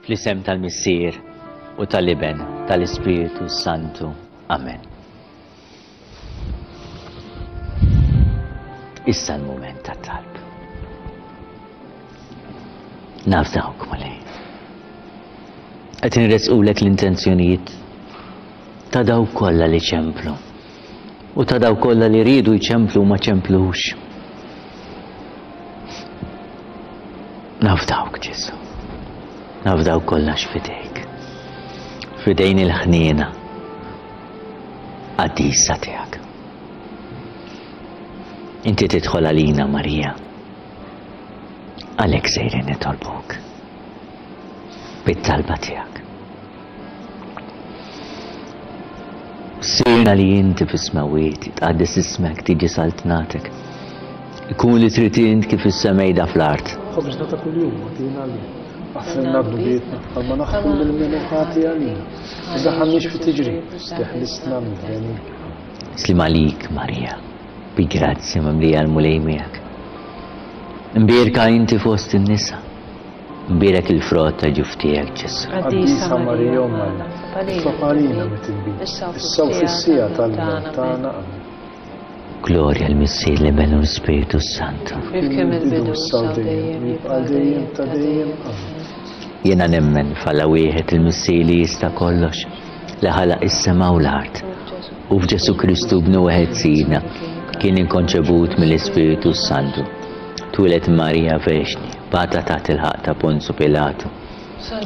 Fl-isem tal-Missier u tal-Iben tal-Ispirtu Santu. Amen. Issa l-mument tat-talb. Naf dawk Mulej. Qed inressqulek l-intenzjonijiet ta' dawk kollha li ċemplu u ta' dawk kollha li riedu jċemplu u ma ċemplux. Naf dawk Ġesu. Naf dawk kollox f'idejk. F'idejn il-ħniena qaddisa tiegħek. Inti tidħol għalina Marija. Għalhekk sejrin nitolbuk. Bit-talba tiegħek. Sirna li inti fis-smewwiet, tqaddes ismek, tiġi saltnatek. Ikun li trid int kif is-semejda fl-art. Ħobżna ta' kuljum agħtina llum. Aħfrilna dnubietna bħalma naħfru lil min hu ħati għalina. Ma tdaħħalniex fi tiġrib, teħlisna mid-deni. Sliem għalik, Marija, bi grazzja mimlija l-Mulej miegħek. Imbierka inti fost in-nisa. Imbierek il-frott ta' ġuf tiegħek, Ġesù. Qaddisa Marija Omm Alla, itlob għalina mitibin, issa u fis-siegħa tal-mewt tagħna. Amen. Glorja l-Missier, l-Iben u l-Ispirtu s-Santu. Kif kien mill-bidu, issa u dejjem, u jibqa' dejjem ta' dejjem. Amen. Jiena nemmen f'Alla wieħed il-Missier li jista' kollox, li ħalaq is-sema u l-art, u f'Ġesù Kristu Ibnu wieħed Sidna, kien inkonċebut mill-Ispirtu s-Santu. Twieled Marija Verġni, bata taħt il-ħaqq ta' Ponzu Pilatu.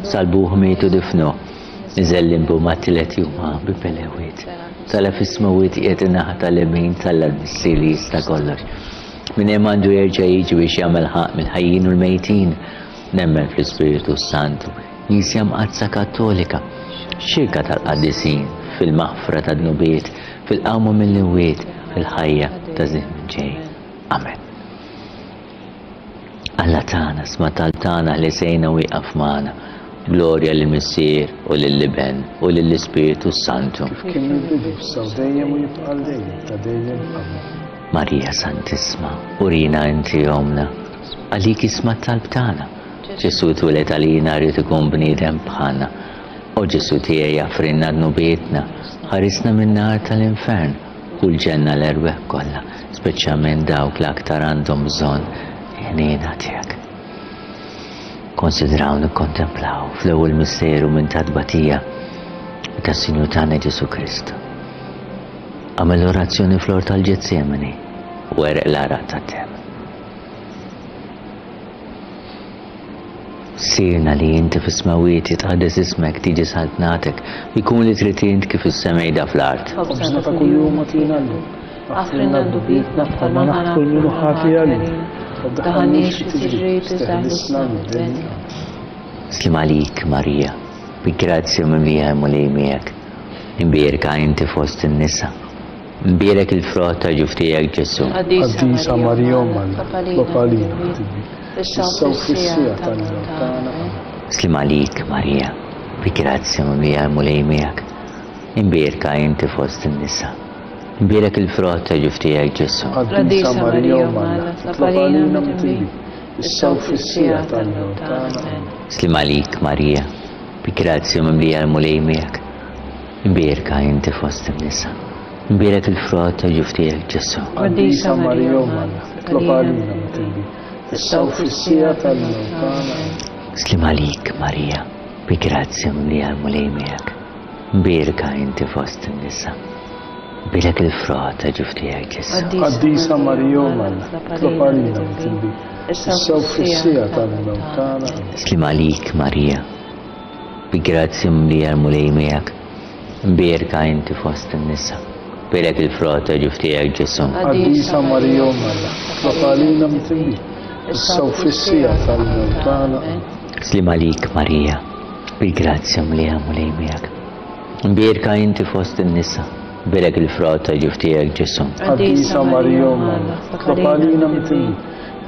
Salbuh, miet u difnuh. Niżel limbu mat-tielet jum qam bi-belewiet. Tala' fis-smewwiet qiegħed in-naħa tal-lemin t'Alla l-Missier li jista' kollox. Minn hemm għandu jerġa' jiġi biex jagħmel ħaqq mill-ħajjin u l-mejtin. Nemmen fl-Ispirtu s-Santu, Knisja Mqaddsa Kattolika, xirka tal-qaddisin, fil-maħfra tad-dnubiet, fil-qawma mill-imwiet, fil-ħajja ta' żmien ġej. Amen. Alla tagħna, sma' talb tagħna ħlisejna u ieqaf magħna. Glorja lill-Missier u lill-Iben u lill-Ispirtu s-Santu. Kif kien mill-bidu, issa u dejjem u jibqa' għal dejjem ta' dejjem. Amen. Marija Santissma, urina inti ommna, għalik isma' t-talb tagħna. Ġesù twieled għalina ried ikun bniedem bħalna. O Ġesù tiegħi aħfrilna dnubietna, ħarisna min-nar tal-infern. Hu l-ġenna l-erwieħ kollha, speċjalment dawk li aktar għandhom bżonn il-ħniena tiegħek. Konsidraw nikkontemplaw fl-ewwel misteru minn ta' tbatija tas-Sinjur tagħna Ġesù Kristu. Għamel orazzjoni fl-ort tal-Ġetsemani u għereq l-għaraq tad-demm. Missierna li inti fis-smewwiet jitqaddes ismek, tiġi saltnatek, ikun li trid int kif fis-semejda fl-art. Ħobżna ta' kuljum agħtina llum. Aħfrilna dnubietna bħalma naħfru lil min hu ħati għalina. Ma ddaħħalniex fi tiġrib, iżda eħlisna mid-deni. Amen. Sliem għalik, Marija, bi grazzja mimlija l-Mulej miegħek. Imbierka inti fost in-nisa. Imbierek il-frott ta' ġuf tiegħek, Ġesù. Qaddisa Marija Omm Alla, itlob għalina ħatibin, issa u fis-siegħa tal-mewt tagħna. Amen. Sliem għalik, Marija, bi grazzja mimlija l-Mulej miegħek. Imbierka inti fost in-nisa. Imbierek il-frott ta' ġuf tiegħek, Ġesù. Qaddisa Marija Omm Alla, itlob għalina mitibin, issa u fis-siegħa tal-mewt tagħna. Amen. Sliem għalik, Marija, bi grazzja mimlija l-Mulej miegħek. Imbierka inti fost in-nisa. Imbierek il-frott ta' ġuf tiegħek, Ġesù. Qaddisa Marija Omm Alla, itlob għalina mitibin, issa u fis-siegħa tal-mewt tagħna. Amen. Sliem għalik, Marija, bi grazzja mimlija l-Mulej miegħek. Imbierka inti fost in-nisa. Imbierek il-frott ta' ġuf tiegħek, Ġesù. Qaddisa Marija Omm Alla, itlob għalina mitibin, issa u fis-siegħa tal-mewt tagħna. Amen. Sliem għalik, Marija, Bi grazzja mimlija l-Mulej miegħek. Imbierka inti fost in-nisa. Bierek il-frott ta' ġuf tiegħek, Ġesù. Qaddisa Marija Omm Alla, itlob għalina mitibin, issa u fis-siegħa tal-mewt tagħna. Amen. Sliem għalik, Marija, bil-grazzja mlija l-Mulej miegħek. Imbierka inti fost in-nisa. Bierek il-frott ta' ġuf tiegħek, Ġesù. Qaddisa Marija Omm Alla, itlob għalina mitibin,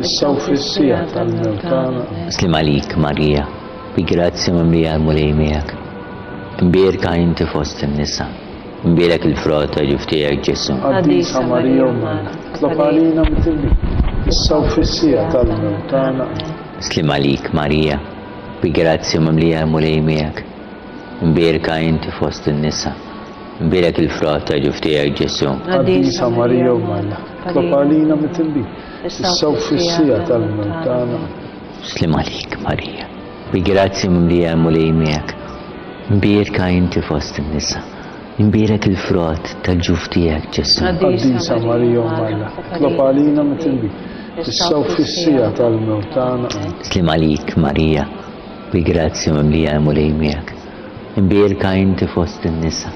issa u fis-siegħa tal-mewt tagħna. Amen. Sliem għalik, Marija, Bi grazzja mimlija l-Mulej miegħek. Imbierka inti fost in-nisa. Imbierek il-frott ta' ġuf tiegħek, Ġesù. Qaddisa Marija Omm Alla, itlob għalina mitibin, issa u fis-siegħa tal-mewt tagħna. Amen. Sliem għalik, Marija, bi grazzja mimlija l-Mulej miegħek. Imbierka inti fost in-nisa. Imbierek il-frott ta' ġuf tiegħek, Ġesù. Qaddisa Marija Omm Alla, itlob għalina mitibin, issa u fis-siegħa tal-mewt tagħna. Amen. Sliem għalik, Marija, bi grazzja mimlija l-Mulej miegħek. Imbierka inti fost in-nisa. Imbierek il-frott tal-ġuf tiegħek, Ġesù. Qaddisa Marija Omm Alla, itlob għalina mitibin, issa u fis-siegħa tal-mewt tagħna. Amen. Sliem għalik, Marija, bi grazzja mimlija l-Mulej miegħek. Imbierka inti fost in-nisa.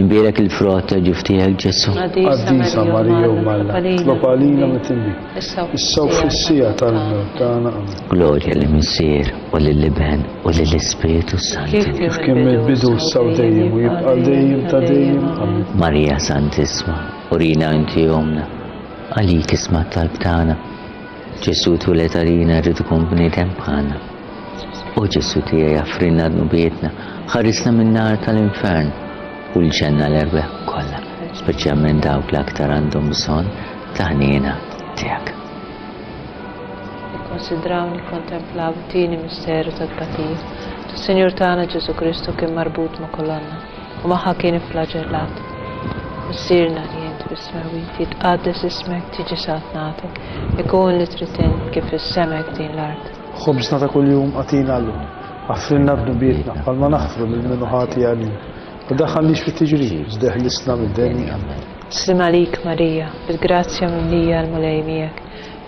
Imbierek il-frott ta' ġuf tiegħek Ġesù. Qaddisa Marija Omm Alla, itlob għalina midinbin, issa u fis-siegħa tal-mewt tagħna. Amen. Glorja lill-Missier u lill-Iben u lill-Ispirtu s-Santu. Kif kien mill-bidu issa u dejjem u jibqa' għal dejjem ta' dejjem. Amen. Marija Santissma, urina inti ommna, għalik isma' t-talb tagħna. Ġesù twieled għalina rrid ikun bniedem bħalna. O Ġesù tiegħi aħfrilna dnubietna, ħarisna min-nar tal-infern u l-ġenna l-erwieħ kollha, speċjalment dawk li aktar għandhom bżonn ta' ħniena tiegħek. Nikkonsidraw nikkontemplaw it-tieni misteru tat-tbatija. Tas-Sinjur tagħna Ġesù Kristu kien marbut ma' kolonna u magħha kien ifflaġellat. Missierna li int fis-smewwiet, jitqaddes ismek, tiġi saltnatek, ikun li trid int kif fis-sema hekk din l-art. Ħobżna ta' kuljum agħtina llum. Aħfrilna dnubietna, bħalma naħfru lil min hu ħati għalina. U daħħalniex fit-tiġrib, iżda eħlisna mid-deni. Amen. Sliem għalik Marija, bil-grazzja mimlija l-Mulej miegħek,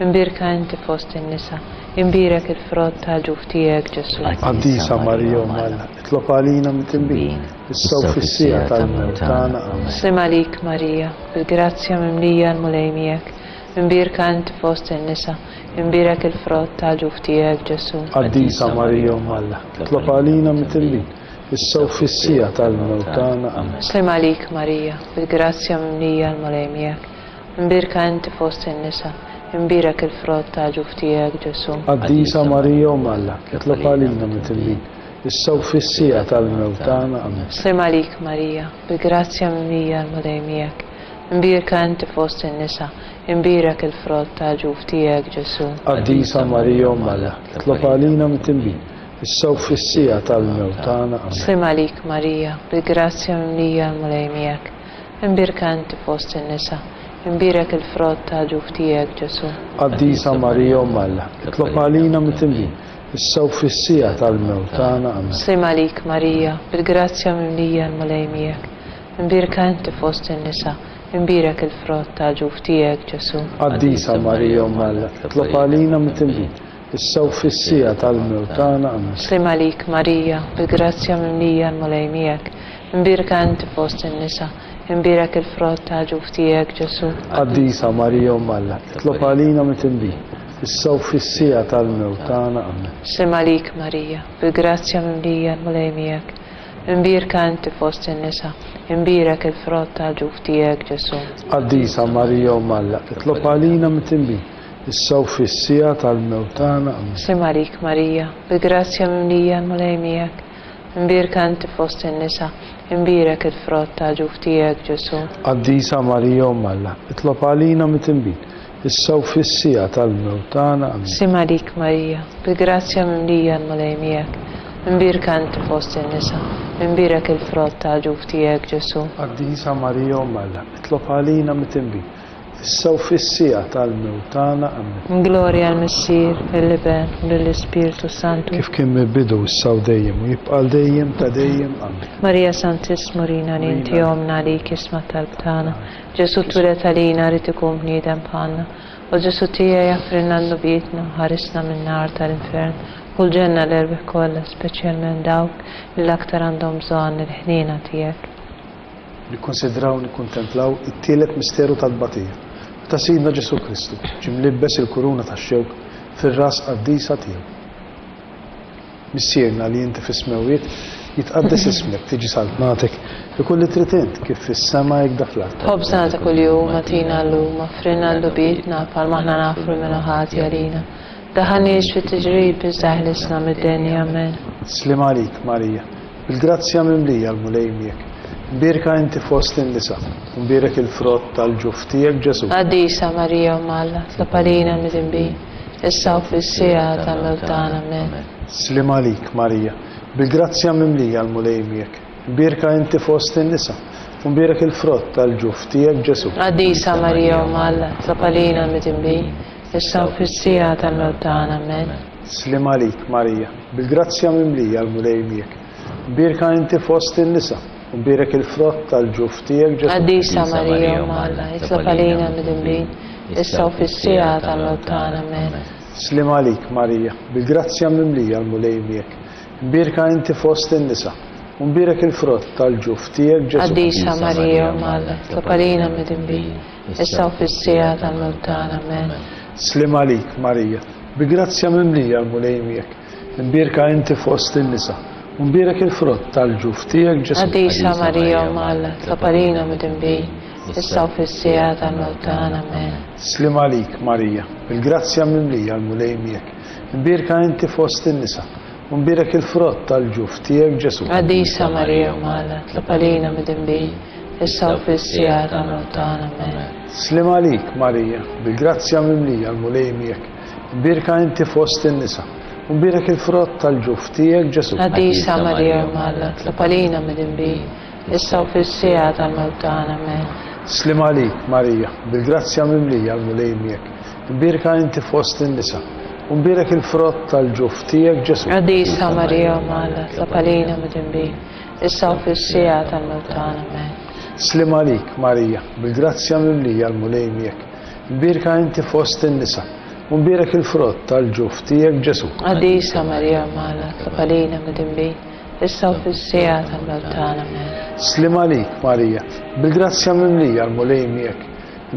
imbierka inti fost in-nisa, imbierek il-frott tal-ġuf tiegħek Ġesù. Qaddisa Marija Omm Alla, itlob għalina midinbin, issa u fis-siegħa tal-mewt tagħna. Amen. Sliem għalik Marija, bil-grazzja mimlija l-Mulej miegħek, imbierka inti fost in-nisa, Imbierek il-frott tal-ġuf tiegħek, Ġesù. Qaddisa Marija Omm Alla, itlob għalina midinbin, issa u fis-siegħa tal-mewt tagħna. Amen. Sliem għalik Marija, bil-grazzja mimlija l-Mulej miegħek. Imbierka inti fost in-nisa, imbierek il-frott tal-ġuf tiegħek, Ġesù. Qaddisa Marija Omm Alla, itlob għalina midinbin, issa u fis-siegħa tal-mewt tagħna. Amen. Sliem għalik Marija, bil-grazzja mimlija l-Mulej miegħek. Imbierka inti fost in-nisa, Imbierek il-frott tal-ġuf tiegħek, Ġesù. Qaddisa Marija Omm Alla, itlob għalina midinbin, issa u fis-siegħa tal-mewt tagħna. Amen. Sliem għalik Marija, bil-grazzja mimlija l-Mulej miegħek. Imbierka inti fost in-nisa, imbierek il-frott tal-ġuf tiegħek, Ġesù. Qaddisa Marija Omm Alla, itlob għalina midinbin, issa u fis-siegħa tal-mewt tagħna. Amen. Sliem għalik Marija, bil-grazzja mimlija l-Mulej miegħek. Imbierka inti fost in-nisa, Imbierek il-frott tal-ġuf tiegħek, Ġesù. Qaddisa Marija Omm Alla, itlob għalina midinbin, issa u fis-siegħa tal-mewt tagħna. Amen. Sliem għalik Marija, bil-grazzja mimlija l-Mulej miegħek. Imbierka inti fost in-nisa, imbierek il-frott tal-ġuf tiegħek, Ġesù. Qaddisa Marija Omm Alla, itlob għalina midinbin, issa u fis-siegħa tal-mewt tagħna. Amen. Sliem għalik Marija, bil-grazzja mimlija l-Mulej miegħek. Imbierka inti fost in-nisa, imbierek il-frott tal-ġuf tiegħek, Ġesù. Qaddisa Marija Omm Alla, itlob għalina midinbin, issa u fis-siegħa tal-mewt tagħna. Amen. Sliem għalik Marija, bil-grazzja mimlija l-Mulej miegħek. Imbierka inti fost in-nisa, imbierek il-frott tal-ġuf tiegħek, Ġesù. Qaddisa Marija Omm Alla, itlob għalina midinbin, issa u fis-siegħa tal-mewt tagħna. Amen. Sliem għalik Marija, bil-grazzja mimlija l-Mulej miegħek. Imbierka inti fost in-nisa, imbierek il-frott tal-ġuf tiegħek, Ġesù. Qaddisa Marija Omm Alla, itlob għalina midinbin, issa u fis-siegħa tal-mewt tagħna. Amen. Glorja għall-Missier, lill-Iben, u lill-Ispirtu s-Santu. Kif kien mill-bidu, issa u dejjem, u jibqa' għal dejjem ta' dejjem. Amen. Marija Santissma urina li inti Ommna għalik isma' t-talb tagħna. Ġesù twieled għalina ried ikun bniedem bħalna. O Ġesù tiegħi aħfrilna dnubietna u ħarisna min-nar tal-infern u l-ġenna l-erwieħ kollha speċjalment dawk li l-aktar għandhom bżonn il-ħniena tiegħek. Nikkunsidraw u nikkuntemplaw it-tielet misteru tat-tbatija, meta Sidna Ġesù Kristu ġie mlibbes il-kuruna tax-xewk fir-ras qaddisa tiegħu. Missierna li inti fis-smewwiet, jitqaddes ismek, tiġi saltnatek, ikun li trid int, kif fis-sema hekk da fl-art. Ħobżna ta' kuljum agħtina llum, aghfrilna dnubietna bħalma aħna naghfru min hu ħati għalina. Daħħalniex fit-tiġrib iżda eħlisna mid-deni. Amen. Sliem għalik, Marija, bil-grazzja mimlija l-Mulej miegħek. Mbierka inti fost in-nisa, u mbierek il-frott tal-ġuf tiegħek, Ġesù. Qaddisa Marija Omm Alla, tlob għalina l-midinbin, issa u fis-siegħa tal-mewt tagħna. Amen. Sliem għalik, Marija, bil-grazzja mimlija l-Mulej miegħek. Mbierka inti fost in-nisa, u mbierek il-frott tal-ġuf tiegħek, Ġesù. Qaddisa Marija Omm Alla, tlob għalina l-midinbin, issa u fis-siegħa tal-mewt tagħna. Amen. Sliem għalik, Marija, bil-grazzja mimlija l-Mulej miegħek. Mbierka inti fost in-nisa, u mbierek il-frott tal-ġuf tiegħek, Ġesù. Qaddisa Marija Omm Alla, itlob għalina l-midinbin, issa u fis-siegħa tal-mewt tagħna. Amen. Sliem għalik, Marija, bil-grazzja mimlija l-Mulej miegħek. Mbierka inti fost in-nisa, U mbierek il-frott tal-ġuf tiegħek, Ġesù. Qaddisa Marija, Omm Alla, itlob għalina midinbin, issa u fis-siegħa tal-mewt tagħna. Amen. Sliem għalik, Marija, bi grazzja mimlija l-Mulej miegħek. Imbierka inti fost in-nisa, u mbierek il-frott tal-ġuf tiegħek, Ġesù. Qaddisa Marija, Omm Alla, itlob għalina midinbin, issa u fis-siegħa tal-mewt tagħna. Amen. Sliem għalik, Marija, bil-grazzja mimlija l-Mulej miegħek. Imbierka inti fost in-nisa, U mbierek il-frott tal-ġuf tiegħek, Ġesù. Qaddisa Marija, Omm Alla, itlob għalina midinbin, issa u fis-siegħa tal-mewt tagħna. Amen. Sliem għalik, Marija, bil-grazzja mimlija l-Mulej miegħek. Imbierka inti fost in-nisa, u mbierek il-frott tal-ġuf tiegħek, Ġesù. Qaddisa Marija, Omm Alla, itlob għalina midinbin, issa u fis-siegħa tal-mewt tagħna. Amen. Sliem għalik, Marija, bil-grazzja mimlija l-Mulej miegħek. Imbierka inti fost in-nisa, u mbierek il-frott tal-ġuf tiegħek, Ġesù. Qaddisa Marija, Omm Alla, itlob għalina midinbin, issa u fis-siegħa tal-mewt tagħna. Amen. Sliem għalik, Marija, bil-grazzja mimlija l-Mulej miegħek. Imbierka inti fost in-nisa, u mbierek il-frott tal-ġuf tiegħek, Ġesù. Qaddisa Marija, Omm Alla, itlob għalina midinbin, issa u fis-siegħa tal-mewt tagħna. Amen. Sliem għalik, Marija, bil-grazzja mimlija l-Mulej miegħek.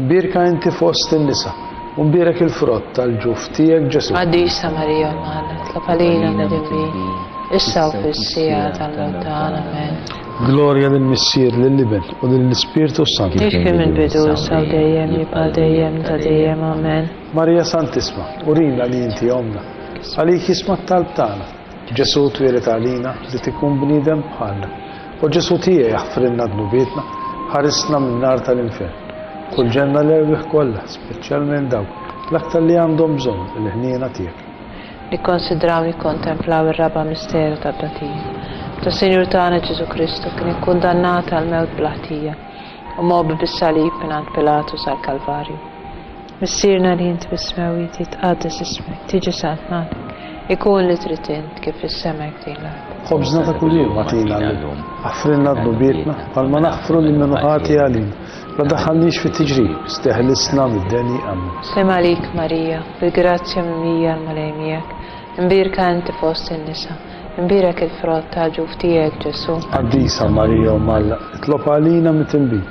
Imbierka inti fost in-nisa, u mbierek il-frott tal-ġuf tiegħek, Ġesù. Qaddisa Marija, Omm Alla, itlob għalina midinbin, issa u fis-siegħa tal-mewt tagħna. Amen. Glorja lill-Missier, lill-Iben, u lill-Ispirtu s-Santu. Kif kien mill-bidu, issa u dejjem, jibqa' dejjem ta' dejjem. Amen. Marija Santissma, urina li inti Ommna. Għalik jisma' t-talb tagħna. Ġesù twieled għalina li tikun bniedem bħalna. O Ġesù tiegħi aħfrilna dnubietna, ħarisna min-nar tal-infern. Kull ġenna l-erwieħ kollha, speċjalment dawk l-aktar li għandhom bżonn il-ħniena tiegħek. Nikkonsidraw nikkontemplaw ir-raba' misteru tat-tbatija. Meta s-Sinjur tagħna Ġesù Kristu kien ikkundannat għall-mewt bla ħtija u mgħobbi bis-salib mingħand Pilatu sal-Kalvarju. Missierna li int fis-smewwiet, jitqaddes ismek, tiġi saltnatek, ikun li trid int, kif fis-sema hekk din l-art. Ħobżna ta' kuljum agħtina llum. Aħfrilna dnubietna, bħalma naħfru lil min hu ħati għalina. La ddaħħalniex fit-tiġrib, iżda eħlisna mid-deni. Ammen. Sliem għalik Marija, bil-grazzja mimlija l-Mulej miegħek, imbierka inti fost in-nisa, Imbierek il-frott tal-ġuf tiegħek, Ġesù. Qaddisa Marija Omm Alla, itlob għalina mitinbin,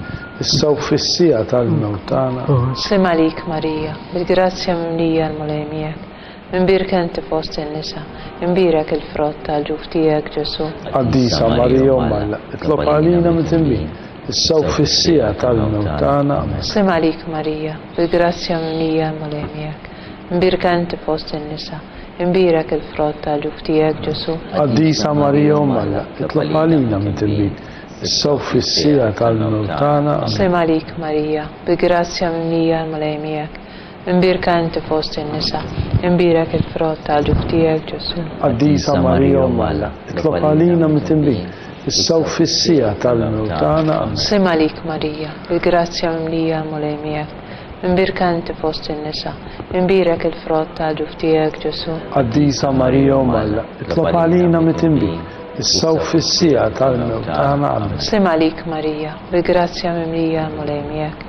issa u fis-siegħa tal-mewt tagħna. Amen. Sliem għalik Marija, bil-grazzja mimlija l-Mulej miegħek. Imbierka inti fost in-nisa, imbierek il-frott tal-ġuf tiegħek, Ġesù. Qaddisa Marija Omm Alla, itlob għalina mitinbin, issa u fis-siegħa tal-mewt tagħna. Amen. Sliem għalik Marija, bil-grazzja mimlija l-Mulej miegħek. Imbierka inti fost in-nisa, Imbierek il-frott tal-ġuf tiegħek, Ġesù. Qaddisa Marija Omm Alla, itlob għalina midinbin, issa u fis-siegħa tal-mewt tagħna. Amen. Sliem għalik Marija, bi grazzja mimlija l-Mulej miegħek. Imbierka inti fost in-nisa, imbierek il-frott tal-ġuf tiegħek, Ġesù. Qaddisa Marija Omm Alla, itlob għalina midinbin, issa u fis-siegħa tal-mewt tagħna. Amen. Sliem għalik Marija, bi grazzja mimlija l-Mulej miegħek. Imbierka inti fost in-nisa, imbierek il-frott tal-ġuf tiegħek, Ġesù. Qaddisa Marija Omm Alla, itlob għalina mitinbin, issa u fis-siegħa tal-mewt tagħna. Amen. Sliem għalik Marija, bil-grazzja mimlija l-Mulej miegħek.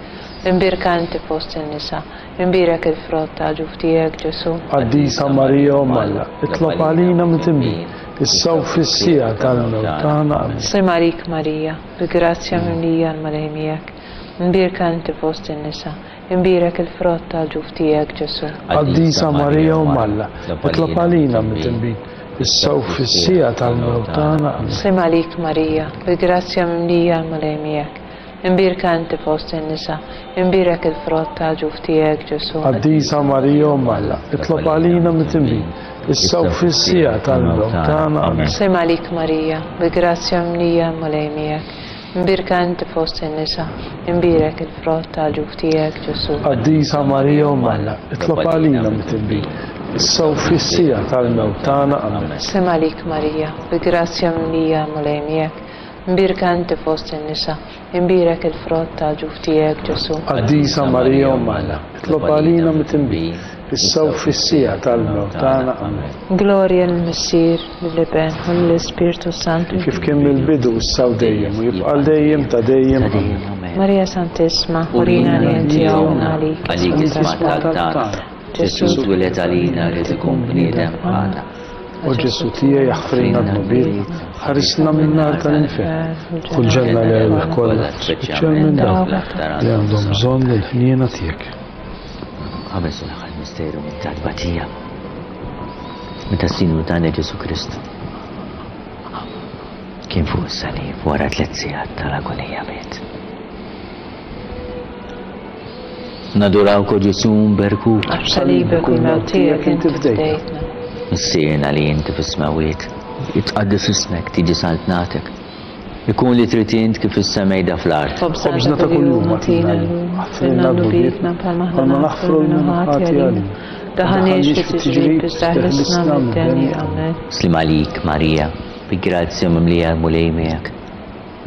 Imbierka inti fost in-nisa, imbierek il-frott tal-ġuf tiegħek, Ġesù. Qaddisa Marija Omm Alla, itlob għalina mitinbin, issa u fis-siegħa tal-mewt tagħna. Amen. Sliem għalik Marija, bil-grazzja mimlija l-Mulej miegħek. Imbierka inti fost in-nisa, imbierek il-frott tal-ġuf tiegħek, Ġesù. Qaddisa Marija Omm Alla, itlob għalina midinbin, issa u fis-siegħa tal-mewt tagħna. Amen. Sliem għalik Marija, bil-grazzja mimlija l-Mulej miegħek. Imbierka inti fost in-nisa, imbierek il-frott tal-ġuf tiegħek, Ġesù. Qaddisa Marija Omm Alla, itlob għalina midinbin, issa u fis-siegħa tal-mewt tagħna. Amen. Sliem għalik Marija, bil-grazzja mimlija l-Mulej miegħek. Imbierka inti fost in-nisa, imbierek il-frott tal-ġuf tiegħek, Ġesù. Qaddisa Marija Omm Alla, itlob għalina midinbin, issa u fis-siegħa tal-mewt tagħna. Amen. Sliem għalik Marija, bi grazzja mimlija l-Mulej miegħek, imbierka inti fost in-nisa, imbierek il-frott tal-ġuf tiegħek, Ġesù. Qaddisa Marija Omm Alla, itlob għalina midinbin, issa u fis-siegħa tal-mewt tagħna. Amen. Glorja lill-Missier, lill-Iben, u lill-Ispirtu s-Santu. Kif kien mill-bidu, issa u dejjem, u jibqa' għal dejjem ta' dejjem. Amen. Marija Santissma, urina li inti ommna għalik. Għalik isma' talb tagħna. Ġesù twieled għalina ried ikun bniedem bħalna. O Ġesù tiegħi aħfrilna dnubietna, ħarisna min-nar tal-infern, kull ġenna l-erwieħ kollha, speċjalment dawk li għandhom bżonn il-ħniena tiegħek. Qabel se l-aħħar misteru mit-tbatija. Meta s-Sinjur tagħna Ġesù Kristu kien fuq is-salib wara tliet sigħat tal-agonija miet. Nadurawk o Ġesù nberkuk. Għax b'salibek u l-mewt tiegħek inti fdejtna. Missierna li inti fis-smewwiet, jitqaddes ismek, tiġi saltnatek. Ikun li trid int kif fis-sema jda fl-art. Ħobżna ta' kuljum agħtina llum, aħfrilna dnubietna bħalma aħna naħfru lil min hu ħati għalina. Daħħalniex fit-tiġrib iżda ħlisna mid-deni. Amen. Sliem għalik, Marija, bi grazzja mimlija l-Mulej miegħek.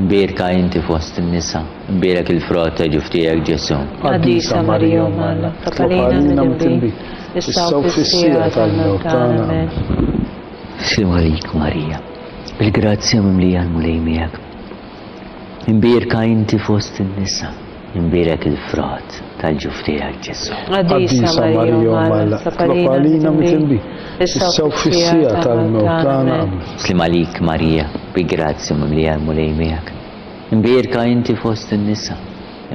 Mbierka inti fost in-nisa, imbierek il-frott ta' ġuf tiegħek Ġesù. Qaddisa Marija Omm Alla, Itlob għalina midinbin, issa u fis-siegħa tal-mewt tagħna. Amen. Sliem għalik Marija, bil-grazzja mimlija l-Mulej miegħek. Imbierka inti fost in-nisa, imbierek il-frott tal-ġuf tiegħek Ġesù. Qaddisa Marija Omm Alla, itlob għalina midinbin, issa u fis-siegħa tal-mewt tagħna. Amen. Sliem għalik Marija, bi grazzja mimlija l-Mulej miegħek. Imbierka inti fost in-nisa,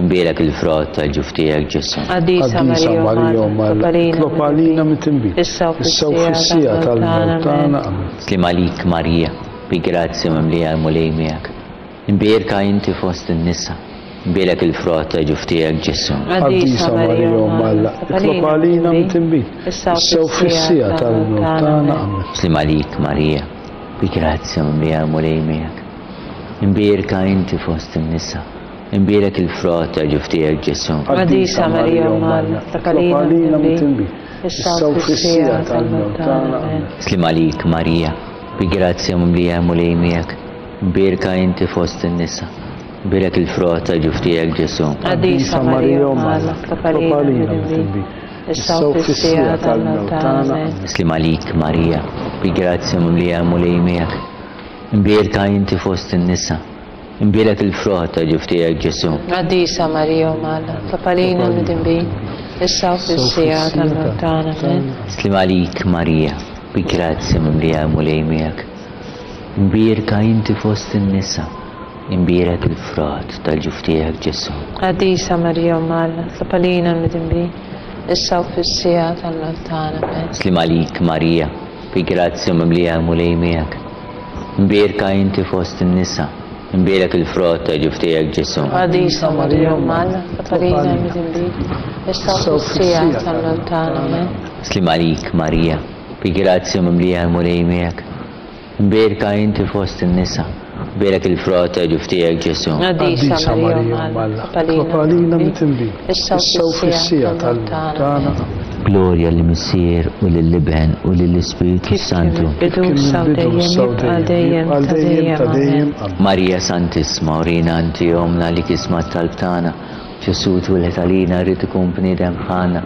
imbierek il-frott tal-ġuf tiegħek Ġesù. Qaddisa Marija Omm Alla, itlob għalina midinbin, issa u fis-siegħa tal-mewt tagħna. Amen. Sliem għalik Marija, bi grazzja mimlija l-Mulej miegħek. Imbierka inti fost in-nisa, imbierek il-frott ta' ġuf tiegħek Ġesù. Qaddisa Marija Omm Alla, itlob għalina midinbin, issa u fis-siegħa tal-mewt tagħna. Amen. Sliem għalik Marija, bi grazzja mimlija l-Mulej miegħek. Imbierka inti fost in-nisa, imbierek il-frott ta' ġuf tiegħek Ġesù. Qaddisa Marija Omm Alla, itlob għalina midinbin, issa u fis-siegħa tal-mewt tagħna. Amen. Sliem għalik Marija, bi grazzja mimlija l-Mulej miegħek. Mbierka inti fost in-nisa. Mbierek il-frott ta' ġuf tiegħek Ġesù. Qaddisa Marija Omm Alla, itlob għalina midinbin, issa u fis-siegħa tal-mewt tagħna. Amen. Sliem għalik Marija, bi grazzja mimlija l-Mulej miegħek. Mbierka inti fost in-nisa. Imbierek il-frott ta' ġuf tiegħek Ġesù. Qaddisa Marija Omm Alla, itlob għalina midinbin, issa u fis-siegħa tal-mewt tagħna. Amen. Sliem għalik Marija, bi grazzja mimlija l-Mulej miegħek. Imbierka inti fost in-nisa, imbierek il-frott tal-ġuf tiegħek Ġesù. Qaddisa Marija Omm Alla, itlob għalina l-midinbin, issa u fis-siegħa tal-mewt tagħna. Amen. Sliem għalik Marija, bi grazzja mimlija l-Mulej miegħek. Imbierka inti fost in-nisa, imbierek il-frott tal-ġuf tiegħek Ġesù. Qaddisa Marija Omm Alla, itlob għalina l-midinbin, issa u fis-siegħa tal-mewt tagħna. Amen. Sliem għalik Marija, bi grazzja mimlija l-Mulej miegħek. Mbierka inti fost in-nisa, mbierek il-frott ta' ġuf tiegħek Ġesù. Qaddisa Marija Omm Alla, itlob għalina midinbin, issa u fis-siegħa tal-mewt tagħna. Amen. Glorja lill-Missier u lill-Iben u lill-Ispirtu s-Santu. Kif kien mill-bidu, issa u dejjem, jibqa' għal dejjem ta' dejjem. Amen. Marija Santissma, urina inti Ommna li tisma' t-talb tagħna. Ġesù twieled għalina ried ikun bniedem bħalna.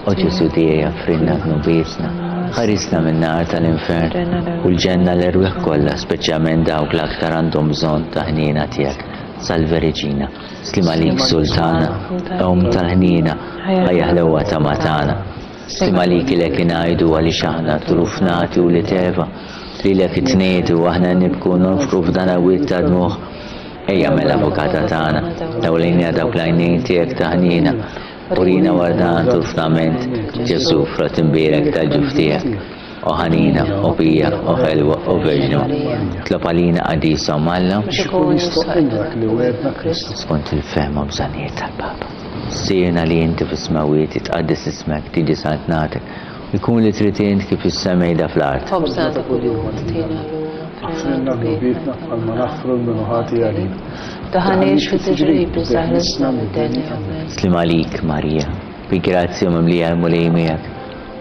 O Ġesù tiegħi aghfrilna dnubietna, ħarisna min-nar tal-infern u l-ġenna l-erwieħ kollha, speċjalment dawk l-aktar għandhom bżonn ta' ħniena tiegħek. Salve Reġina, sliem għalik Sultana, Omm tal-ħniena, ħajja ħlewwa tama tagħna. Sliem għalik ilek ingħidu għaliex aħna truf nagħti wlied Eva, lilek itniedu aħna nibku u nonfqu f'dan għawied ta' dmugħ. Ejja mela Avukata tagħna, dawlejna dawk l-għajnejn tiegħek ta' ħniena, Urina wara dan turfnament, Ġesù, frott imbierek tal-ġuf tiegħek. O ħanina, o pija, o ħelwa, o Verġni, tlob għalina qaddisa Omm Alla. Biex ikun jistħoqqilna dak li wegħedna Kristu. Skont il-fehma u bżonnijiet tal-Papa. Missierna li inti fis-smewwiet, jitqaddes ismek, tiġi saltnatek, u jkun li trid int kif fis-sema jda fl-art. Ħobżna ta' kuljum agħtina llum, Aħfrilna dnubietna bħalma naħfru 'l min hu ħati għalina. Daħħalniex fi tiġrib iżda ħlisna mid-deni. Amen. Sliem għalik, Marija, bi grazzja mimlija l-Mulej miegħek.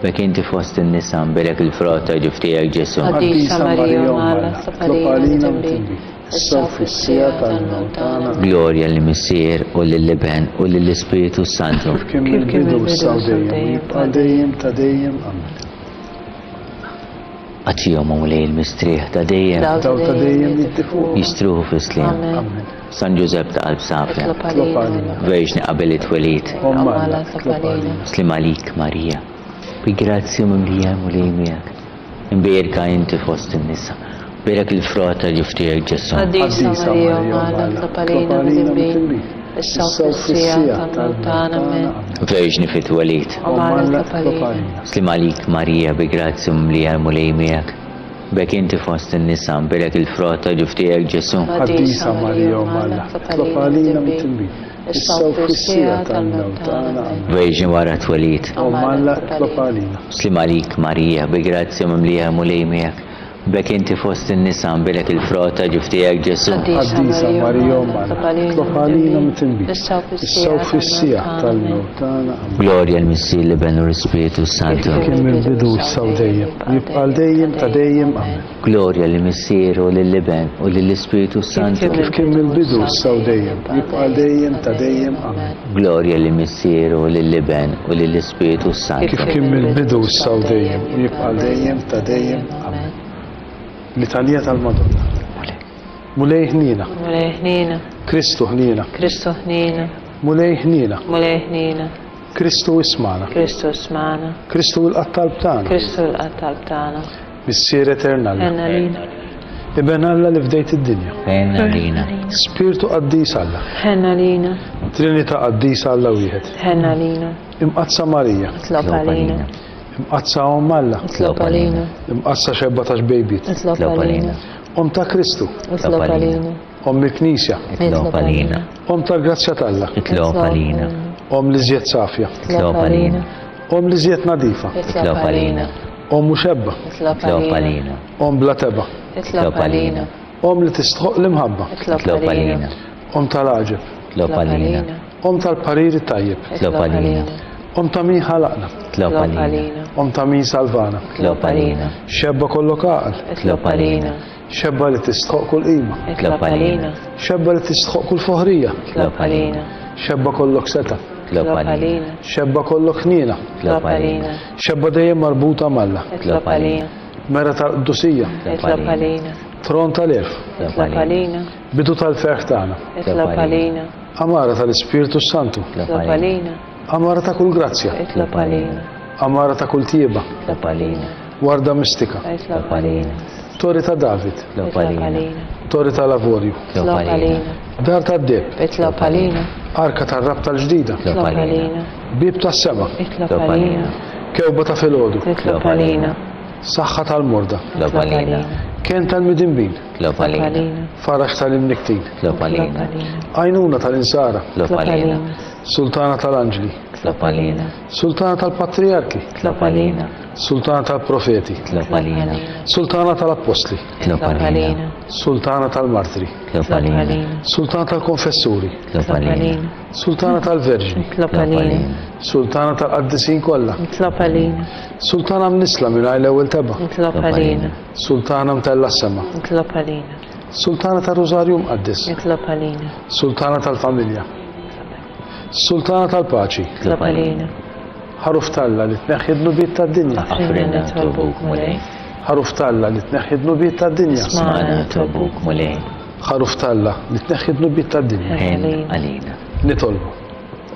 B'hekk inti fost in-nisa mbierek il-frott ta' ġuf tiegħek Ġesù. Qaddisa Marija Omm Alla, Itlob għalina midinbin, issa u fis-siegħa tal-mewt tagħna. Amen. Glorja lill-Missier u lill-Iben u lill-Ispirtu s-Santu. Kif kien mill-bidu, issa u dejjem, u jibqa' dejjem ta' dejjem. Amen. Agħtihom, o Mulej, il-mistrieħ ta' dejjem. Dawl ta' dejjem jiddi fuqhom. Jistruħu fis-sliem. Amen. San Ġużepp ta' qalb safja. Itlob għalina. Verġni qabel it-twelid. Omm Alla, itlob għalina. Sliem għalik, Marija. Bi grazzja mimlija l-Mulej miegħek. Imbierka inti fost in-nisa. Bierek il-frott tal-ġuf tiegħek Ġesù. Qaddisa Marija, Omm Alla, itlob għalina midinbin, issa u fis-siegħa tal-mewt tagħna. Amen. Verġni fit-twelid. Omm Alla, itlob għalina. Sliem għalik Marija, bi grazzja mimlija l-Mulej miegħek. B'hekk inti fost in-nisa, mbierek il-frott tal-ġuf tiegħek Ġesù. Qaddisa Marija, Omm Alla, itlob għalina midinbin, issa u fis-siegħa tal-mewt tagħna. Amen. Verġni wara t-twelid. Omm Alla, itlob għalina. Sliem għalik Marija, bi grazzja mimlija l-Mulej miegħek. B'hekk inti fost in-nisa, nbierek il-frott ta' ġuf tiegħek Ġesù. Qaddisa Marija Omm Alla, itlob għalina midinbin, issa u fis-siegħa tal-mewt tagħna. Amen. Glorja l-Missier, l-Iben u l-Ispirtu s-Santu. Kif kien mill-bidu, issa u dejjem, u jibqa' għal dejjem ta' dejjem. Amen. Glorja lill-Missier u lill-Iben u lill-Ispirtu s-Santu. Kif kien mill-bidu, issa u dejjem, u jibqa' għal dejjem ta' dejjem. Amen. Glorja lill-Missier u lill-Iben u lill-Ispirtu s-Santu. Kif kien mill-bidu, issa u dejjem, u jibqa' għal dejjem ta' dejjem. Amen. Litanija tal-Madonna. Mulej ħniena. Mulej ħniena. Kristu ħniena. Kristu ħniena. Mulej ħniena. Mulej ħniena. Kristu ismagħna. Kristu ismagħna. Kristu ilqa' t-talb tagħna. Kristu ilqa' t-talb tagħna. Missier etern Alla. Ħenn għalina. Iben Alla li fdejt id-dinja. Ħenn għalina. Spirtu qaddis Alla. Ħenn għalina. Trinità qaddisa Alla wieħed. Ħenn għalina. Imqaddsa Marija. Itlob għalina. Imqaddsa Omm Alla. Itlob għalina. Imqaddsa xebba ta' xbejbiet. Itlob għalina. Omm ta' Kristu. Itlob għalina. Omm il-Knisja. Itlob għalina. Omm tal-grazzja t'Alla. Itlob għalina. Omm l-iżjed safja. Itlob għalina. Omm l-iżjed nadifa. Itlob għalina. Omm muxebba. Itlob għalina. Omm bla tebgħa. Itlob għalina. Omm li tistħoqq l-imħabba. Itlob għalina. Omm tal-għaġeb. Itlob għalina. Omm tal-parir it-tajjeb. Itlob għalina. Omm ta' min ħalaqna. Itlob għalina. Omm ta' min salvana. Itlob għalina. Xebba kollok għaqal. Itlob għalina. Xebba li tistħoq kull qima. Itlob għalina. Xebba li tistħoq kull foħrija. Itlob għalina. Xebba kollok setgħa. Itlob għalina. Xebba kollok ħniena. Itlob għalina. Xebba dejjem marbuta m'Alla. Itlob għalina. Mera tal-qdusija. Itlob għalina. Tron tal-għerf. Itlob għalina. Bidu tal-ferħ tagħna. Itlob għalina. Għamara tal-Ispirtu s-Santu. Itlob għalina. Għamara ta' kull grazzja. Itlob għalina. Għamara ta' kull tjieba. Itlob għalina. Warda mistika. Itlob għalina. Torri ta' David. Itlob għalina. Torri tal-avorju. Itlob għalina. Dar tad-deheb. Itlob għalina. Arka tar-rabta l-ġdida. Itlob għalina. Bieb tas-sema. Itlob għalina. Kewba ta' filgħodu. Itlob għalina. Saħħa tal-morda. Itlob għalina. Kenn tal-midinbin. Itlob għalina. Faraġ tal-imnikktin. Itlob għalina. Għajnuna tal-insara. Itlob għalina. Sultana tal-anġli. Itlob għalina. Sultana tal-patrijarki. Itlob għalina. Sultana tal-profeti. Itlob għalina. Sultana tal-appostli. Itlob għalina. Sultana tal-martri. Itlob għalina. Sultana tal-konfessuri. Itlob għalina. Sultana tal-Verġni. Itlob għalina. Sultana tal-qaddisin kollha. Itlob għalina. Sultana mnissla mingħajr l-ewwel tebgħa. Itlob għalina. Sultana mtellgħa s-sema. Itlob għalina. Sultana tar-Rużarju Mqaddes. Itlob għalina. Sultana tal-familja. Sultana tal-paċi. Itlob għalina. Ħaruf t'Alla li tneħħi d-dnubiet tad-dinja. Aħfrilna nitolbuk, Mulej. Ħaruf t'Alla li tneħħi d-dnubiet tad-dinja. Smagħna nitolbuk, Mulej. Ħaruf t'Alla li tneħħi d-dnubiet tad-dinja. Ħenn għalina. Nitolbu.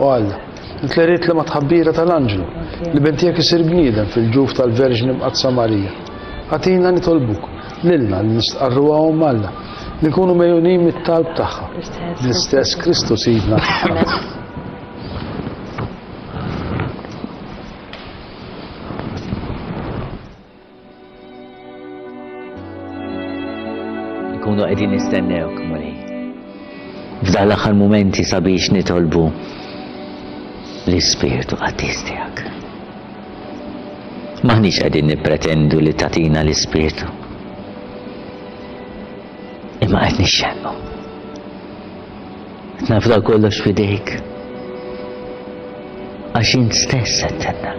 O Alla, int li ridt li mat-tħabbira tal-anġlu, l-Iben tiegħek isir bniedem fil-ġuf tal-Verġni Mqaddsa Marija, agħtina nitolbuk, lilna li nistqarruha Omm Alla, li nkunu megħjunin mit-talb tagħha, bl-istess Kristu Sidna. Amen. Nkunu qegħdin nistennewk, Mulej. F'dan l-aħħar mumenti sabiex nitolbu l-Ispirtu Qaddis tiegħek. Maħniex qegħdin nippretendu li tagħtina l-Ispirtu. Imma qed nixxennu. Qed nafda kollox f'idejk. Għax int stess qed tenna.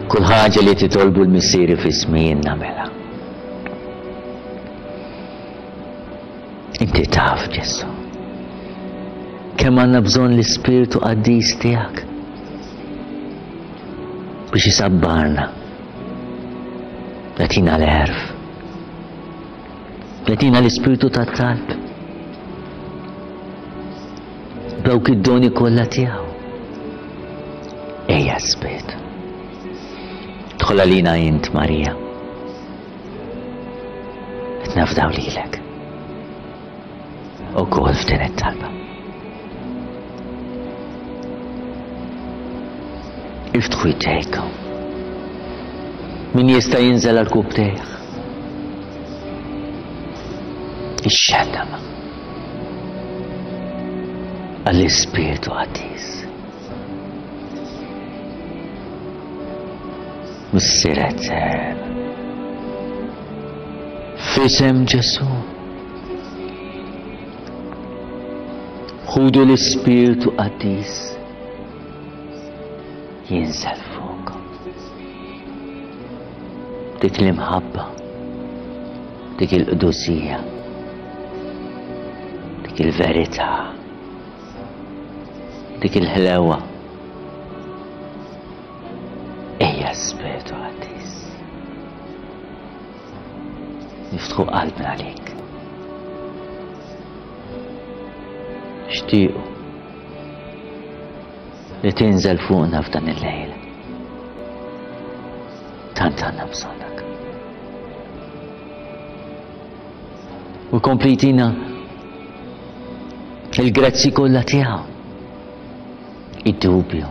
Kull ħaġa li titolbu l-Missieri f'ismi jien nagħmilha. Inti taf, Ġesù, kemm għandna bżonn l-Ispirtu Qaddis tiegħek biex isabbarna, jagħtina l-għerf. Jagħtina l-ispirtu tat-talb. Dawk id-doni kollha tiegħu. Ejja Spirtu. Idħol għalina int, Marija. Qed nafdaw lilek. Ukoll f'din it-talba. Iftħu jdejkom. Min jista' jinżel għal kubtejh. Ix-xendama. Għall-Ispirtu Qaddis. Missier Etern. F'isem Ġesù. Ħudu l-Ispirtu Qaddis jinżel fuqkom. Dik l-imħabba, dik il-qdusija, dik il-verità. Dik il-ħlewa. Ejja Spiritu Qaddis. Niftħu qalbna għalik. Xtiequ li tinżel fuqna f'dan il-lejl. Tant għandna bżonnak. U komplitina il-grazzi kollha tiegħu. Id-dubju.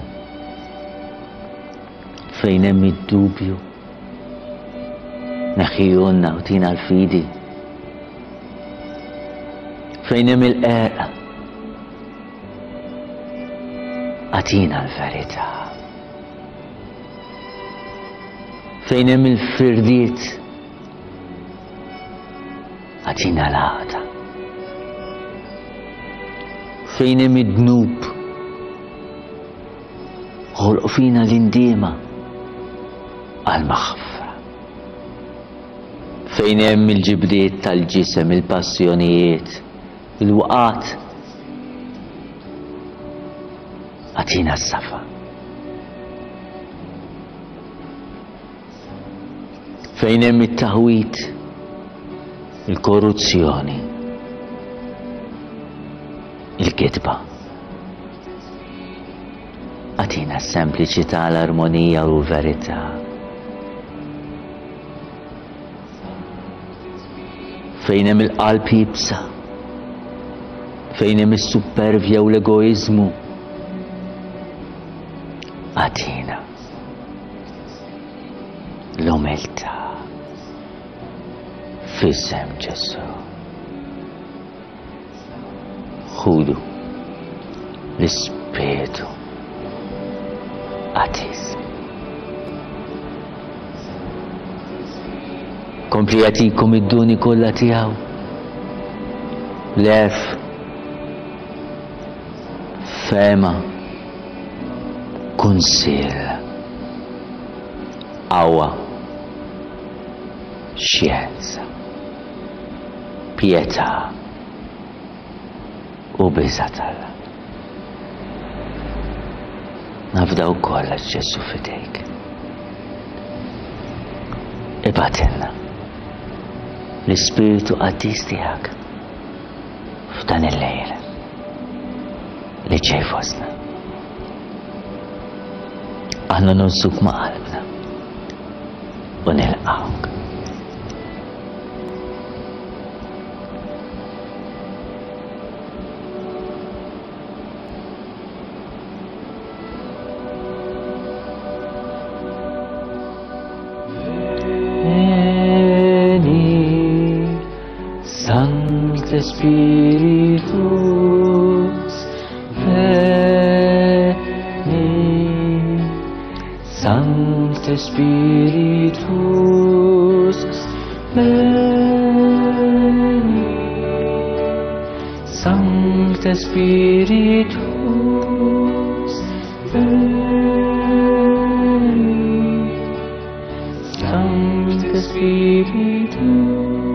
Fejn hemm id-dubju. Neħħijulna u tina l-fidi. Fejn hemm il-qerq. Agħtina l-verità. Fejn hemm il-firdiet. Agħtina l-għaqda. Fejn hemm id-dnub, ħolq fina l-indiema għall-maħfra. Fejn hemm il-ġibdiet tal-ġisem, il-passjonijiet, il-waqgħat, agħtina s-safa. Fejn hemm it-taħwid, il-korruzzjoni, il-kitba. Agħtina s-sempliċità, l-armonija u l-verità. Fejn hemm il-qalb iebsa, fejn hemm is-suppervja u l-egoiżmu, agħtina l-umiltà f'isem Ġesù. Ħudu l-Ispirtu Qaddis. Kompli jagħtikom id-doni kollha tiegħu. L-għerf, fehma, kunsill, qawwa, xjenza, pietà u biża' t'Alla. Nafdaw kollox Ġesù f'idejk. Ibgħatilna l-Ispirtu Qaddis tiegħek f'dan il-lejl li ġej fostna. Aħna nonsuk ma' qalbna u nilqgħuk. Sancte Spiritus, veni. Sancte Spiritus, veni. Sancte Spiritus, veni. Sancte Spiritus, veni.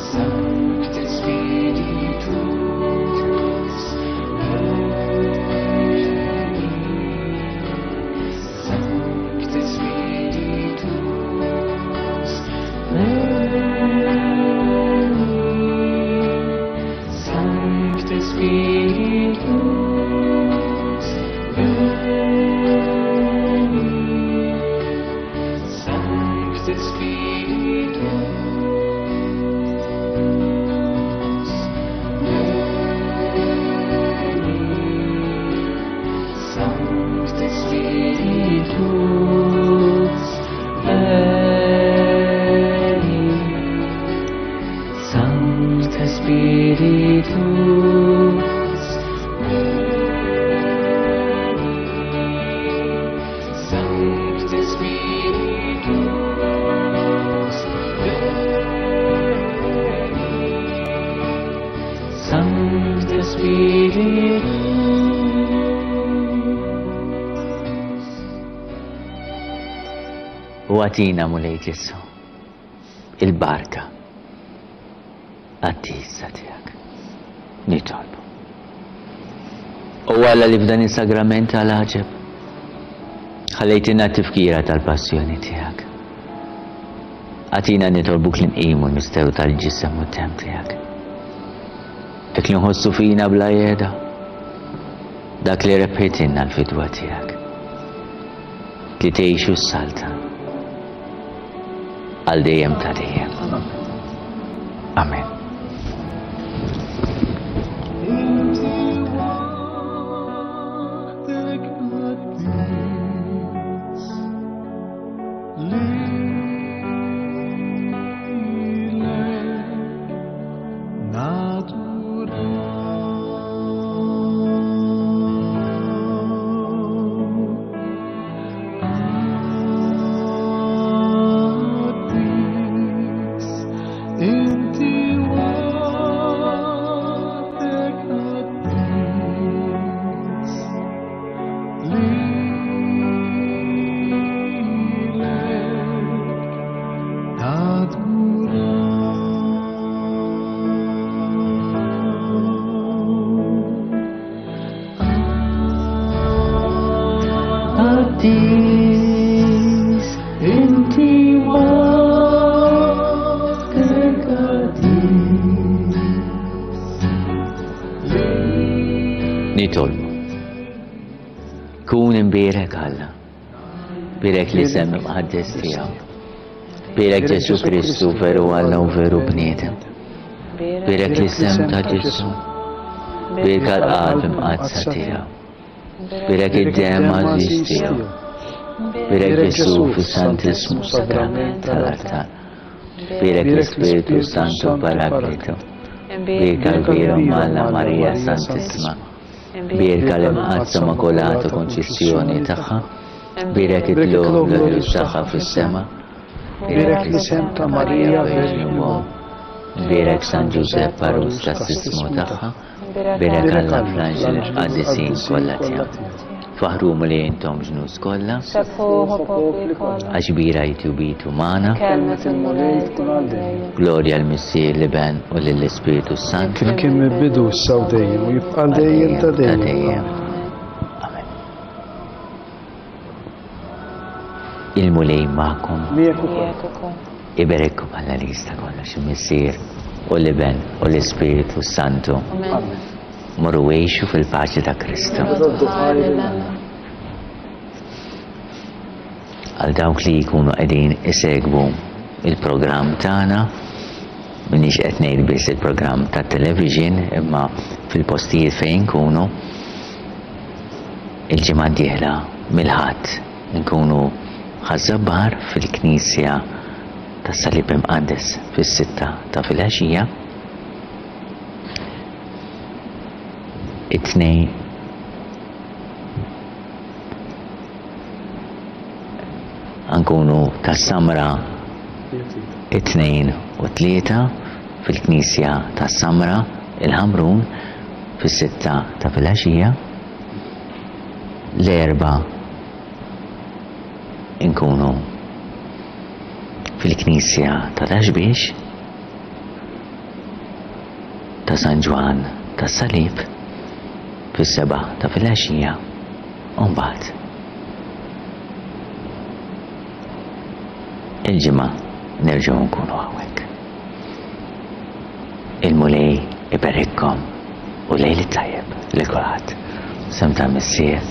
Sancte Spiritus, veni. Sancte Spiritus, veni. Sancte Spiritus, U agħtina, Mulej Ġesù, il-barka qaddisa tiegħek. Nitolbu. O Alla li f'dan is-sagrament tal-għaġeb ħallejtilna t-tifkira tal-passjoni tiegħek. Agħtina nitolbuk li nqimu l-misteru tal-ġisem u d-demm tiegħek. Dak li nħossu fina bla jeda, dak li rebħitilna l-fidwa tiegħek. Li tgħix u ssaltan għal dejjem ta' dejjem. Amen. Qaddis, inti waħdek qaddis. Nitolbu. Kun imbierek Alla. Birek l-isem imqaddes tiegħu. Birek Ġesu Kristu veru Alla u veru bniedem. Birek l-isem ta' Ġesu. Birek għal-qalb imqaddsa tiegħu. Birek id-dem għażiż tiegħu. Birek Ġesu fis-Santismu Sagrament tal-Artal. Birek l-Ispirtu Santu Paraklitu. Birek għal-Vira Malla Marija Santissima. Bierka l-Imqaddsa Immakulata Konċizzjoni tagħha, bierek it-tlugħ glorjuż tagħha fis-sema, Bierek l-isem ta' Marija Verġni u Omm, bierek San Ġużepp għarus tas-Sismu tagħha, bierek Alla fl-anġli l-qaddisin kollha tiegħu. Faħħru Mulej intom ġnus kollha. Sebħuh o popli kollha. Għax kbira hi tjubitu magħna. Kelmet il-Mulej tkun għal dejjem. Glorja l-Missier, l-Iben u lill-Ispirtu s-Santu. Kif kien mill-bidu, issa u dejjem, u jibqa' għal dejjem ta' dejjem. Amen. Il-Mulej magħkom. Miegħek ukoll. Iberikkom Alla li jista' kollox, il-Missier u l-Iben u l-Ispirtu s-Santu. Amen. Morru għixu fil-paċi ta' Kristu. Għal dawk li jkunu qegħdin isegwu il-programm tagħna, minix qed ngħid biss il-programm tat-television, imma fil-postijiet fejn nkunu, il-ġimgħa d-dieħla mill-Ħadd nkunu Ħaż-Żabbar fil-Knisja tas-Salib Imqaddes fis-sitta ta' filgħaxija. It-Tnejn nkunu tas-Samra it-Tnejn u t-Tlieta fil-Knisja tas-Samra, il-Ħamrun, fis-sitta ta' filgħaxija. L-Erbgħa nkunu fil-Knisja ta' Ta' Xbiex. ta' San Ġwann tas-Salib fis-sebgħa ta' filgħaxija u mbagħad il-Ġimgħa nerġgħu nkunu hawnhekk. Il-Mulej iberikkom u lejl it-tajjeb lil kulħadd. Sem tal-Missier,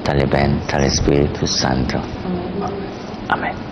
tal-Iben, tal-Ispirtu s-Santu. Amen.